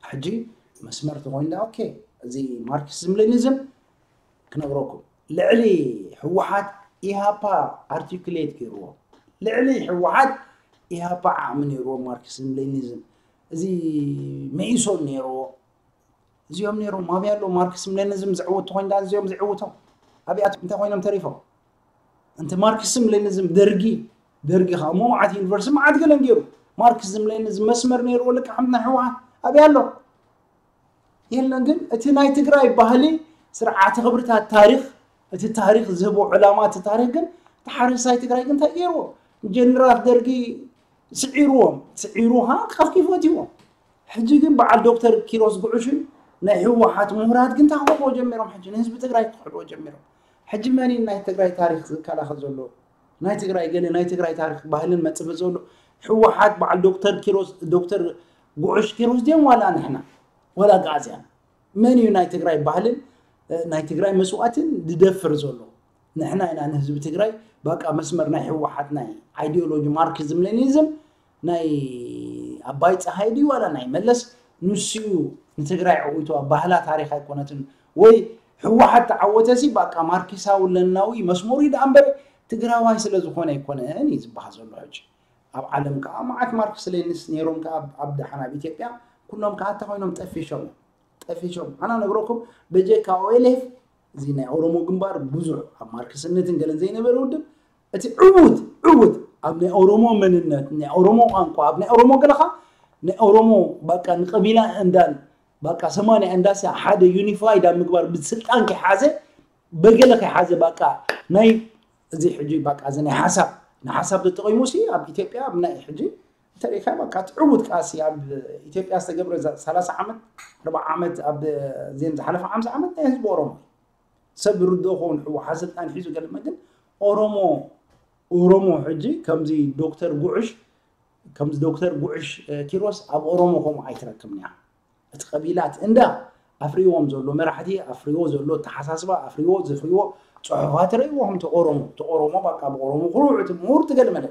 ሕጂ መስመር ተኮይኑ ደኣ ኦኬ እዚ ማርክሲዝም ሌኒኒዝም ክነግረኩም ልዕሊ ህወሓት ኢሃፓ ኣርቲኩሌት ገይርዎ ልዕሊ ህወሓት ኢሃፓ ዓቕሚ ነይርዎ ማርክሲዝም ሌኒኒዝም እዚ መኢሶን ነይርዎ እዚኦም ነይሮም ኣብያ ኣሎ ማርክሲዝም ሌኒኒዝም ዝዕውቱ ኮይን ደኣ እዚኦም ዝዕውቶም ኣብያት እንታይ ኮይኖም ተሪፎም እንተ ማርክስም ሌኒዝም ደርጊ ደርጊ ከዓ እሞ መዓት ዩኒቨርሲቲ መዓት ገለን ገይሩ ማርክስም ሌኒዝም መስመር ነይርዎ ልክዓ ናይ ህወሓት ኣብይ ኣሎ የለን ግን እቲ ናይ ትግራይ ባህሊ ስርዓተ ክብርታት ታሪክ እቲ ታሪክ ዝህቦ ዕላማ እቲ ታሪክ ግን እቲ ሓረስታይ ትግራይ ግን እንታይ ገይርዎ ጀነራል ደርጊ ስዒርዎም ስዒሩ ከዓ ቀፍቂፎት ይዎም ሕጂ ግን በዓል ዶክተር ኪሮስ ጉዑሽን ናይ ህወሓት ምሁራት ግን ተክሕድዎ ጀሚሮም ሕጂ ንህዝቢ ትግራይ ክክሕድዎ ጀሚሮም ሕጂ መን እዩ ናይ ትግራይ ታሪክ ዝከላኸል ዘሎ ናይ ትግራይ ገለ ናይ ትግራይ ታሪክ ባህልን መፅበ ዘሎ ህወሓት በዓል ዶክተር ኪሮስ ዶክተር ጉዑሽ ኪሮስ ድዮም ዋላ ንሕና ዋላ ኣግኣዝያን መን እዩ ናይ ትግራይ ባህልን ናይ ትግራይ መስዋእትን ዝደፍር ዘሎ ንሕና ኢና ንህዝቢ ትግራይ በቃ መስመር ናይ ህወሓት ናይ ኣይዲዮሎጂ ማርክዝም ሌኒዝም ናይ ኣባይ ፀሃይ ድዩ ዋላ ናይ መለስ ንሱ እዩ ንትግራይ ዕዊቱ ባህላ ታሪክ ኣይኮነትን ወይ ህወሓት ተዓወተሲ በቃ ማርክሳዊ ለናዊ መስመሩ እዩ ደኣ እምበር ትግራዋይ ስለ ዝኾነ ኣይኮነን እዩ ዝበሃል ዘሎ ሕጂ ኣብ ዓለም ከዓ መዓት ማርክስ ሌኒስ ነይሮም ከዓ ኣብ ደሓን ኣብ ኢትዮጵያ ኩሎም ከዓ እንታይ ኮይኖም ጠፊሾም እዮም ጠፊሾም ኣና ነግረኩም በጀካ ኦኤልኤፍ እዚ ናይ ኦሮሞ ግንባር ብዙሕ ኣብ ማርክስነትን ገለን ዘይነበረ ውድብ እቲ ዕዉት ዕዉት ኣብ ናይ ኦሮሞ መንነት ናይ ኦሮሞ ቋንቋ ኣብ ናይ ኦሮሞ ገለኻ ናይ ኦሮሞ በቃ ንቀቢላ እንዳን በቃ ሰማንያ እንዳሲ ሓደ ዩኒፋይድ ኣብ ምግባር ብስልጣን ከይሓዘ በገለ ከይሓዘ በቃ ናይ እዚ ሕጂ በቃ እዚ ናይ ሓሳብ ንሓሳብ ተጠቂሙ ሲ ኣብ ኢትዮጵያ ኣብ ናይ ሕጂ እንተሪኢካ በቃ ትዕውት ቃሲ ኣብ ኢትዮጵያ ዝተገብረ ሰላሳ ዓመት ኣርባዓ ዓመት ኣብ ዜን ዝሓለፈ ሓምሳ ዓመት ናይ ህዝቢ ኦሮሞ ሰብ ርዶ ኸውን ህወሓት ስልጣን ሒዙ ገለመ ግን ኦሮሞ ኦሮሞ ሕጂ ከምዚ ዶክተር ጉዕሽ ከምዚ ዶክተር ጉዕሽ ኪሮስ ኣብ ኦሮሞ ከምኡ ኣይትረክብን እያ እቲ ቀቢላት እንዳ ኣፍሪዎም ዘሎ መራሕቲ ኣፍሪዎ ዘሎ ተሓሳስባ ኣፍሪዎ ዘፍሪዎ ፅሑፋት ረእይዎም ተቆሮሞ ተቆሮሞ በቃ ብቆሮሞ ኩሩዕ እቲ ምሁር ትገል መለ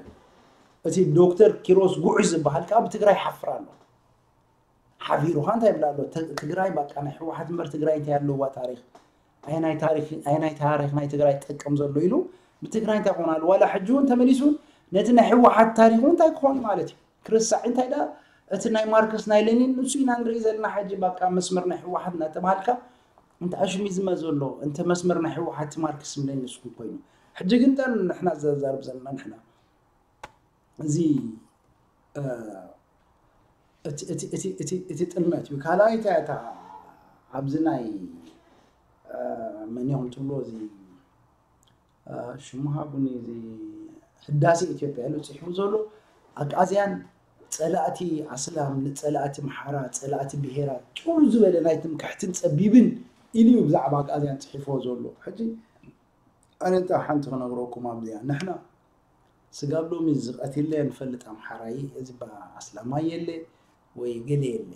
እቲ ዶክተር ኪሮስ ጉዕሽ ዝበሃል ከዓ ብትግራይ ሓፍር ኣሎ ሓፊሩኻ እንታይ ይብላ ኣሎ ትግራይ በቃ ናይ ህወሓት እምበር ትግራይ እንታይ ኣለዋ ታሪክ ኣየናይ ታሪክ ኣየናይ ታሪክ ናይ ትግራይ ጠቅም ዘሎ ኢሉ ብትግራይ እንታይ ክኾን ኣሎ ዋላ ሕጂ እውን ተመሊሱ ነቲ ናይ ህወሓት ታሪክ እውን እንታይ ክኾን ማለት እዩ ክርስዕ እንታይ ደኣ እቲ ናይ ማርክስ ናይ ሌኒን ንሱ ኢና ንርኢ ዘለና ሕጂ በቃ መስመር ናይ ህወሓት እናተባሃልካ እንተ ኣሽሚዝመ ዘሎ እንተ መስመር ናይ ህወሓት ማርክስ ሌኒን ንስኩም ኮይኑ ሕጂ ግን ጠን ንሕና ዘዛርብ ዘለና ንሕና እዚ እቲ ጥልመት እዩ ካልኣይ እንታይ እታ ኣብዚ ናይ መን ኢኹም ትብሎ እዚ ሽሙ ሃቡኒ እዚ ህዳሴ ኢትዮጵያ ኢሉ ፅሒፉ ዘሎ ኣግኣዝያን ፀላእቲ ኣስላም ፀላእቲ ምሓራ ፀላእቲ ብሄራት ጭው ዝበለ ናይ ትምክሕትን ፀቢብን ኢሉ እዩ ብዛዕባ ኣግኣዝያን ፅሒፎ ዘሎ ሕጂ ኣነ እንታይ ሓንቲ ክነግረኩም ኣብዚኣ ንሕና ስጋብ ሎሚ ዝቐትለ ንፈልጥ ኣምሓራይ እዚ ኣስላማይ የለ ወይ ገለ የለ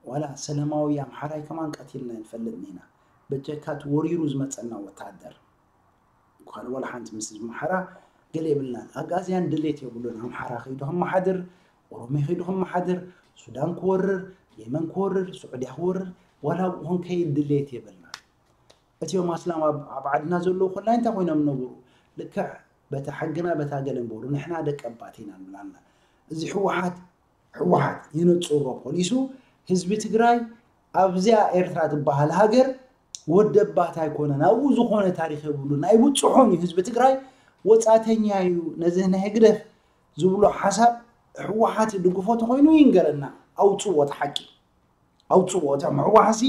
ዋላ ሰለማዊ ኣምሓራይ ከማን ቀቲልና ንፈልጥ ኢና በጀካ እቲ ወሪሩ ዝመፀና ወታደር ወላ ሓንቲ ምስ ህዝቢ ኣምሓራ ገለ የብልናን። ኣጋዝያን ድሌት የብሉን። ኣምሓራ ከይዱ ከመሓድር፣ ኦሮሚያ ከይዱ ከመሓድር፣ ሱዳን ክወርር፣ የመን ክወርር፣ ስዑድያ ክወርር፣ ዋላ ኣብኡ ክንከይድ ድሌት የብልናን። እቲኦም ኣስላም ኣብ ኣብ ዓድና ዘለዉ ኮላይ እንታይ ኮይኖም ነብሩ? ልክዕ በታ ሕግና በታ ገለ እምበሩ ንሕና ደቂ ኣባት ኢና ንብል ኣና። እዚ ህወሓት ህወሓት የነጽሮ ፖሊሱ ህዝቢ ትግራይ ኣብዚኣ ኤርትራ ትበሃል ሃገር ወደባት ኣይኮነን። ኣብኡ ዝኾነ ታሪኽ የብሉን። ኣይብጽሖን እዩ ህዝቢ ትግራይ ወጻተኛ እዩ። ነዚ ናይ ህግደፍ ዝብሎ ሓሳብ ህወሓት ድግፎ ተኾይኑ ይንገረና። ኣውጽዎ እቲ ሓቂ። ኣውጽዎ። እቶም ህወሓሲ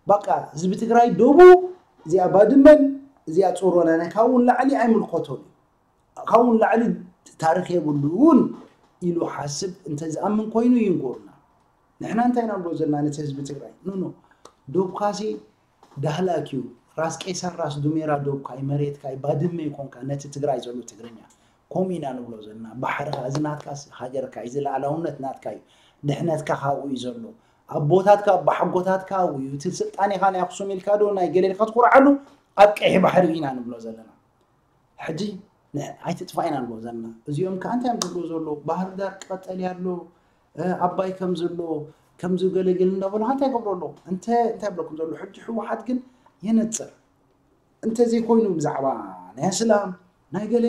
በቃ ህዝቢ ትግራይ ደቡ እዚኣ ባድመን እዚኣ ጾሮና ናይ ካብኡ ንላዕሊ ኣይምልከቶን እዩ። ካብኡ ንላዕሊ ታሪኽ የብሉን ኢሉ ሓስብ እንተዝኣምን ኮይኑ ይንጎርና። ንሕና እንታይ ኢና ንብሎ ዘለና ነቲ ህዝቢ ትግራይ? ኖ ኖ። ዶብካሲ ዳህላክ እዩ። ራስ ቄሳር ራስ ዱሜራ ዶብካ እዩ፣ መሬትካ እዩ፣ ባድመ ይኮንካ ነቲ ትግራይ ዘሎ ትግርኛ። ከምኡ ኢና ንብሎ ዘለና። ባሕርኻ እዚ ናትካ ሃገርካ እዩ፣ እዚ ላዕላውነት ናትካ እዩ። ድሕነትካ ካብኡ እዩ ዘሎ። ኣቦታትካ ኣባሓጎታትካ ኣብኡ እዩ። እቲ ስልጣኔኻ ናይ ኣክሱም ኢልካ ዶ ናይ ገለ ኢልካ ትኩርዓሉ ኣብ ቀይሕ ባሕሪ ኢና ንብሎ ዘለና። ሕጂ ን- ኣይትጥፋእ ኢና ንብሎ ዘለና። እዚኦም ከኣ እንታይ እዮም ዝብሉ ዘለዉ? ባህር ዳር ቀጠልያ ኣሎ፣ እ፣ ኣባይ ከም ዘሎ ከም ዝገለግል እንዳበሉ እንታይ ይገብሩ ኣለዉ? እንተ እንታይ ይብለኩም ዘለዉ? ሕጂ ህወሓት ግን የነጽር። እንተዘይኮይኑ ብዛዕባ ናይ ኣስላም ናይ ገለ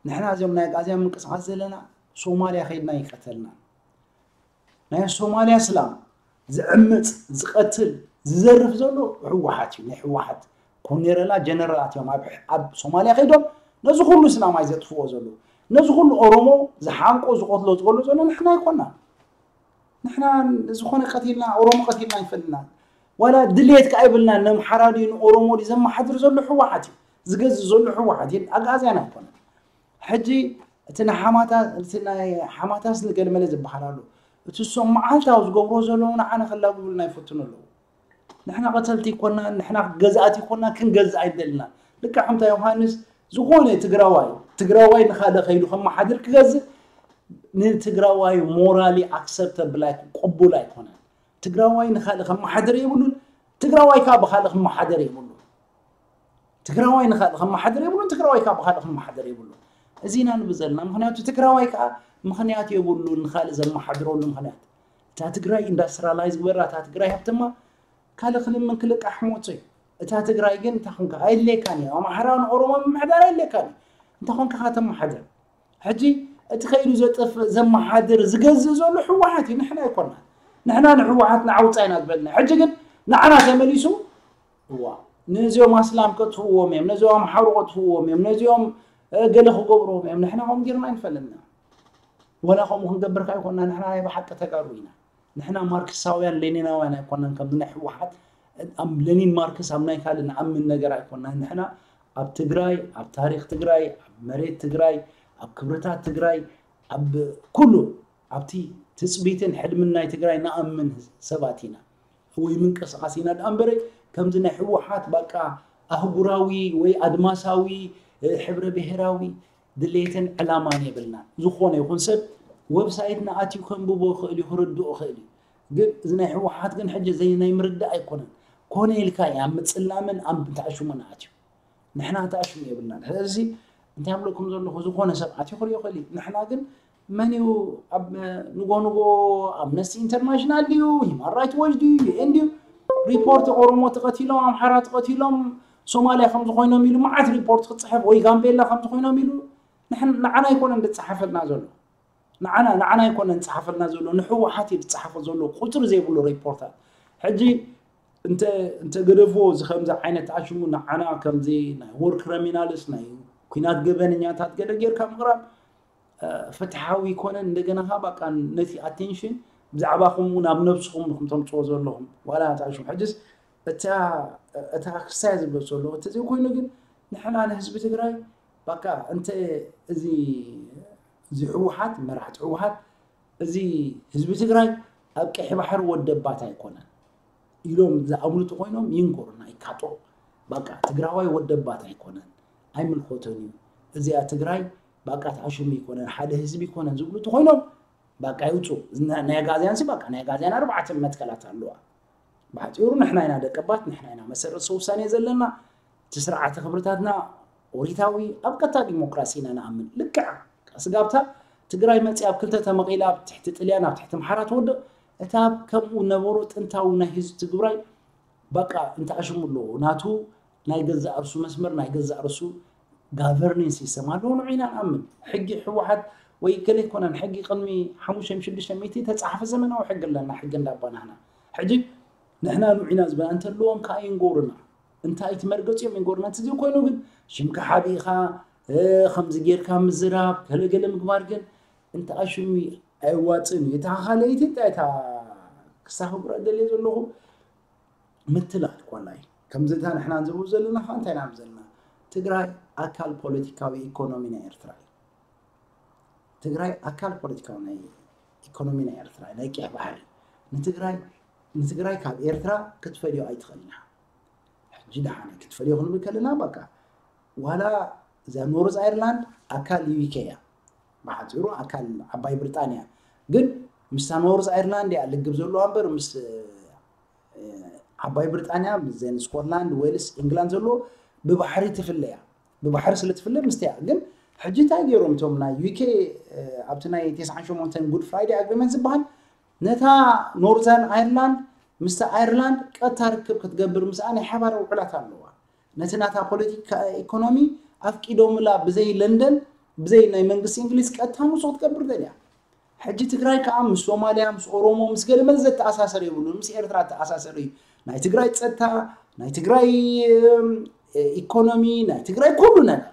ንሕና እዚኦም ናይ ኣግኣዝያን ምንቅስቃስ ዘለና ሶማልያ ከይድና ይቀተልና። ናይ ሶማልያ ኣስላም ዝዕምፅ፣ ዝቐትል፣ ዝዘርፍ ዘሎ ህወሓት እዩ። ናይ ህወሓት ኮኔረላ ጀነራላት እዮም ኣብ ኣብ ሶማልያ ከይዶም ነዚ ኩሉ እስላማይ ዘጥፍዎ ዘለዉ። ነዚ ኩሉ ኦሮሞ ዝሓንቆ ዝቐትሎ ዝቐሎ ዘሎ ንሕና ኣይኮናን። ንሕና ዝኾነ ቀቲልና ኦሮሞ ቀቲልና ኣይፈልናን። ዋላ ድሌት ከኣ ይብልናን። ነምሓራ ድዩ ንኦሮሞ ድዩ ዘመሓድር ዘሎ ህወሓት እዩ። ዝገዝእ ዘሎ ህወሓት እዩ። ኣግኣዝያን ኣይኮነን። ሕጂ እቲ ንሓማታ እቲ ናይ ሓማታስ ንገልመለ ዝበሃል ኣሎ። እቲ እሶም መዓልታዊ ዝገብሮ ዘለዉ ንዓና ከላግቡልና ይፈትኑ ኣለዉ። ንሕና ቀተልቲ ይኮና፣ ንሕና ገዛእቲ ይኮና፣ ክንገዝእ ኣይደልና። ልክዕ ከምታ ዮሃንስ ዝኾነ ትግራዋይ ትግራዋይ ንኻልእ ከይዱ ከመሓድር ክገዝእ ንትግራዋይ ሞራሊ ኣክሰፕተብል ኣይኮ ቅቡል ኣይኮነን። ትግራዋይ ንኻልእ ከመሓድር የብሉን። ትግራዋይ ከዓ ብኻልእ ከመሓደር የብሉን። ትግራዋይ ንኻልእ ከመሓደር የብሉን። ትግራዋይ ከዓ ብኻልእ ከመሓደር የብሉን። እዚ ኢና ንብል ዘለና። ምክንያቱ ትግራዋይ ከዓ ምክንያት የብሉን ንኻልእ ዘመሓድረሉ ምክንያት። እታ ትግራይ ኢንዳስትራላይዝ ግበራ፣ እታ ትግራይ ሃብተማ ካልእ ክልምን ክልቃሕ ሞት እዩ። እታ ትግራይ ግን እንታይ ኮንካ ኣየድልየካን እዩ። ኣምሓራ ንኦሮሞ ምምሕዳር ኣየድልየካን እዩ። እንታይ ኮንካ ከተመሓድር? ሕጂ እቲ ከይዱ ዘጥፍእ ዘመሓድር ዝገዝእ ዘሎ ህወሓት እዩ፣ ንሕና ኣይኮናን። ንሕና ንህወሓት ንዓውፃ ኢና ዝበልና። ሕጂ ግን ንዓና ተመሊሱ እዋ ነዚኦም ኣስላም ከጥፍእዎም እዮም፣ ነዚኦም ኣምሓሩ ከጥፍእዎም እዮም፣ ነዚኦም እ፣ ገለ ክገብርዎም እዮም። ንሕና ከምኡ ጌርና ኣይንፈልጥና። ወላ ከምኡ ክንገብር ከኣ ኣይኮና፣ ንሕና ናይ ብሓቂ ተጋሩ ኢና። ንሕና ማርክሳውያን ሌኒናውያን ኣይኮናን። ከምዚ ናይ ህወሓት ኣብ ሌኒን ማርክስ ኣብ ናይ ካልእ ንኣምን ነገር ኣይኮናን። ንሕና ኣብ ትግራይ፣ ኣብ ታሪኽ ትግራይ፣ ኣብ መሬት ትግራይ፣ ኣብ ክብርታት ትግራይ፣ ኣብ ኩሉ ኣብቲ ትፅቢትን ሕልምን ናይ ትግራይ ንኣምን ሰባት ኢና ወይ ምንቅስቃስ ኢና ደኣ እምበረ ከምዚ ናይ ህወሓት በቃ ኣህጉራዊ ወይ ኣድማሳዊ እ፣ ሕብረ ብሄራዊ ድሌትን ዕላማን የብልናን። ዝኾነ ይኹን ሰብ ዌብሳይትና ኣትዩ ከንብቦ ይኽእል እዩ፣ ክርድኦ ይኽእል እዩ። ግን እዚ ናይ ህወሓት ግን ሕጂ ዘይ ናይ ምርዳእ ኣይኮነን። ኮነ ኢልካ እዩ ኣብ ምፅላምን ኣብ ምትኣሽሙን ኣትዩ። ንሕና ተኣሽሙ የብልናን። ስለዚ እንታይ ኣብለኩም ዘለኹ፣ ዝኾነ ሰብ ኣትዩ ክሪኦ ይኽእል እዩ። ንሕና ግን መን እዩ ኣብ ንጎ ንጎ ኣምነስቲ ኢንተርናሽናል ድዩ፣ ሂማን ራይት ዎች ድዩ፣ ዩ ኤን ድዩ፣ ሪፖርት ኦሮሞ ተቐቲሎም፣ ኣምሓራ ተቐቲሎም፣ ሶማልያ ከምዚ ኮይኖም ኢሉ መዓት ሪፖርት ክፅሕፍ ወይ ጋምቤላ ከምዚ ኮይኖም ኢሉ ንሕን- ንዓና ኣይኮነን ዝፀሓፈልና ዘሎ። ንዓና ንዓና ኣይኮነን ዝፀሓፈልና ዘሎ፣ ንህወሓት እዩ ዝፀሓፎ ዘሎ ቁፅሪ ዘይብሉ ሪፖርታት። ሕጂ እንተ እንተ ገደፍዎ እዚ ከምዚ ዓይነት ኣሽሙ ንዓና ከምዚ ናይ ዎር ክሪሚናልስ ናይ ኩናት ገበነኛታት ገለ ጌርካ ምቕራብ እ፣ ፍትሓዊ ይኮነን። እንደገና ከዓ በቃ ነቲ ኣቴንሽን ብዛዕባኹም እውን ኣብ ነብስኹም ንኹም ተምፅዎ ዘለኹም ዋላ እታ ሽም ሕጅስ እታ እታ ክሳይ ዝብሎ ዘሎ እቲ ዘይኮይኑ ግን ንሕና ንህዝቢ ትግራይ በቃ እንተ እዚ እዚ ህወሓት መራሕቲ ህወሓት እዚ ህዝቢ ትግራይ ኣብ ቀይሕ ባሕሪ ወደባት ኣይኮነን ኢሎም ዝኣምኑ ተኮይኖም ይንገሩና ይካጦ በቃ ትግራዋይ ወደባት ኣይኮነን ኣይምልኮቶን እዩ እዚኣ ትግራይ በቃ ተኣሽሙ ይኮነን ሓደ ህዝቢ ይኮነን ዝብሉ ተኮይኖም በቃ ይውፁ ናይ ኣጋዝያን ሲ በቃ ናይ ኣጋዝያን ኣርባዕተ መትከላት ኣለዋ ብሓፂሩ ንሕና ኢና ደቀባት ንሕና ኢና መሰረት ሰውሳኔ ዘለና እቲ ስርዓተ ክብርታትና ኦሪታዊ ኣብ ቀጥታ ዲሞክራሲ ኢና ንኣምን። ልክዕ ስጋብታ ትግራይ መፂኣ ኣብ ክልተ ተመቒላ ኣብ ትሕቲ ጥልያን ኣብ ትሕቲ ኣምሓራ ትወድቕ፣ እታ ከምኡ ነበሮ ጥንታዊ ናይ ህዝቢ ትግራይ በቃ እንተኣሽሙ ኣለዎ ናቱ ናይ ገዛእ ርሱ መስመር ናይ ገዛእ ርሱ ጋቨርኒንግ ሲስተም ኣለዎ። ንዑ ኢና ንኣምን። ሕጊ ህወሓት ወይ ገለ ኣይኮነን። ሕጊ ቅድሚ ሓሙሽተ ሽዱሽተ ሚእቲ ተፃሓፈ ዘመናዊ ሕጊ ኣለና። ሕጊ እንዳባናህና ሕጂ ንሕና ንዑ ኢና ዝበና እንተለዎም ከዓ ይንጎሩና። እንታይ እቲ መርገፂኦም ይንጎሩና። እቲ ዘይኮይኑ ግን ሽምካ ሓቢእኻ ከምዚ ጌርካ ምዝራብ ገለገለ ምግባር ግን እንተ ኣሽሙ ኣይዋፅን እዩ። እታ ካልኣይቲ እንታይ እታ ክሳኽብራ ደልየ ዘለኹ ምትላል ኮላይ ከምዚ እታ ንሕና ንዘብኡ ዘለና ከዓ እንታይ ኢና ዘለና ትግራይ ኣካል ፖለቲካዊ ኢኮኖሚ ናይ ኤርትራ እዩ። ትግራይ ኣካል ፖለቲካዊ ናይ ኢኮኖሚ ናይ ኤርትራ ናይ ቀይሕ ባሕሪ ንትግራይ ንትግራይ ካብ ኤርትራ ክትፈልዮ ኣይትኽእልን ኢኻ። ሕጂ ደሓነ ክትፈልዮ ክንብል ከለና በቃ ዋላ እዛ ኖርዝ ኣይርላንድ ኣካል ዩኬ እያ። ብሓፂሩ ኣካል ዓባይ ብሪጣንያ ግን ምስታ ኖርዝ ኣይርላንድ እያ ልግብ ዘለዋ እምበር ምስ ዓባይ ብሪጣንያ ምስዘን ስኮትላንድ ዌልስ ኢንግላንድ ዘሎ ብባሕሪ ትፍለያ ብባሕሪ ስለ ትፍለ ምስቲያ ግን ሕጂ እንታይ ገይሮም እቶም ናይ ዩኬ ኣብቲ ናይ ተስዓን ሸሞንተን ጉድ ፍራይዴ ኣግሪመንት ዝበሃል ነታ ኖርዘርን ኣይርላንድ ምስቲ ኣይርላንድ ቀጥታ ርክብ ክትገብር ምስኣ ናይ ሓባር ውዕላት ኣለዋ። ነቲ ናታ ፖለቲካ ኢኮኖሚ ኣፍቂዶምላ ብዘይ ለንደን ብዘይ ናይ መንግስቲ እንግሊዝ ቀጥታ ንሱ ክትገብር ደልያ። ሕጂ ትግራይ ከዓ ምስ ሶማልያ ምስ ኦሮሞ ምስ ገለመለ ዘተኣሳሰር የብሉን። ምስ ኤርትራ ተኣሳሰር እዩ ናይ ትግራይ ፀጥታ ናይ ትግራይ ኢኮኖሚ ናይ ትግራይ ኩሉ ነገር።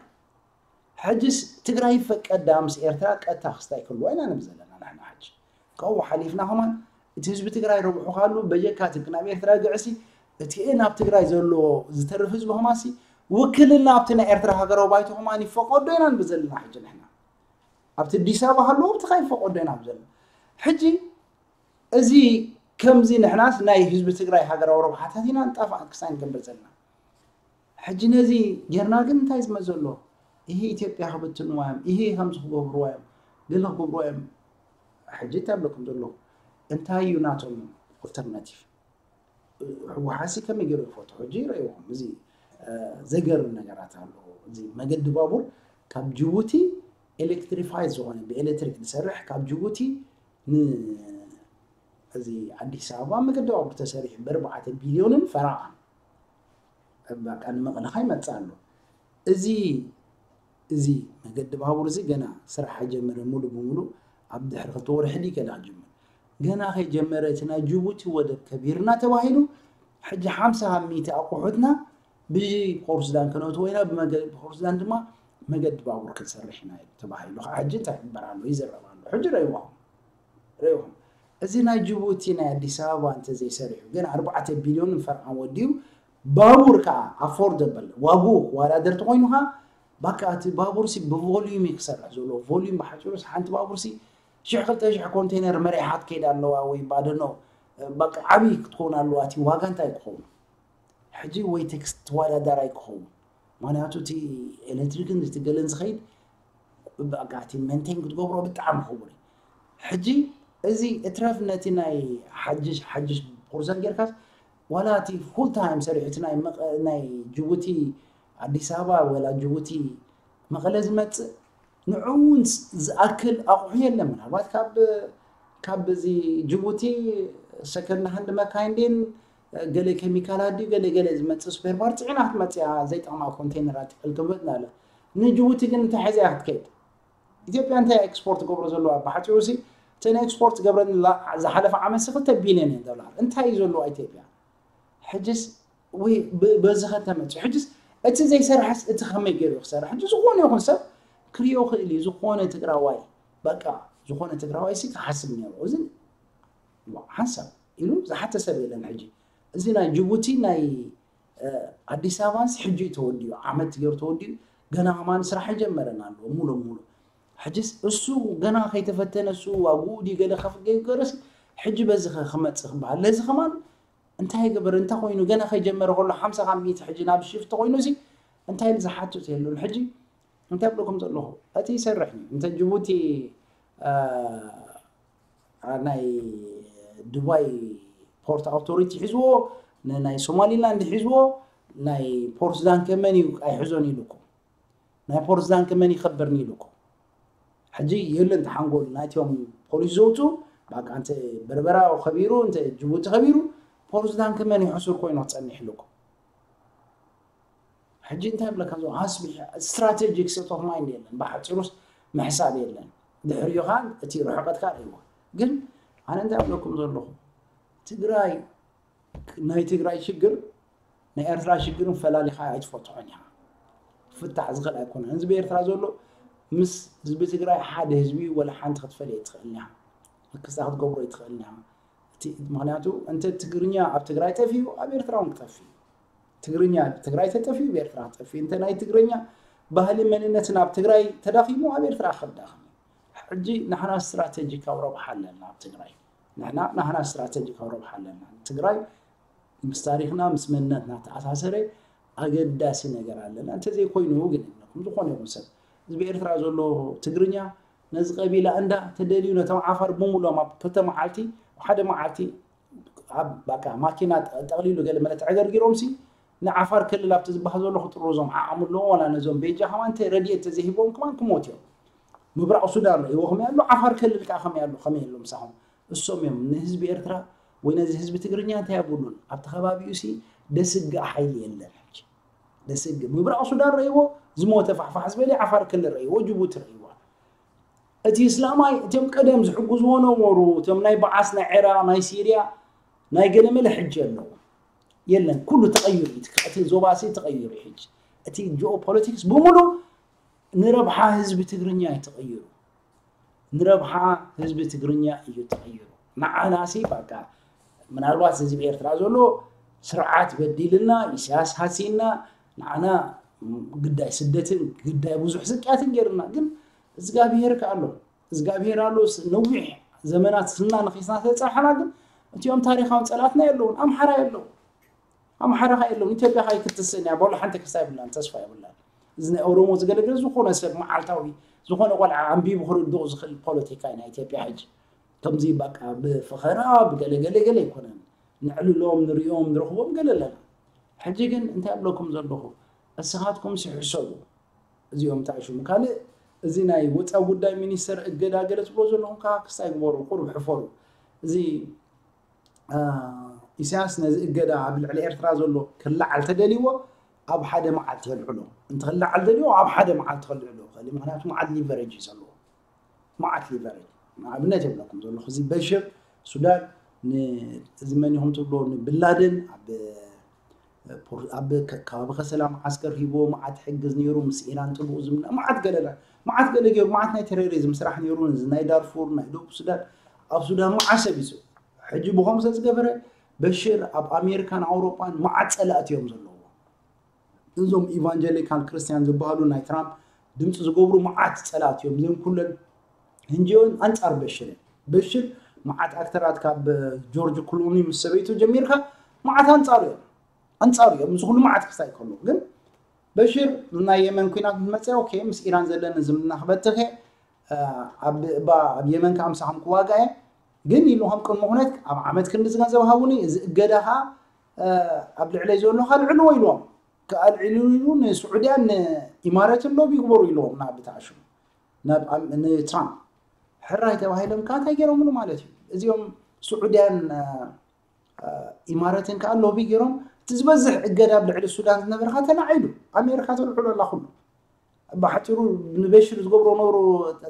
ሕጅስ ትግራይ ፈቀዳ ምስ ኤርትራ ቀጥታ ክስታይ ክህልዋ ኢና ንብል ዘለና ንሕና ሕጂ ካብኡ ሓሊፍና ከማን እቲ ህዝቢ ትግራይ ረብሑ ካሉ በጀካ ትብክ ናብ ኤርትራ ግዕሲ እቲ ናብ ትግራይ ዘሎ ዝተርፍ ህዝቢ ከማሲ ውክልና ኣብቲ ናይ ኤርትራ ሃገራዊ ባይቶ ከማን ይፈቀዶ ኢና ንብል ዘለና ሕጂ ንሕና ኣብቲ ኣዲስ ኣበባ ሃለዎ ኣብቲ ከይፈቀዶ ኢና ንብል ዘለና ሕጂ እዚ ከምዚ ንሕናስ ናይ ህዝቢ ትግራይ ሃገራዊ ረብሓታት ኢና ንጣፋእ ክሳይ ንገብር ዘለና ሕጂ ነዚ ጌርና ግን እንታይ ዝመዘሎ ይሄ ኢትዮጵያ ክብትንዋ እዮም ይሄ ከምዚ ክገብርዋ እዮም ገለ ክገብርዋ እዮም ሕጂ እንታይ ብለኩም ዘለኹ እንታይ እዩ ናቶም ኦልተርናቲቭ ህወሓሲ ከመይ ገይሩ ይፈቱ ሕጂ ይረእይኹም እዚ ዘገርም ነገራት ኣሎ እዚ መገዲ ባቡር ካብ ጅቡቲ ኤሌክትሪፋይ ዝኾነ ብኤሌክትሪክ ዝሰርሕ ካብ ጅቡቲ እዚ ኣዲስ ኣበባ መገዲ ባቡር ተሰሪሑ ብኣርባዕተ ቢልዮንን ፈረቓን በቃ ንመቐለኻ ይመፅእ ኣሎ እዚ እዚ መገዲ ባቡር እዚ ገና ስራሕ ኣይጀመረን ሙሉ ብሙሉ ኣብ ድሕሪ ክልተ ወርሒ ድዩ ገና ክጅምር ገና ከይጀመረ እቲ ናይ ጅቡቲ ወደብ ከቢርና ተባሂሉ ሕጂ ሓምሳ ካብ ሚእቲ ኣቑሑትና ብፖርትሱዳን ከነእትዎ ኢና ብፖርትሱዳን ድማ መገዲ ባቡር ክንሰርሕ ኢና ተባሂሉ ከዓ ሕጂ እንታይ ይግበር ኣሎ ይዝረብ ኣሎ ሕጂ ረእይዋኹም ረእይኹም እዚ ናይ ጅቡቲ ናይ ኣዲስ ኣበባ እንተዘይሰሪሑ ግን ኣርባዕተ ቢልዮን ፈርዓን ወዲኡ ባቡር ከዓ ኣፎርደብል ዋግኡ ክወዳደር ተኮይኑ ከዓ ባካ እቲ ባቡርሲ ብቮሊዩም እዩ ክሰርሕ ዘለዎ ቮሊዩም ብሓፂሩ ሓንቲ ባቡርሲ ሽሕ ክልተ ሽሕ ኮንቴነር መሪሓ ክትከይድ ኣለዋ ወይ ባደኖ በቃ ዓብዪ ክትከውን ኣለዋ እቲ ዋጋ እንታይ ክኸውን ሕጂ ወይ ቴክስ ተወዳዳራይ ክኸውን ምክንያቱ እቲ ኤሌክትሪክን እቲ ገለን ዝኸይድ በቃ እቲ መንቴን ክትገብሮ ብጣዕሚ ክቡር እዩ ሕጂ እዚ እትረፍ ነቲ ናይ ሓጅሽ ሓጅሽ ቁርዘን ጌርካስ ዋላ እቲ ፉል ታይም ሰሪሑ እቲ ናይ ጅቡቲ ኣዲስ ኣበባ ወላ ጅቡቲ መቐለ ዝመፅእ ንዕኡ እውን ዝኣክል ኣቑሑ የለን ምናልባት ካብ ካብ እዚ ጅቡቲ ሰከንድ ሃንድ መካይን ድን ገለ ኬሚካላት ድዩ ገለ ገለ ዝመፅእ ስፔር ፓርት ፅዒና ክትመፅእ እያ ዘይጠቕማ ኮንቴነራት ይቀልቅበት ናለ ንጅቡቲ ግን እንታይ ሒዛ እያ ክትከይድ ኢትዮጵያ እንታይ ኤክስፖርት ገብሮ ዘለዋ ብሓፂሩ ሲ እቲ ናይ ኤክስፖርት ገብረን ዝሓለፈ ዓመት ሲ ክልተ ቢልዮን እየን ዶላር እንታይ እዩ ዘለዋ ኢትዮጵያ ሕጅስ ወይ በዚ ከተመፅኡ ሕጅስ እቲ ዘይሰርሐስ እቲ ከመይ ገይሩ ክሰርሕ ሕጂ ዝኾነ ይኹን ሰብ ክሪኦ ክእል እዩ ዝኾነ ትግራዋይ በቃ ዝኾነ ትግራዋይ ሲ ክሓስብ ነይሩ እዚ ሓንሳብ ኢሉ ዝሓተ ሰብ የለን ሕጂ እዚ ናይ ጅቡቲ ናይ ኣዲስ ኣበባንስ ሕጂ እዩ ተወዲኡ ዓመት ገይሩ ተወዲኡ ገና ከማን ስራሕ ይጀመረን ኣለዎ ሙሉ ሙሉ ሕጂስ እሱ ገና ከይተፈተነ እሱ ዋግኡ ድዩ ገለ ከፍ ገይገረስ ሕጂ በዚ ክመፅእ ክበሃል ለዚ ከማን እንታይ ገበር እንታይ ኮይኑ ገና ከይጀመረ ከሎ ሓምሳ ካብ ሚእቲ ሕጂ ናብ ሽፍቲ ኮይኑ ሲ እንታይ ዝሓትት የሉን ሕጂ እንታይ ብለኩም ዘለኹ እቲ ይሰርሕ እዩ እንተ ጅቡቲ ናይ ዱባይ ፖርት ኣውቶሪቲ ሒዝዎ ንናይ ሶማሊላንድ ሒዝዎ ናይ ፖርት ሱዳን ከመን እዩ ኣይሕዞን ኢሉኩም ናይ ፖርዝዳንክ መን ይኸበርኒ ኢሉ እኮ። ሕጂ የለን ተሓንጎል ናይቶም ፖሊስ ዘውፁ በቃ እንተ በርበራ ከቢሩ እንተ ጅቡቲ ከቢሩ ፖርዝዳንክ መን ይሕሱር ኮይኑ ክፀንሕ ኢሉ እኮ። ሕጂ እንታይ ብለካ ዞ ኣስቢሕ ስትራቴጂክ ሴት ኦፍ ማይንድ የለን። ብሓፂሩስ ምሕሳብ የለን። ድሕሪኡ ከዓ እቲ ርሕቀትካ ርእይዎ። ግን ኣነ እንታይ ብለኩም ዘለኹ ትግራይ ናይ ትግራይ ሽግር ናይ ኤርትራ ሽግርን ፈላሊኻ ኣይትፈትሖን ኢኻ። ፍታሕ ዝኽእል ኣይኮነን። ህዝቢ ኤርትራ ዘሎ ምስ ህዝቢ ትግራይ ሓደ ህዝቢ ወላ ሓንቲ ክትፈልዮ ኣይትኽእልን ኢኻ። ክስታ ክትገብሮ ኣይትኽእልን ኢኻ። እቲ ምክንያቱ እንተ ትግርኛ ኣብ ትግራይ ጠፊኡ ኣብ ኤርትራ እውን ክጠፍእ እዩ። ትግርኛ ኣብ ትግራይ ተጠፊኡ ኣብ ኤርትራ ክጠፍእ እዩ። እንተ ናይ ትግርኛ ባህሊ መንነትን ኣብ ትግራይ ተዳኺሙ ኣብ ኤርትራ ክዳኸም እዩ። ሕጂ ንሕና ስትራቴጂካዊ ረብሓ ኣለና ኣብ ትግራይ። ንሕና ናህና ስትራቴጂካዊ ረብሓ ኣለና። ትግራይ ምስ ታሪኽና ምስ መንነትና ተኣሳሰረ ኣገዳሲ ነገር ኣለና። እንተዘይኮይኑ ግን ንኹም ዝኾነ ይኹን ሰብ ህዝቢ ኤርትራ ዘሎ ትግርኛ ነዚ ቀቢላ እንዳ ተደልዩ ነቶም ዓፋር ብምሎም ኣብ ክልተ መዓልቲ ሓደ መዓልቲ ኣብ በቃ ማኪና ጠቕሊሉ ገለ መለት ዕገርጊሮም ሲ ንዓፋር ክልል ኣብቲ ዝበሃል ዘሎ ክጥርዞም ዓቕሚ ኣለዎም ዋላ ነዞም ቤጃ ከማን እንተ ረድኤት ተዘይሂቦም ከማን ክሞት እዮም። ምብራቕ ሱዳን ረእይዎ ከመይ ኣሎ ዓፋር ክልል ከዓ ከመይ ኣሎ ከመይ ኣሎ ምሳኹም እሶም እዮም ንህዝቢ ኤርትራ ወይ ነዚ ህዝቢ ትግርኛ እንታይ ኣብሉን ኣብቲ ከባቢኡ ሲ ደስግእ ሓይሊ የለን ሕጂ ደስግእ ምብራቕ ሱዳን ረእይዎ ዝሞተ ፋሕፋሕ ዝበለ ዓፋር ክልል ረእይዎ ጅቡቲ ረእይዎ እቲ እስላማይ እቶም ቀደም ዝሕግዝዎ ነበሩ እቶም ናይ በዓስ ናይ ዒራቅ ናይ ሲርያ ናይ ገለመለ ሕጂ ኣለዉ የለን ኩሉ ተቐይሩ እዩ እቲ ዞባሲ ተቐይሩ እዩ ሕጂ እቲ ጂኦፖለቲክስ ብምሉ ንረብሓ ህዝቢ ትግርኛ እዩ ተቐይሩ ንረብሓ ህዝቢ ትግርኛ እዩ ተቐይሩ ንዓናሲ በቃ ምናልባት ህዝቢ ኤርትራ ዘሎ ስርዓት በዲልና ኢሳያስ ሃሲና ንዓና ግዳይ ስደትን ግዳይ ብዙሕ ስቅያትን ገይርና ግን እግዚኣብሄር ከ ኣሎ እግዚኣብሄር ኣሎ ነዊሕ ዘመናት ስና ንኺስና ተጻሓና ግን እቲኦም ታሪኻውን ጸላትና የለውን ኣምሓራ የለው ኣምሓራ ካ የለውን ኢትዮጵያ ካ ይክትስን እያ በሎ ሓንቲ ክስታ ይብላን ተስፋ ይብላን እዚ ናይ ኦሮሞ ዝገለገለ ዝኾነ ሰብ መዓልታዊ ዝኾነ ቆልዓ ኣንቢቡ ክርድኡ ዝኽእል ፖለቲካ ናይ ኢትዮጵያ ሕጂ ከምዚ በቃ ብፈኸራ ብገለገለ ገለ ኣይኮነን ንዕልሎም ንሪኦም ንረኽቦም ገለ ኣለና ሕጂ ግን እንታይ ኣብለኩም ዘለኹ እስኻትኩም ሲሕሰቡ እዚኦም ተኣሽሙ ካልእ እዚ ናይ ወፃ ጉዳይ ሚኒስተር እገዳ ገለ ትብሎ ዘለኹም ከዓ ክስታይ ግበሩ ቁሩብ ሕፈሩ እዚ ኢሳያስ ነዚ እገዳ ኣብ ልዕሊ ኤርትራ ዘሎ ክለዓል ተደልይዎ ኣብ ሓደ መዓልቲ ከልዕሎ እንተ ክለዓል ደልይዎ ኣብ ሓደ መዓልቲ ከልዕሎ ይኽእል ምክንያቱ መዓት ሊቨረጅ እዩ ዘለዎ መዓት ሊቨረጅ ንኣብነት የብለኩም ዘለኹ እዚ በሽር ሱዳን እዚ መን ኢኹም ትብሎ ንብላደን ኣብ ኣብ ከባቢ ከሰላ መዓስከር ሂቦ መዓት ሕግዝ ነይሩ ምስ ኢራን ጥቡቕ ዝምና መዓት ገለላ መዓት ገለ ገይሩ መዓት ናይ ቴሮሪዝም ስራሕ ነይሩ እዚ ናይ ዳርፉር ናይ ደቡብ ሱዳን ኣብ ሱዳን መዓት ሰብ ይስኡ ሕጂ ብኸም ስለ ዝገበረ በሽር ኣብ ኣሜሪካን ኣውሮጳን መዓት ጸላእቲ እዮም ዘለዎ እዞም ኢቫንጀሊካል ክርስቲያን ዝበሃሉ ናይ ትራምፕ ድምፂ ዝገብሩ መዓት ፀላት እዮም እዚኦም ኩለን እንጂኦን ኣንፃር በሽር እዮም በሽር መዓት ኣክተራት ካብ ጆርጅ ክሉኒ ምስ ሰበይቱ ጀሚርካ መዓት ኣንፃሩ እዮም ኣንፃሩ እዮም እዚ ኩሉ መዓት ክስታይ ከሎ ግን በሽር ናይ የመን ኩናት ምስ መፀ ኦኬ ምስ ኢራን ዘለኒ ዝምድና ክበትኽ እየ ኣብ የመን ከዓ ምሳኹም ክዋጋ እየ ግን ኢሉ ከም ቅድሚ ኩነት ኣብ ዓመት ክንዲ ዝገንዘብ ሃቡኒ እዚ እገዳ ከዓ ኣብ ልዕለይ ዘሎ ከዓ ልዕልዎ ኢልዎም ኣልዒሉ ኢሉ ንስዑድያን ንኢማረትን ሎቢ ይግበሩ ኢልዎም ናብ ብትኣሽሙ ናብ ንትራምፕ ሕራይ ተባሂሎም ከዓ እንታይ ገይሮምሉ ማለት እዩ እዚኦም ስዑድያን ኢማረትን ከዓ ሎቢ ገይሮም እቲ ዝበዝሕ እገዳ ኣብ ልዕሊ ሱዳን ዝነበረ ከዓ ተላዒሉ ኣሜሪካ ተልዕሎ ኣላ ኩሉ ብሓፂሩ ንበሽር ዝገብሮ ነበሩ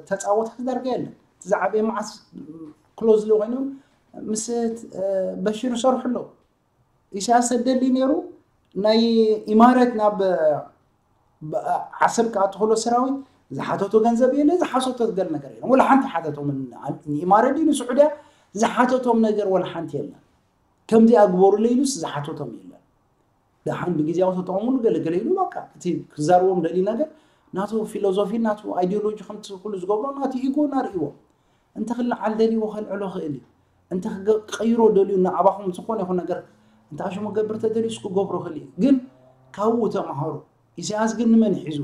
ተፃወታት ዳርጋ የለን እቲ ዝዓበየ መዓስ ክሎዝሊ ኮይኖም ምስ በሽር ይሰርሑ ኣለዉ ኢሳያስ ተደሊ ነይሩ ናይ ኢማረት ናብ ዓሰብ ክኣትኽሎ ሰራዊት ዝሓተቶ ገንዘብ የለ ዝሓሰቶ ገል ነገር የለ ወላ ሓንቲ ሓተቶም ንኢማረት ድዩ ንስዑድያ ዝሓተቶም ነገር ወላ ሓንቲ የለን ከምዚ ኣግበሩለ ኢሉስ ዝሓተቶም የለን ደሓን ብግዜያዊ ተጠቐሙሉ ገለገለ ኢሉ በቃ እቲ ክዛርቦም ደልዩ ነገር ናቱ ፊሎዞፊ ናቱ ኣይዲዮሎጂ ከምቲ ኩሉ ዝገብሮ ናቱ ኢጎ እናርእይዎ እንተ ክለዓል ደልይዎ ከልዕሎ ክእል እዩ እንተ ክቀይሮ ደልዩ ንኣባኹም ዝኾነ ይኹን ነገር እንተ ኣሽሙ ክገብር ተደልዩስ ክገብሮ ክእል እዩ ግን ካብኡ ተምሃሩ ኢሳያስ ግን ንመን ሒዙ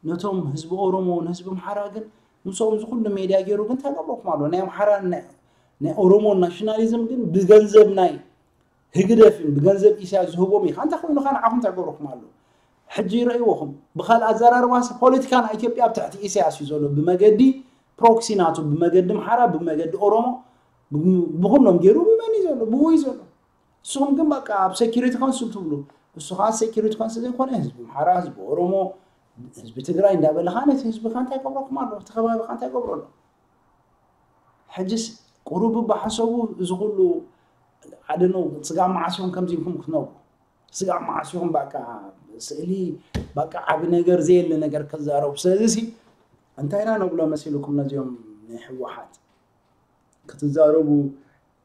ነቶም ህዝቢ ኦሮሞ ንህዝቢ ኣምሓራ ግን ምስኦም ዝኩሉ ሜድያ ገይሩ ግን እንታይ ገብረኩም ኣሎ ናይ ኣምሓራ ናይ ኦሮሞ ናሽናሊዝም ግን ብገንዘብ ናይ ህግደፍን ብገንዘብ ኢሳያስ ዝህቦም ኢኻ እንታይ ኮይኑ ካ ንዓኹም እንታይ ገብረኩም ኣሎ ሕጂ ይረእይዎኹም። ብኻልእ ኣዘራርባሲ ፖለቲካ ናይ ኢትዮጵያ ኣብ ትሕቲ ኢሳያስ እዩ ዘሎ። ብመገዲ ፕሮክሲ ናቱ፣ ብመገዲ ኣምሓራ፣ ብመገዲ ኦሮሞ፣ ብኩሎም ገይሩ ብመን እዩ ዘሎ? ብኡ እዩ ዘሎ። ንስኹም ግን በቃ ኣብ ሴኩሪቲ ካውንስል ትብሉ። እሱ ከዓ ሴኩሪቲ ካውንስል ዘይኮነ ህዝቢ ኣምሓራ፣ ህዝቢ ኦሮሞ፣ ህዝቢ ትግራይ እንዳበልኻ ነቲ ህዝብኻ እንታይ ይገብረኩም ኣሎ? እቲ ከባቢኻ እንታይ ይገብሮ ኣሎ? ሕጅስ ቁሩብ ብሓሰቡ እዚ ኩሉ ኣደነው ስጋ መዓስ እዮም ከምዚ ኢልኩም ክትነብሩ? ስጋ መዓስ እዮም በቃ ስእሊ በቃ ዓቢ ነገር ዘየለ ነገር ክዛረቡ። ስለዚ ሲ እንታይ ኢና ነብሎ መሲልኩም ነዚኦም ናይ ህወሓት ክትዛረቡ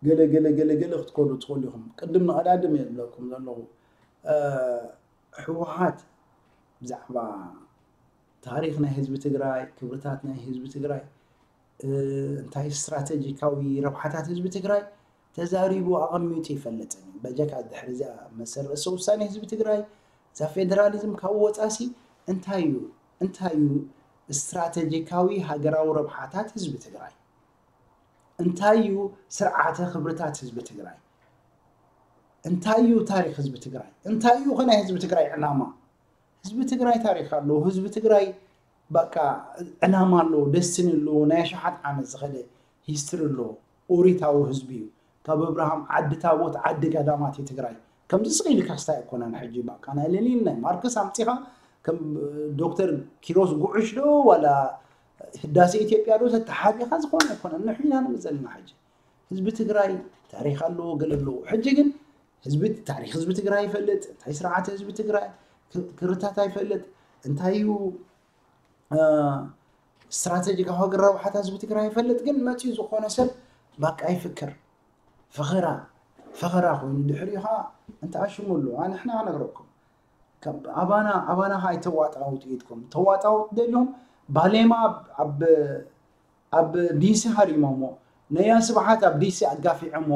ገለ ገለ ገለ ገለ ክትኮኑ ትኽእሉ ኢኹም። ቅድም ንቐዳድም እየ ዝብለኩም ዘለኹ። እ፣ ህወሓት ብዛዕባ ታሪኽ ናይ ህዝቢ ትግራይ፣ ክብርታት ናይ ህዝቢ ትግራይ፣ እ፣ እንታይ ስትራቴጂካዊ ረብሓታት ህዝቢ ትግራይ ተዛሪቡ ኣቐሚጡ ይፈልጥን እዩ። በጀካ ድሕሪ እዚኣ መሰል ርእሰ ውሳኔ ህዝቢ ትግራይ፣ እዛ ፌደራሊዝም ካብ ወፃሲ እንታይ እዩ? እንታይ እዩ ስትራቴጂካዊ ሃገራዊ ረብሓታት ህዝቢ ትግራይ? እንታይ እዩ ስርዓተ ክብርታት ህዝቢ ትግራይ? እንታይ እዩ ታሪኽ ህዝቢ ትግራይ? እንታይ እዩ ኸ ናይ ህዝቢ ትግራይ ዕላማ? ህዝቢ ትግራይ ታሪኽ ኣለዎ። ህዝቢ ትግራይ በቃ ዕላማ ኣለዎ፣ ደስትኒ ኣለዎ። ናይ ኣሽሓት ዓመት ዝኸደ ሂስትሪ ኣለዎ። ኦሪታዊ ህዝቢ እዩ። ካብ ኣብርሃም ዓዲ ታቦት ዓዲ ገዳማት እዩ ትግራይ። ከምዚ ስቕ ኢልካ ክስታይ ኣይኮነን። ሕጂ በቃ ናይ ሌኒን ናይ ማርክስ ኣምፂኻ ከም ዶክተር ኪሮስ ጉዕሽ ዶ ዋላ ህዳሴ ኢትዮጵያ ዶ ተተሓቢኻ ዝኾነ ኣይኮነን። ንሕና ንብል ዘለና ሕጂ ህዝቢ ትግራይ ታሪኽ ኣለዎ ገለ ኣለዎ። ሕጂ ግን ህዝቢ ታሪኽ ህዝቢ ትግራይ ይፈልጥ እንታይ ስርዓት ህዝቢ ትግራይ ክርታት ኣይፈልጥ እንታይ እዩ ስትራቴጂካዊ ሃገር ረብሓታት ህዝቢ ትግራይ ይፈልጥ ግን መፅኡ ዝኾነ ሰብ ባቃ ይፍክር ፈኸራ ፈኸራ ኮይኑ ድሕሪኡ ከዓ እንተኣሽሙሉ ኣንሕና ነግረኩም ኣባና ኣባና ከዓ ኣይተዋጣውጡ ኢድኩም ተዋጣውጡ ደልዮም ባሌማ ኣብ ኣብ ዲሲ ሃሪሞሞ ነያ ስብሓት ኣብ ዲሲ ኣጋፊዖሞ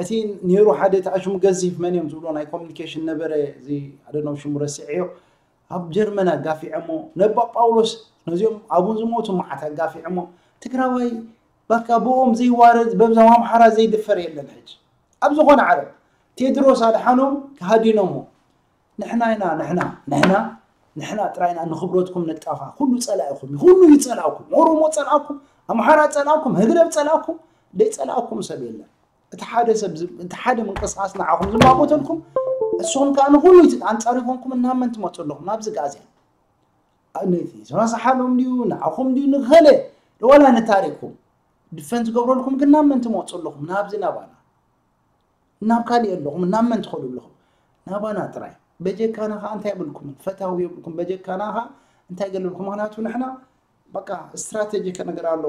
እቲ ነይሩ ሓደ ተኣሽሙ ገዚፍ መን እዮም ዝብሎ ናይ ኮሚኒኬሽን ነበረ እዚ ኣደነው ሽሙ ረሲዐዮ ኣብ ጀርመን ኣጋፊዖሞ ነባ ጳውሎስ ነዚኦም ኣብን ዝሞቱ መዓት ኣጋፊዖሞ ትግራዋይ በቃ ብኦም ዘይዋረድ በብዛም ኣምሓራ ዘይድፈር የለን ሕጂ ኣብ ዝኾነ ዓለም ቴድሮስ ኣድሓኖም ሃዲኖሞ ንሕና ኢና ንሕና ንሕና ንሕና ጥራይና ንክብረትኩም ንጣፋ ኩሉ ጸላኢኹም ኩሉ ይጸላእኩም ኦሮሞ ጸላእኩም ኣምሓራ ጸላእኩም ህግደፍ ጸላእኩም ደይ ጸላእኩም ሰብ የለን እቲ ሓደ ሰብ እቲ ሓደ ምንቅስቃስ ንዓኹም ዝማጎተልኩም እሱኹም ከዓ ንኩሉ ኣንጻር ይኮንኩም እናመን ትመፁ ኣለኹም ናብዚ ጋዜያ ነቲ ዝረሳሓሎም ድዩ ንዓኹም ድዩ ንኸለ ወላ ንታሪኩም ድፈን ዝገብረልኩም ግን ናብ መን ትመፁ ኣለኹም ናብዚ ናባና ናብ ካሊእ ኣለኹም ናብ መን ትኸዱ ኣለኹም ናባና ጥራይ በጀካና ከዓ እንታይ የብልኩምን ፈታዊ የብልኩም በጀካና ከዓ እንታይ ገልብልኩም ምክንያቱ ንሕና በቃ ስትራቴጂ ከነገር ኣሎ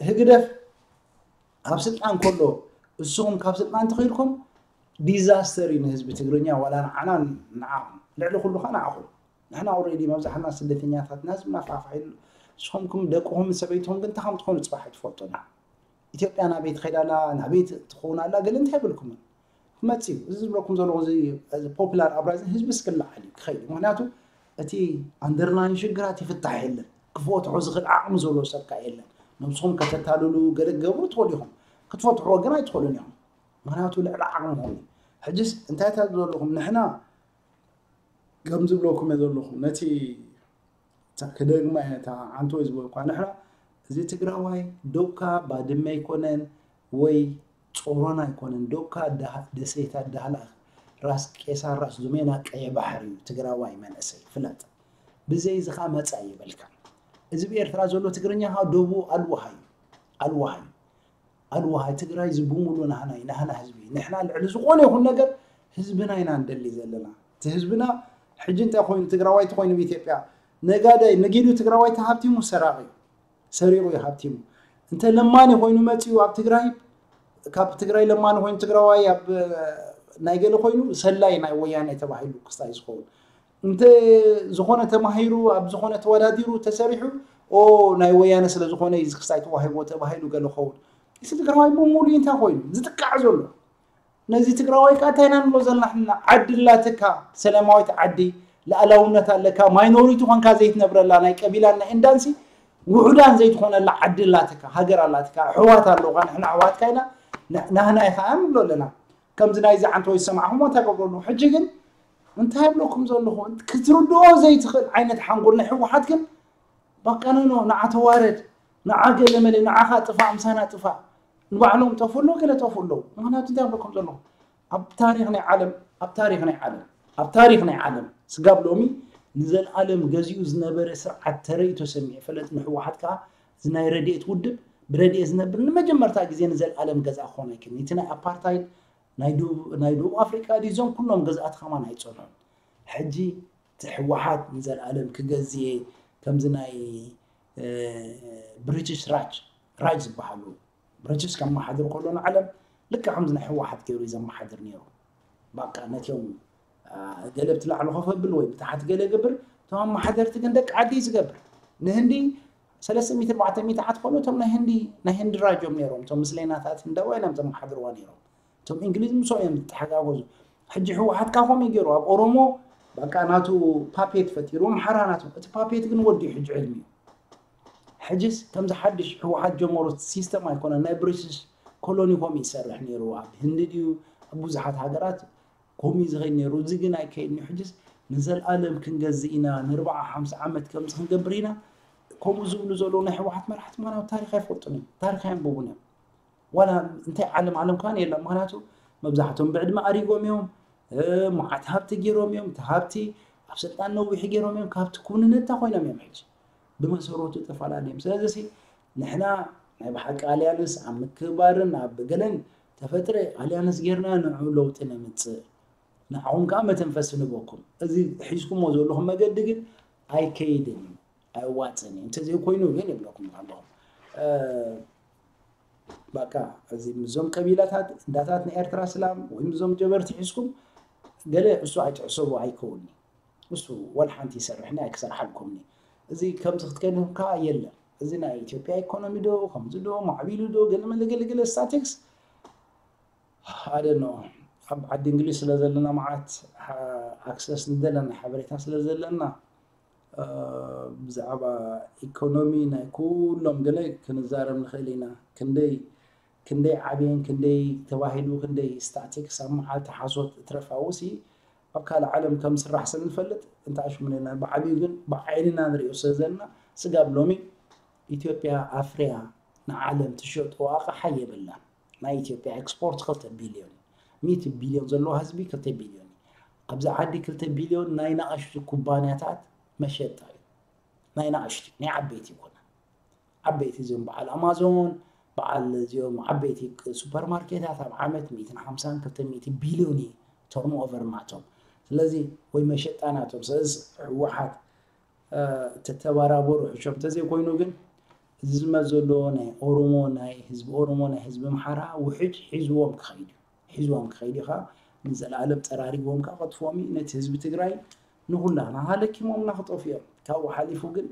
ህግደፍ ኣብ ስልጣን ከሎ እስኹም ካብ ስልጣን ተኸይድኩም ዲዛስተር እዩ ንህዝቢ ትግርኛ ዋላ ንዓና ንዓኹም ልዕሊ ኩሉ ከዓ ንዓኹም ንሕና ኦሬዲ መብዛሕና ስደተኛታት ናዝብ ናፋፋ ኢሉ ንስኹምኩም ደቅኹም ሰበይትኹም ግን እንታይ ከም ትኾኑ ፅባሕ ኣይትፈልጡን ኢትዮጵያ ናበይ ትኸይድ ኣላ ናበይ ትኸውን ኣላ ገለ እንታይ ይብልኩምን ክመፅእ እዩ እዚ ዝብለኩም ዘለኹ እዚ ፖፕላር ኣፕራይዚንግ ህዝቢ እስክላዓል እዩ ክኸይድ እዩ ምክንያቱ እቲ ኣንደርላይን ሽግራት ይፍታሕ የለን ክፈትሖ ዝኽእል ዓቕሚ ዘለዎ ሰብ ከዓ የለን ነብስኹም ከተታልሉ ገለ ክገብሩ ትኽእሉ ኢኹም ክትፈትሕዎ ግን ኣይትኽእሉን ኢኹም ምክንያቱ ልዕሊ ዓቕምኹም እዩ ሕጅስ እንታይ ታብ ዘለኹም ንሕና ከም ዝብለኩም እየ ዘለኹ ነቲ ክደግማ እየ እታ ዓንቶ ዝበልኳ ንሕና እዚ ትግራዋይ ዶብካ ባድመ ኣይኮነን ወይ ጾሮና ኣይኮነን ዶብካ ደሴታት ዳህላክ ራስ ቄሳር ራስ ዙሜና ቀየ ባሕሪ እዩ ትግራዋይ መንእሰይ ፍለጥ ብዘይ ዝኻ መፃ ይበልካ እዚ ብኤርትራ ዘሎ ትግርኛ ካ ደቡ ኣልዋሃ እዩ ኣልዋሃ እዩ ኣልዋሃ ትግራይ እዚ ብሙሉ ናህና እዩ ናህና ህዝቢ እዩ ንሕና ልዕሊ ዝኾነ ይኹን ነገር ህዝብና ኢና ንደሊ ዘለና እቲ ህዝብና ሕጂ እንታይ ኮይኑ ትግራዋይ ተኮይኑ ብኢትዮጵያ ነጋዳይ ነጊዱ ትግራዋይ ተሃብቲሙ ሰራቂ እዩ ሰሪቁ እዩ ሃብቲሙ እንተ ለማኒ ኮይኑ መፂኡ ኣብ ትግራይ ካብ ትግራይ ለማኒ ኮይኑ ትግራዋይ ኣብ ናይ ገለ ኮይኑ ሰላይ ናይ ወያነ ተባሂሉ ክስታይ ዝኸውን እንተ ዝኾነ ተማሂሩ ኣብ ዝኾነ ተወዳዲሩ ተሰሪሑ ኦ ናይ ወያነ ስለ ዝኾነ እዩ ክስታይ ተዋሂቦ ተባሂሉ ገለ ኸውን እዚ ትግራዋይ ብሙሉ እንታይ ኮይኑ ዝጥቃዕ ዘሎ ነዚ ትግራዋይ ከዓ እንታይ ኢና ንብሎ ዘለና ሕና ዓዲ ላትካ ሰላማዊት ዓዲ ልኣላውነት ኣለካ ማይኖሪቲ ኮንካ ዘይትነብረላ ናይ ቀቢላን ናይ እንዳንሲ ውሑዳን ዘይትኾነላ ዓዲ ላትካ ሃገር ኣላትካ ኣሕዋት ኣለውካ ንሕና ኣሕዋትካ ኢና ናህና ኢኻ ንብሎ ኣለና ከምዚ ናይዚ ዓንተወይ ዝሰማዕኹሞ እንታይ ገብረሉ ሕጂ ግን እንታይ ኣብለኩም ዘለኹ ክትርድኦ ዘይትኽእል ዓይነት ሓንጎል ናይ ህወሓት ግን በቃ ኖ ኖ ንዓ ተዋረድ ንዓ ገለ መለ ንዓኻ ጥፋእ ምሳና ጥፋእ ንባዕሎም ጠፉ ኣለዉ ገለ ጠፉ ኣለዉ። ምክንያቱ እንታይ ኣብለኩም ዘለኹ ኣብ ታሪክ ናይ ዓለም ኣብ ታሪክ ናይ ዓለም ኣብ ታሪክ ናይ ዓለም ስጋብ ሎሚ ንዘለኣለም ገዚኡ ዝነበረ ስርዓት ተረይቶ ሰሚዕ ፈለጥ ንህወሓት ከዓ እዚ ናይ ረድኤት ውድብ ብረድኤት ዝነብር ንመጀመርታ ግዜ ንዘለኣለም ገዛ ክኾን ኣይክን እቲ ናይ ኣፓርታይድ ናይ ደቡብ ኣፍሪቃ ድዩ እዞም ኩሎም ገዛእቲ ከማን ኣይፀንሑን። ሕጂ እቲ ህወሓት ንዘለኣለም ክገዝእ እየ ከምዚ ናይ ብሪቲሽ ራጅ ራጅ ዝበሃሉ ብሪቲሽ ከመሓድር ከሎ ንዓለም ልክዕ ከምዚ ናይ ህወሓት ገይሩ እዩ ዘመሓድር ነይሩ። በቃ ነቲኦም ገለ ብቲ ላዕሊ ኮፍ ኣብል ወይ ብታሕቲ ገለ ይገብር እቶም ኣመሓደርቲ ግን ደቂ ዓዲ እዩ ዝገብር። ንህንዲ ሰለስተ ሚእቲ ኣርባዕተ ሚእቲ ዓት ከሎ እቶም ናይ ህንዲ ናይ ህንዲ ራጅ እዮም ነይሮም እቶም ምስለይናታት ህንዳውያን እዮም ዘመሓድርዋ ነይሮም። እቶም እንግሊዝ ምስኦም እዮም ዝተሓጋገዙ። ሕጂ ህወሓት ካ ከምኡ ገይሩ ኣብ ኦሮሞ በቃ ናቱ ፓፔት ፈጢሩ ኣምሓራ ናቱ እቲ ፓፔት ግን ወዲኡ ሕጂ ዕድሚኡ ሕጅስ ከምዚ ሓድሽ ህወሓት ጀመሮ ሲስተም ኣይኮነን ናይ ብሪቲሽ ኮሎኒ ከምኡ ይሰርሕ ነይሩ ኣብ ህንዲ ድዩ ኣብ ብዙሓት ሃገራት ከምኡ ዝኸይድ ነይሩ እዚ ግን ኣይከይድ ነዩ ሕጅስ ንዘለኣለም ክንገዝእ ኢና ንርባዓ ሓምሳ ዓመት ከምዚ ክንገብር ኢና ከምኡ ዝብሉ ዘለዉ ናይ ህወሓት መራሕቲ ምክንያቱ ታሪክ ኣይፈልጡን እዮም ታሪክ ኣየንብቡን እዮም ዋላ እንታይ ዓለም ዓለም ከማን የላ ምክንያቱ መብዛሕቶም ብዕድመ ኣሪጎም እዮም መዓት ሃብቲ ገይሮም እዮም እቲ ሃብቲ ኣብ ስልጣን ነዊሕ ገይሮም እዮም ካብቲ ኩንነታ ኮይኖም እዮም ሕጂ ብመሰረቱ ተፈላለዮም ስለዚ ንሕና ናይ ብሓቂ ኣልያንስ ኣብ ምክብባርን ኣብ ገለን ተፈጥረ ኣልያንስ ጌርና ንዑ ለውጢ ነምፅእ ንዓኹም ከዓ መተንፈሲ ንበኩም እዚ ሒዝኩሞ ዘለኹም መገዲ ግን ኣይከይድን እዩ ኣይዋፅን እዩ እንተዘይኮይኑ ግን ይብለኩም ኣለኹም በቃ እዚ ምዞም ቀቢላታት እንዳታት ናይ ኤርትራ ስላም ወይ ምዞም ጀበርቲ ሒዝኩም ገለ እሱ ኣይትሕሰቡ ኣይከውኒ እሱ ወላ ሓንቲ ይሰርሕኒ ኣይክሰርሓልኩምኒ እዚ ከምዚ ክትከድኩም ከዓ የለን እዚ ናይ ኢትዮጵያ ኢኮኖሚ ዶ ከምዚ ዶ ማዕቢሉ ዶ ገለመለ ገለገለ ስታቲክስ ኣደኖ ኣብ ዓዲ እንግሊዝ ስለ ዘለና መዓት ኣክሰስ ንደለና ሓበሬታ ስለ ዘለና ብዛዕባ ኢኮኖሚ ናይ ኩሎም ገለ ክንዛረብ ንኽእል ኢና ክንደይ ክንደይ ዓብየን ክንደይ ተባሂሉ ክንደይ ስታቲክስ ኣብ መዓልቲ ሓሶት እትረፋውሲ ኣብ ካልእ ዓለም ከም ዝስራሕ ስለ ንፈልጥ እንታይ ኣሽሙነና ብዓብዩ ግን ብዓይንና ንሪኦ ስለ ዘለና ስጋብ ሎሚ ኢትዮጵያ ኣፍርያ ንዓለም ትሸጦ ኣቕሓ የብላን ናይ ኢትዮጵያ ኤክስፖርት ክልተ ቢልዮን ሚእቲ ቢልዮን ዘለዎ ህዝቢ ክልተ ቢልዮን ኣብዚ ዓዲ ክልተ ቢልዮን ናይ ንኣሽቱ ኩባንያታት መሸጣ እዩ ናይ ንኣሽቱ ናይ ዓበይቲ ይኮነ ዓበይቲ እዚኦም በዓል ኣማዞን በዓል እዚኦም ዓበይቲ ሱፐርማርኬታት ኣብ ዓመት ሚእትን ሓምሳን ክልተ ሚእቲ ቢልዮን እዩ ተርኖቨር ናቶም ስለዚ ወይ መሸጣ ናቶም ስለዚ ህወሓት ተተባራበሩ ሕሾም ተዘይኮይኑ ግን እዚ ዝመፅ ዘሎ ናይ ኦሮሞ ናይ ህዝቢ ኦሮሞ ናይ ህዝቢ ኣምሓራ ውሕጅ ሒዝዎም ክኸይድ እዩ ሒዝዎም ክኸይድ እዩ ከዓ ንዘለኣለም ጠራሪግዎም ከዓ ከጥፍኦም እዩ ነቲ ህዝቢ ትግራይ ንኩላና ሃለኪሞምና ክጠፍኡ እዮም ካብኡ ሓሊፉ ግን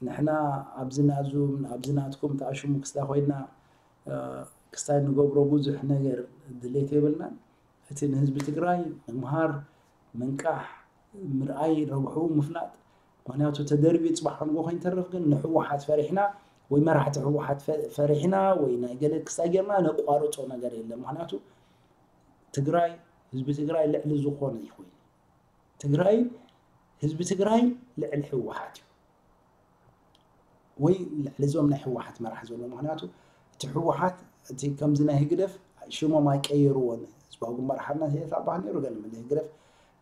ንሕና ኣብዚ ናዙም ኣብዚ ናትኩም ተኣሽሙ ክስታ ኮይና ክስታይ ንገብሮ ብዙሕ ነገር ድሌት የብልናን እቲ ንህዝቢ ትግራይ ምምሃር ምንቃሕ ምርኣይ ረብሑ ምፍላጥ ምክንያቱ ተደርቢ ፅባሕ ከንጎ ከይንተርፍ ግን ንህወሓት ፈሪሕና ወይ መራሕቲ ህወሓት ፈሪሕና ወይ ናይ ገለ ክስታይ ጌርና ነቋርፆ ነገር የለን ምክንያቱ ትግራይ ህዝቢ ትግራይ ልዕሊ ዝኾነ ይኮይኑ ትግራይ ህዝቢ ትግራይ ልዕሊ ህወሓት እዩ ወይ ልዕሊ እዞም ናይ ህወሓት መራሕ ዘሎ ምክንያቱ እቲ ህወሓት እቲ ከምዚ ናይ ህግደፍ ሽሞም ኣይቀየርዎን ህዝባዊ ግንባር ሓርነት ኤርትራ በሃል ነይሩ ገለ መለ ህግደፍ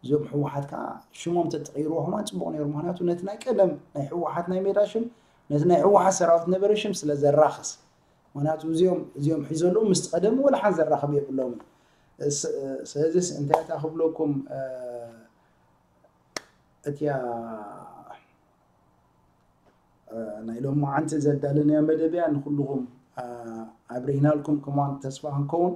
እዚኦም ህወሓት ከዓ ሽሞም ተተቀይርዎ ከማን ፅቡቅ ነይሩ ምክንያቱ ነቲ ናይ ቀደም ናይ ህወሓት ናይ ሜዳ ሽም ነቲ ናይ ህወሓት ሰራዊት ነበረ ሽም ስለ ዘራኽስ ምክንያቱ እዚኦም እዚኦም ሒዘ ኣለዉ ምስቲ ቀደም ወላ ሓንቲ ዘራኽብ የብሎምን ስለዚስ እንታይ እታ ክብለኩም እቲያ ናይ ሎማዓንቲ ዘዳለናያ መደብ እያ ንኩልኹም ኣብሪህናልኩም ከማን ተስፋ ክንከውን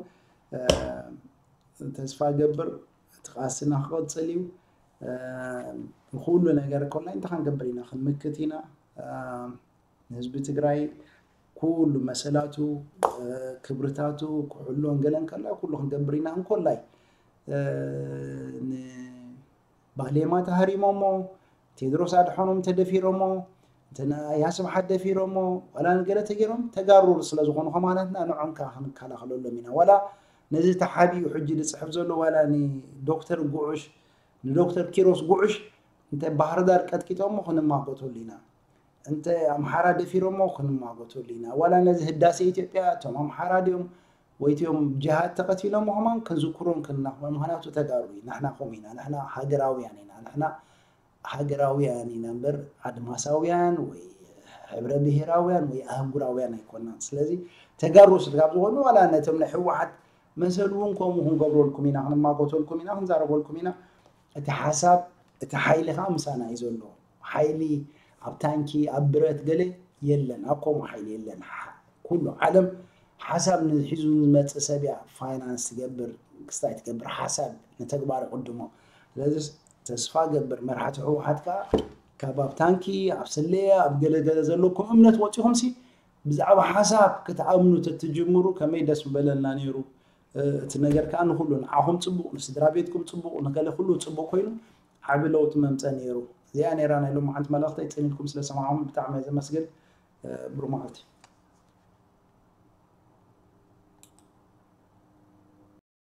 ተስፋ ገብር እቲ ቃልስና ክቐፅል እዩ ንኩሉ ነገር ኮላይ እንታይ ክንገብር ኢና ክንምክት ኢና ንህዝቢ ትግራይ ኩሉ መሰላቱ ክብርታቱ ክሕሎን ገለን ከላ ኩሉ ክንገብር ኢና እንኮላይ ባሌማ ተሃሪሞሞ ቴድሮስ ኣድሓኖም ተደፊሮሞ እንተ ኣያ ስብሓት ደፊሮሞ ዋላ ንገለ ተገይሮም ተጋሩ ስለ ዝኾኑ ከማናትና ንዖም ከዓ ክንከላኸለሎም ኢና ዋላ ነዚ ተሓቢኡ ሕጂ ዝፅሕፍ ዘሎ ዋላ ንዶክተር ጉዑሽ ንዶክተር ኪሮስ ጉዑሽ እንተ ባህር ዳር ቀጥቂጦሞ ክንማጎተሉ ኢና። እንተ ኣምሓራ ደፊሮሞ ክንማጎተሉ ኢና። ዋላ ነዚ ህዳሴ ኢትዮጵያ እቶም ኣምሓራ ድዮም ወይ እቲኦም ጅሃድ ተቐቲሎም ምዃን ክንዝክሮም ክንና ምኽንያቱ ተጋሩ እዩ። ንሕና ከምኡ ኢና። ንሕና ሃገራውያን ኢና። ንሕና ሃገራውያን ኢና እምበር ኣድማሳውያን ወይ ሕብረ ብሄራውያን ወይ ኣህጉራውያን ኣይኮናን። ስለዚ ተጋሩ ስለ ካብ ዝኾኑ ዋላ ነቶም ናይ ህወሓት መሰል እውን ከምኡ ክንገብረልኩም ኢና፣ ክንማጎተልኩም ኢና፣ ክንዛረበልኩም ኢና። እቲ ሓሳብ እቲ ሓይሊ ከዓ ምሳና እዩ ዘሎ። ሓይሊ ኣብ ታንኪ ኣብ ብረት ገለ የለን፣ ኣብ ከምኡ ሓይሊ የለን። ኩሉ ዓለም ሓሳብ ንሒዙ ዝመፅእ ሰብ እያ ፋይናንስ ትገብር፣ ክስታይ ትገብር፣ ሓሳብ ንተግባር ይቕድሞ። ስለዚ ተስፋ ገብር መራሕቲ ህወሓት ከዓ ካብ ኣብ ታንኪ ኣብ ስሌ ኣብ ገለገለ ዘለኩም እምነት ወፂኹም ሲ ብዛዕባ ሓሳብ ክትኣምኑ ተትጅምሩ ከመይ ደስ ምበለልና ነይሩ። እቲ ነገር ከዓ ንኩሉ ንዓኹም ፅቡቕ፣ ንስድራ ቤትኩም ፅቡቕ፣ ንገለ ኩሉ ፅቡቕ ኮይኑ ዓቢ ለውጢ መምፀ ነይሩ። እዚኣ ነይራ ናይ ሎማዓንቲ መልእኽተይ። ፅን ኢልኩም ስለሰማዕኹም ብጣዕሚ እየ ዘመስግን። ብሩህ መዓልቲ።